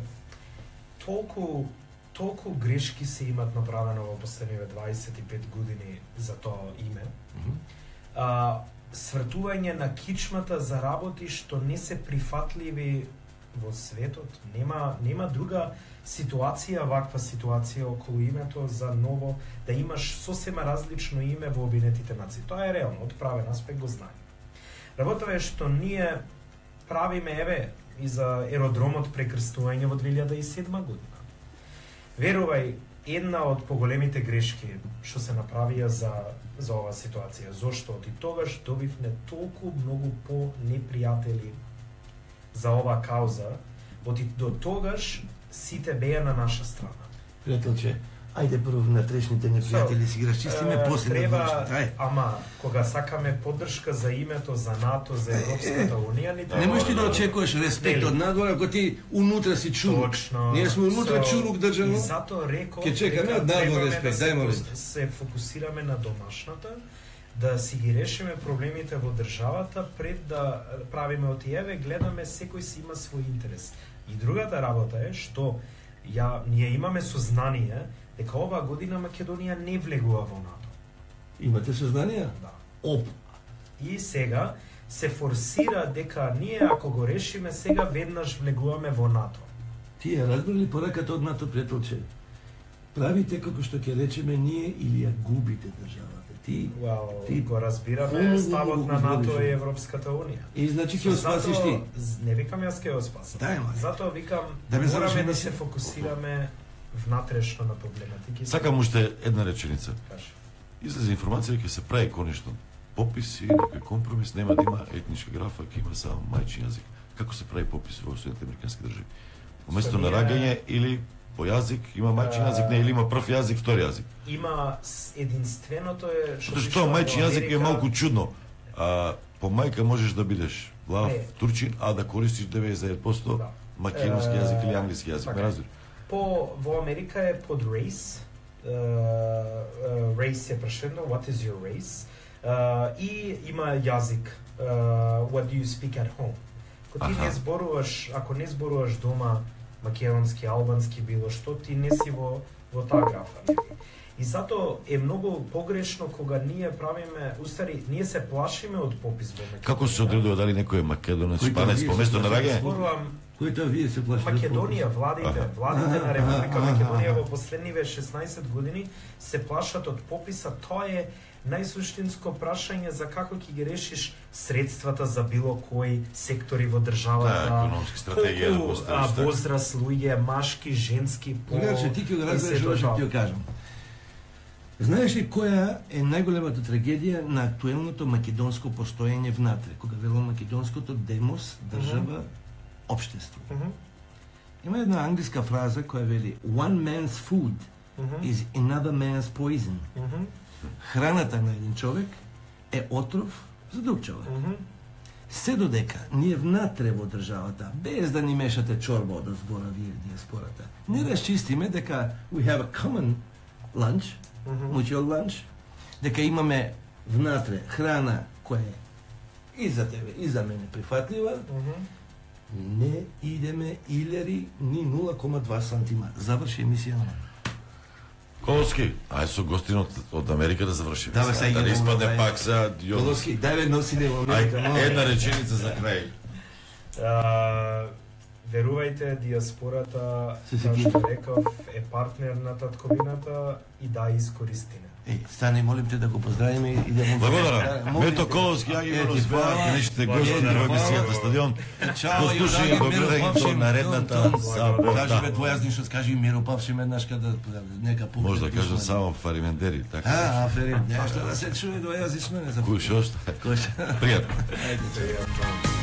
толку толку грешки се имат направено во последниве дваесет и пет години за тоа име. А, свртување на кичмата за работи што не се прифатливи во светот. Нема нема друга ситуација, ваква ситуација околу името за ново, да имаш сосема различно име во Обединетите нации. Тоа е реално, од правен аспект го знаеме. Работава е што ние правиме, еве, и за аеродромот прекрстување во две илјади и седма година. Верувај, една од поголемите грешки што се направија за за оваа ситуација, зошто од и тогаш добивме толку многу по-непријатели за оваа кауза, од и до тогаш сите беа на наша страна. Пријателче, ајде прво внатрешните непријатели си ги расчистиме, Е, после треба, на външните. ама кога сакаме поддршка за името, за НАТО, за Европската унија, ни Не можеш ти да очекуваш респект од надвор ако ти унутра си чурук. Точно. Ние сме унутра So, чурук држано. И затоа реков Ке чекаме дека од надвор требаме респект, да дај се, молим. фокус- се фокусираме на домашната, да си ги решиме проблемите во државата пред да правиме од еве, гледаме секој си има свој интерес. И другата работа е што ја ние имаме сознание дека оваа година Македонија не влегува во НАТО. Имате сознание? Да. Оп. И сега се форсира дека ние ако го решиме сега веднаш влегуваме во НАТО. Ти ја разбрали пораката од НАТО, пријателче? Правите како што ќе речеме ние или ја губите државата. Ти, well, ти го разбираме ставот на НАТО и Европската унија. И значи ќе спасиш ти. Не викам јас ќе го спасам. Дај, ма. Затоа викам Да ме мораме завршиме да си. се фокусираме внатрешно на проблематики. Сакам уште една реченица. Кажи. Излезе информација дека се прави конечно попис и некој компромис, нема да има етничка графа, ќе има само мајчин јазик. Како се прави попис во Соединетите американски држави? Уместо на рагање или по јазик има мајчин јазик, не, или има прв јазик, втори јазик. Има с- единственото е Што што мајчин јазик е малку чудно. А по мајка можеш да бидеш глав Не. турчин, а да користиш деветдесет и девет проценто македонски јазик или англиски јазик, Така ме е. разбираш? По во Америка е под race. Uh, uh, race е прашено, what is your race? Uh, и има јазик, uh, what do you speak at home? Ако ти Аха. не зборуваш, ако не зборуваш дома македонски, албански, било што, ти не си во, во таа графа. нели? И затоа е многу погрешно кога ние правиме, устари, ние се плашиме од попис во Македонија. Како се одредува дали некој е македонец, Кој шпанец, вие по се место на плашите? рагање? Зборувам Кој тоа вие се плашите? Македонија, владите, Аха. владите на Република Аха, Македонија аха. во последниве шеснаесет години се плашат од пописа. Тоа е најсуштинско прашање за како ќе ги решиш средствата за било кој сектори во државата. Да, економски стратегија да колку, поставиш, а, така. возраст луѓе, машки, женски, пол. Значи, ти ќе го и разбереш сето ова што тоа. ти го кажам. Знаеш ли која е најголемата трагедија на актуелното македонско постоење внатре? Кога велам македонското демос, држава, општество. Мгм. Има една англиска фраза која вели one man's food Мгм. is another man's poison. Мгм. Храната на еден човек е отров за друг човек. Мгм. Се додека ние внатре во државата, без да ни мешате чорба од збора вие диаспората, не расчистиме дека we have a common lunch, Мгм. mutual lunch, дека имаме внатре храна која е и за тебе, и за мене прифатлива, Мгм. не идеме илери ни нула кома два сантима. Заврши емисија на мене. Коловски, ај со гостин од, од Америка да завршиме. Да, бе, сега да не идемо, испадне ај. пак сега јон. Коловски, дај бе носи да во Ај, Америка. една реченица за крај. А, верувајте, диаспората, како што реков, е партнер на татковината и да искористиме. Е, стани, молим те да го поздравиме и да му... Благодарам. Мето Коловски, ја ги го разбеа, нешите гости на емисијата Стадион. Чао, Послушај го гледање до наредната сабота. Кажи бе твојазни што скажи Миро Павшим еднаш када нека пукне. Може да кажам само Фаримендери, така. А, Фарим, нешто да се чуе двојазично, не за. Кој што? Кој што? Пријатно. Ајде,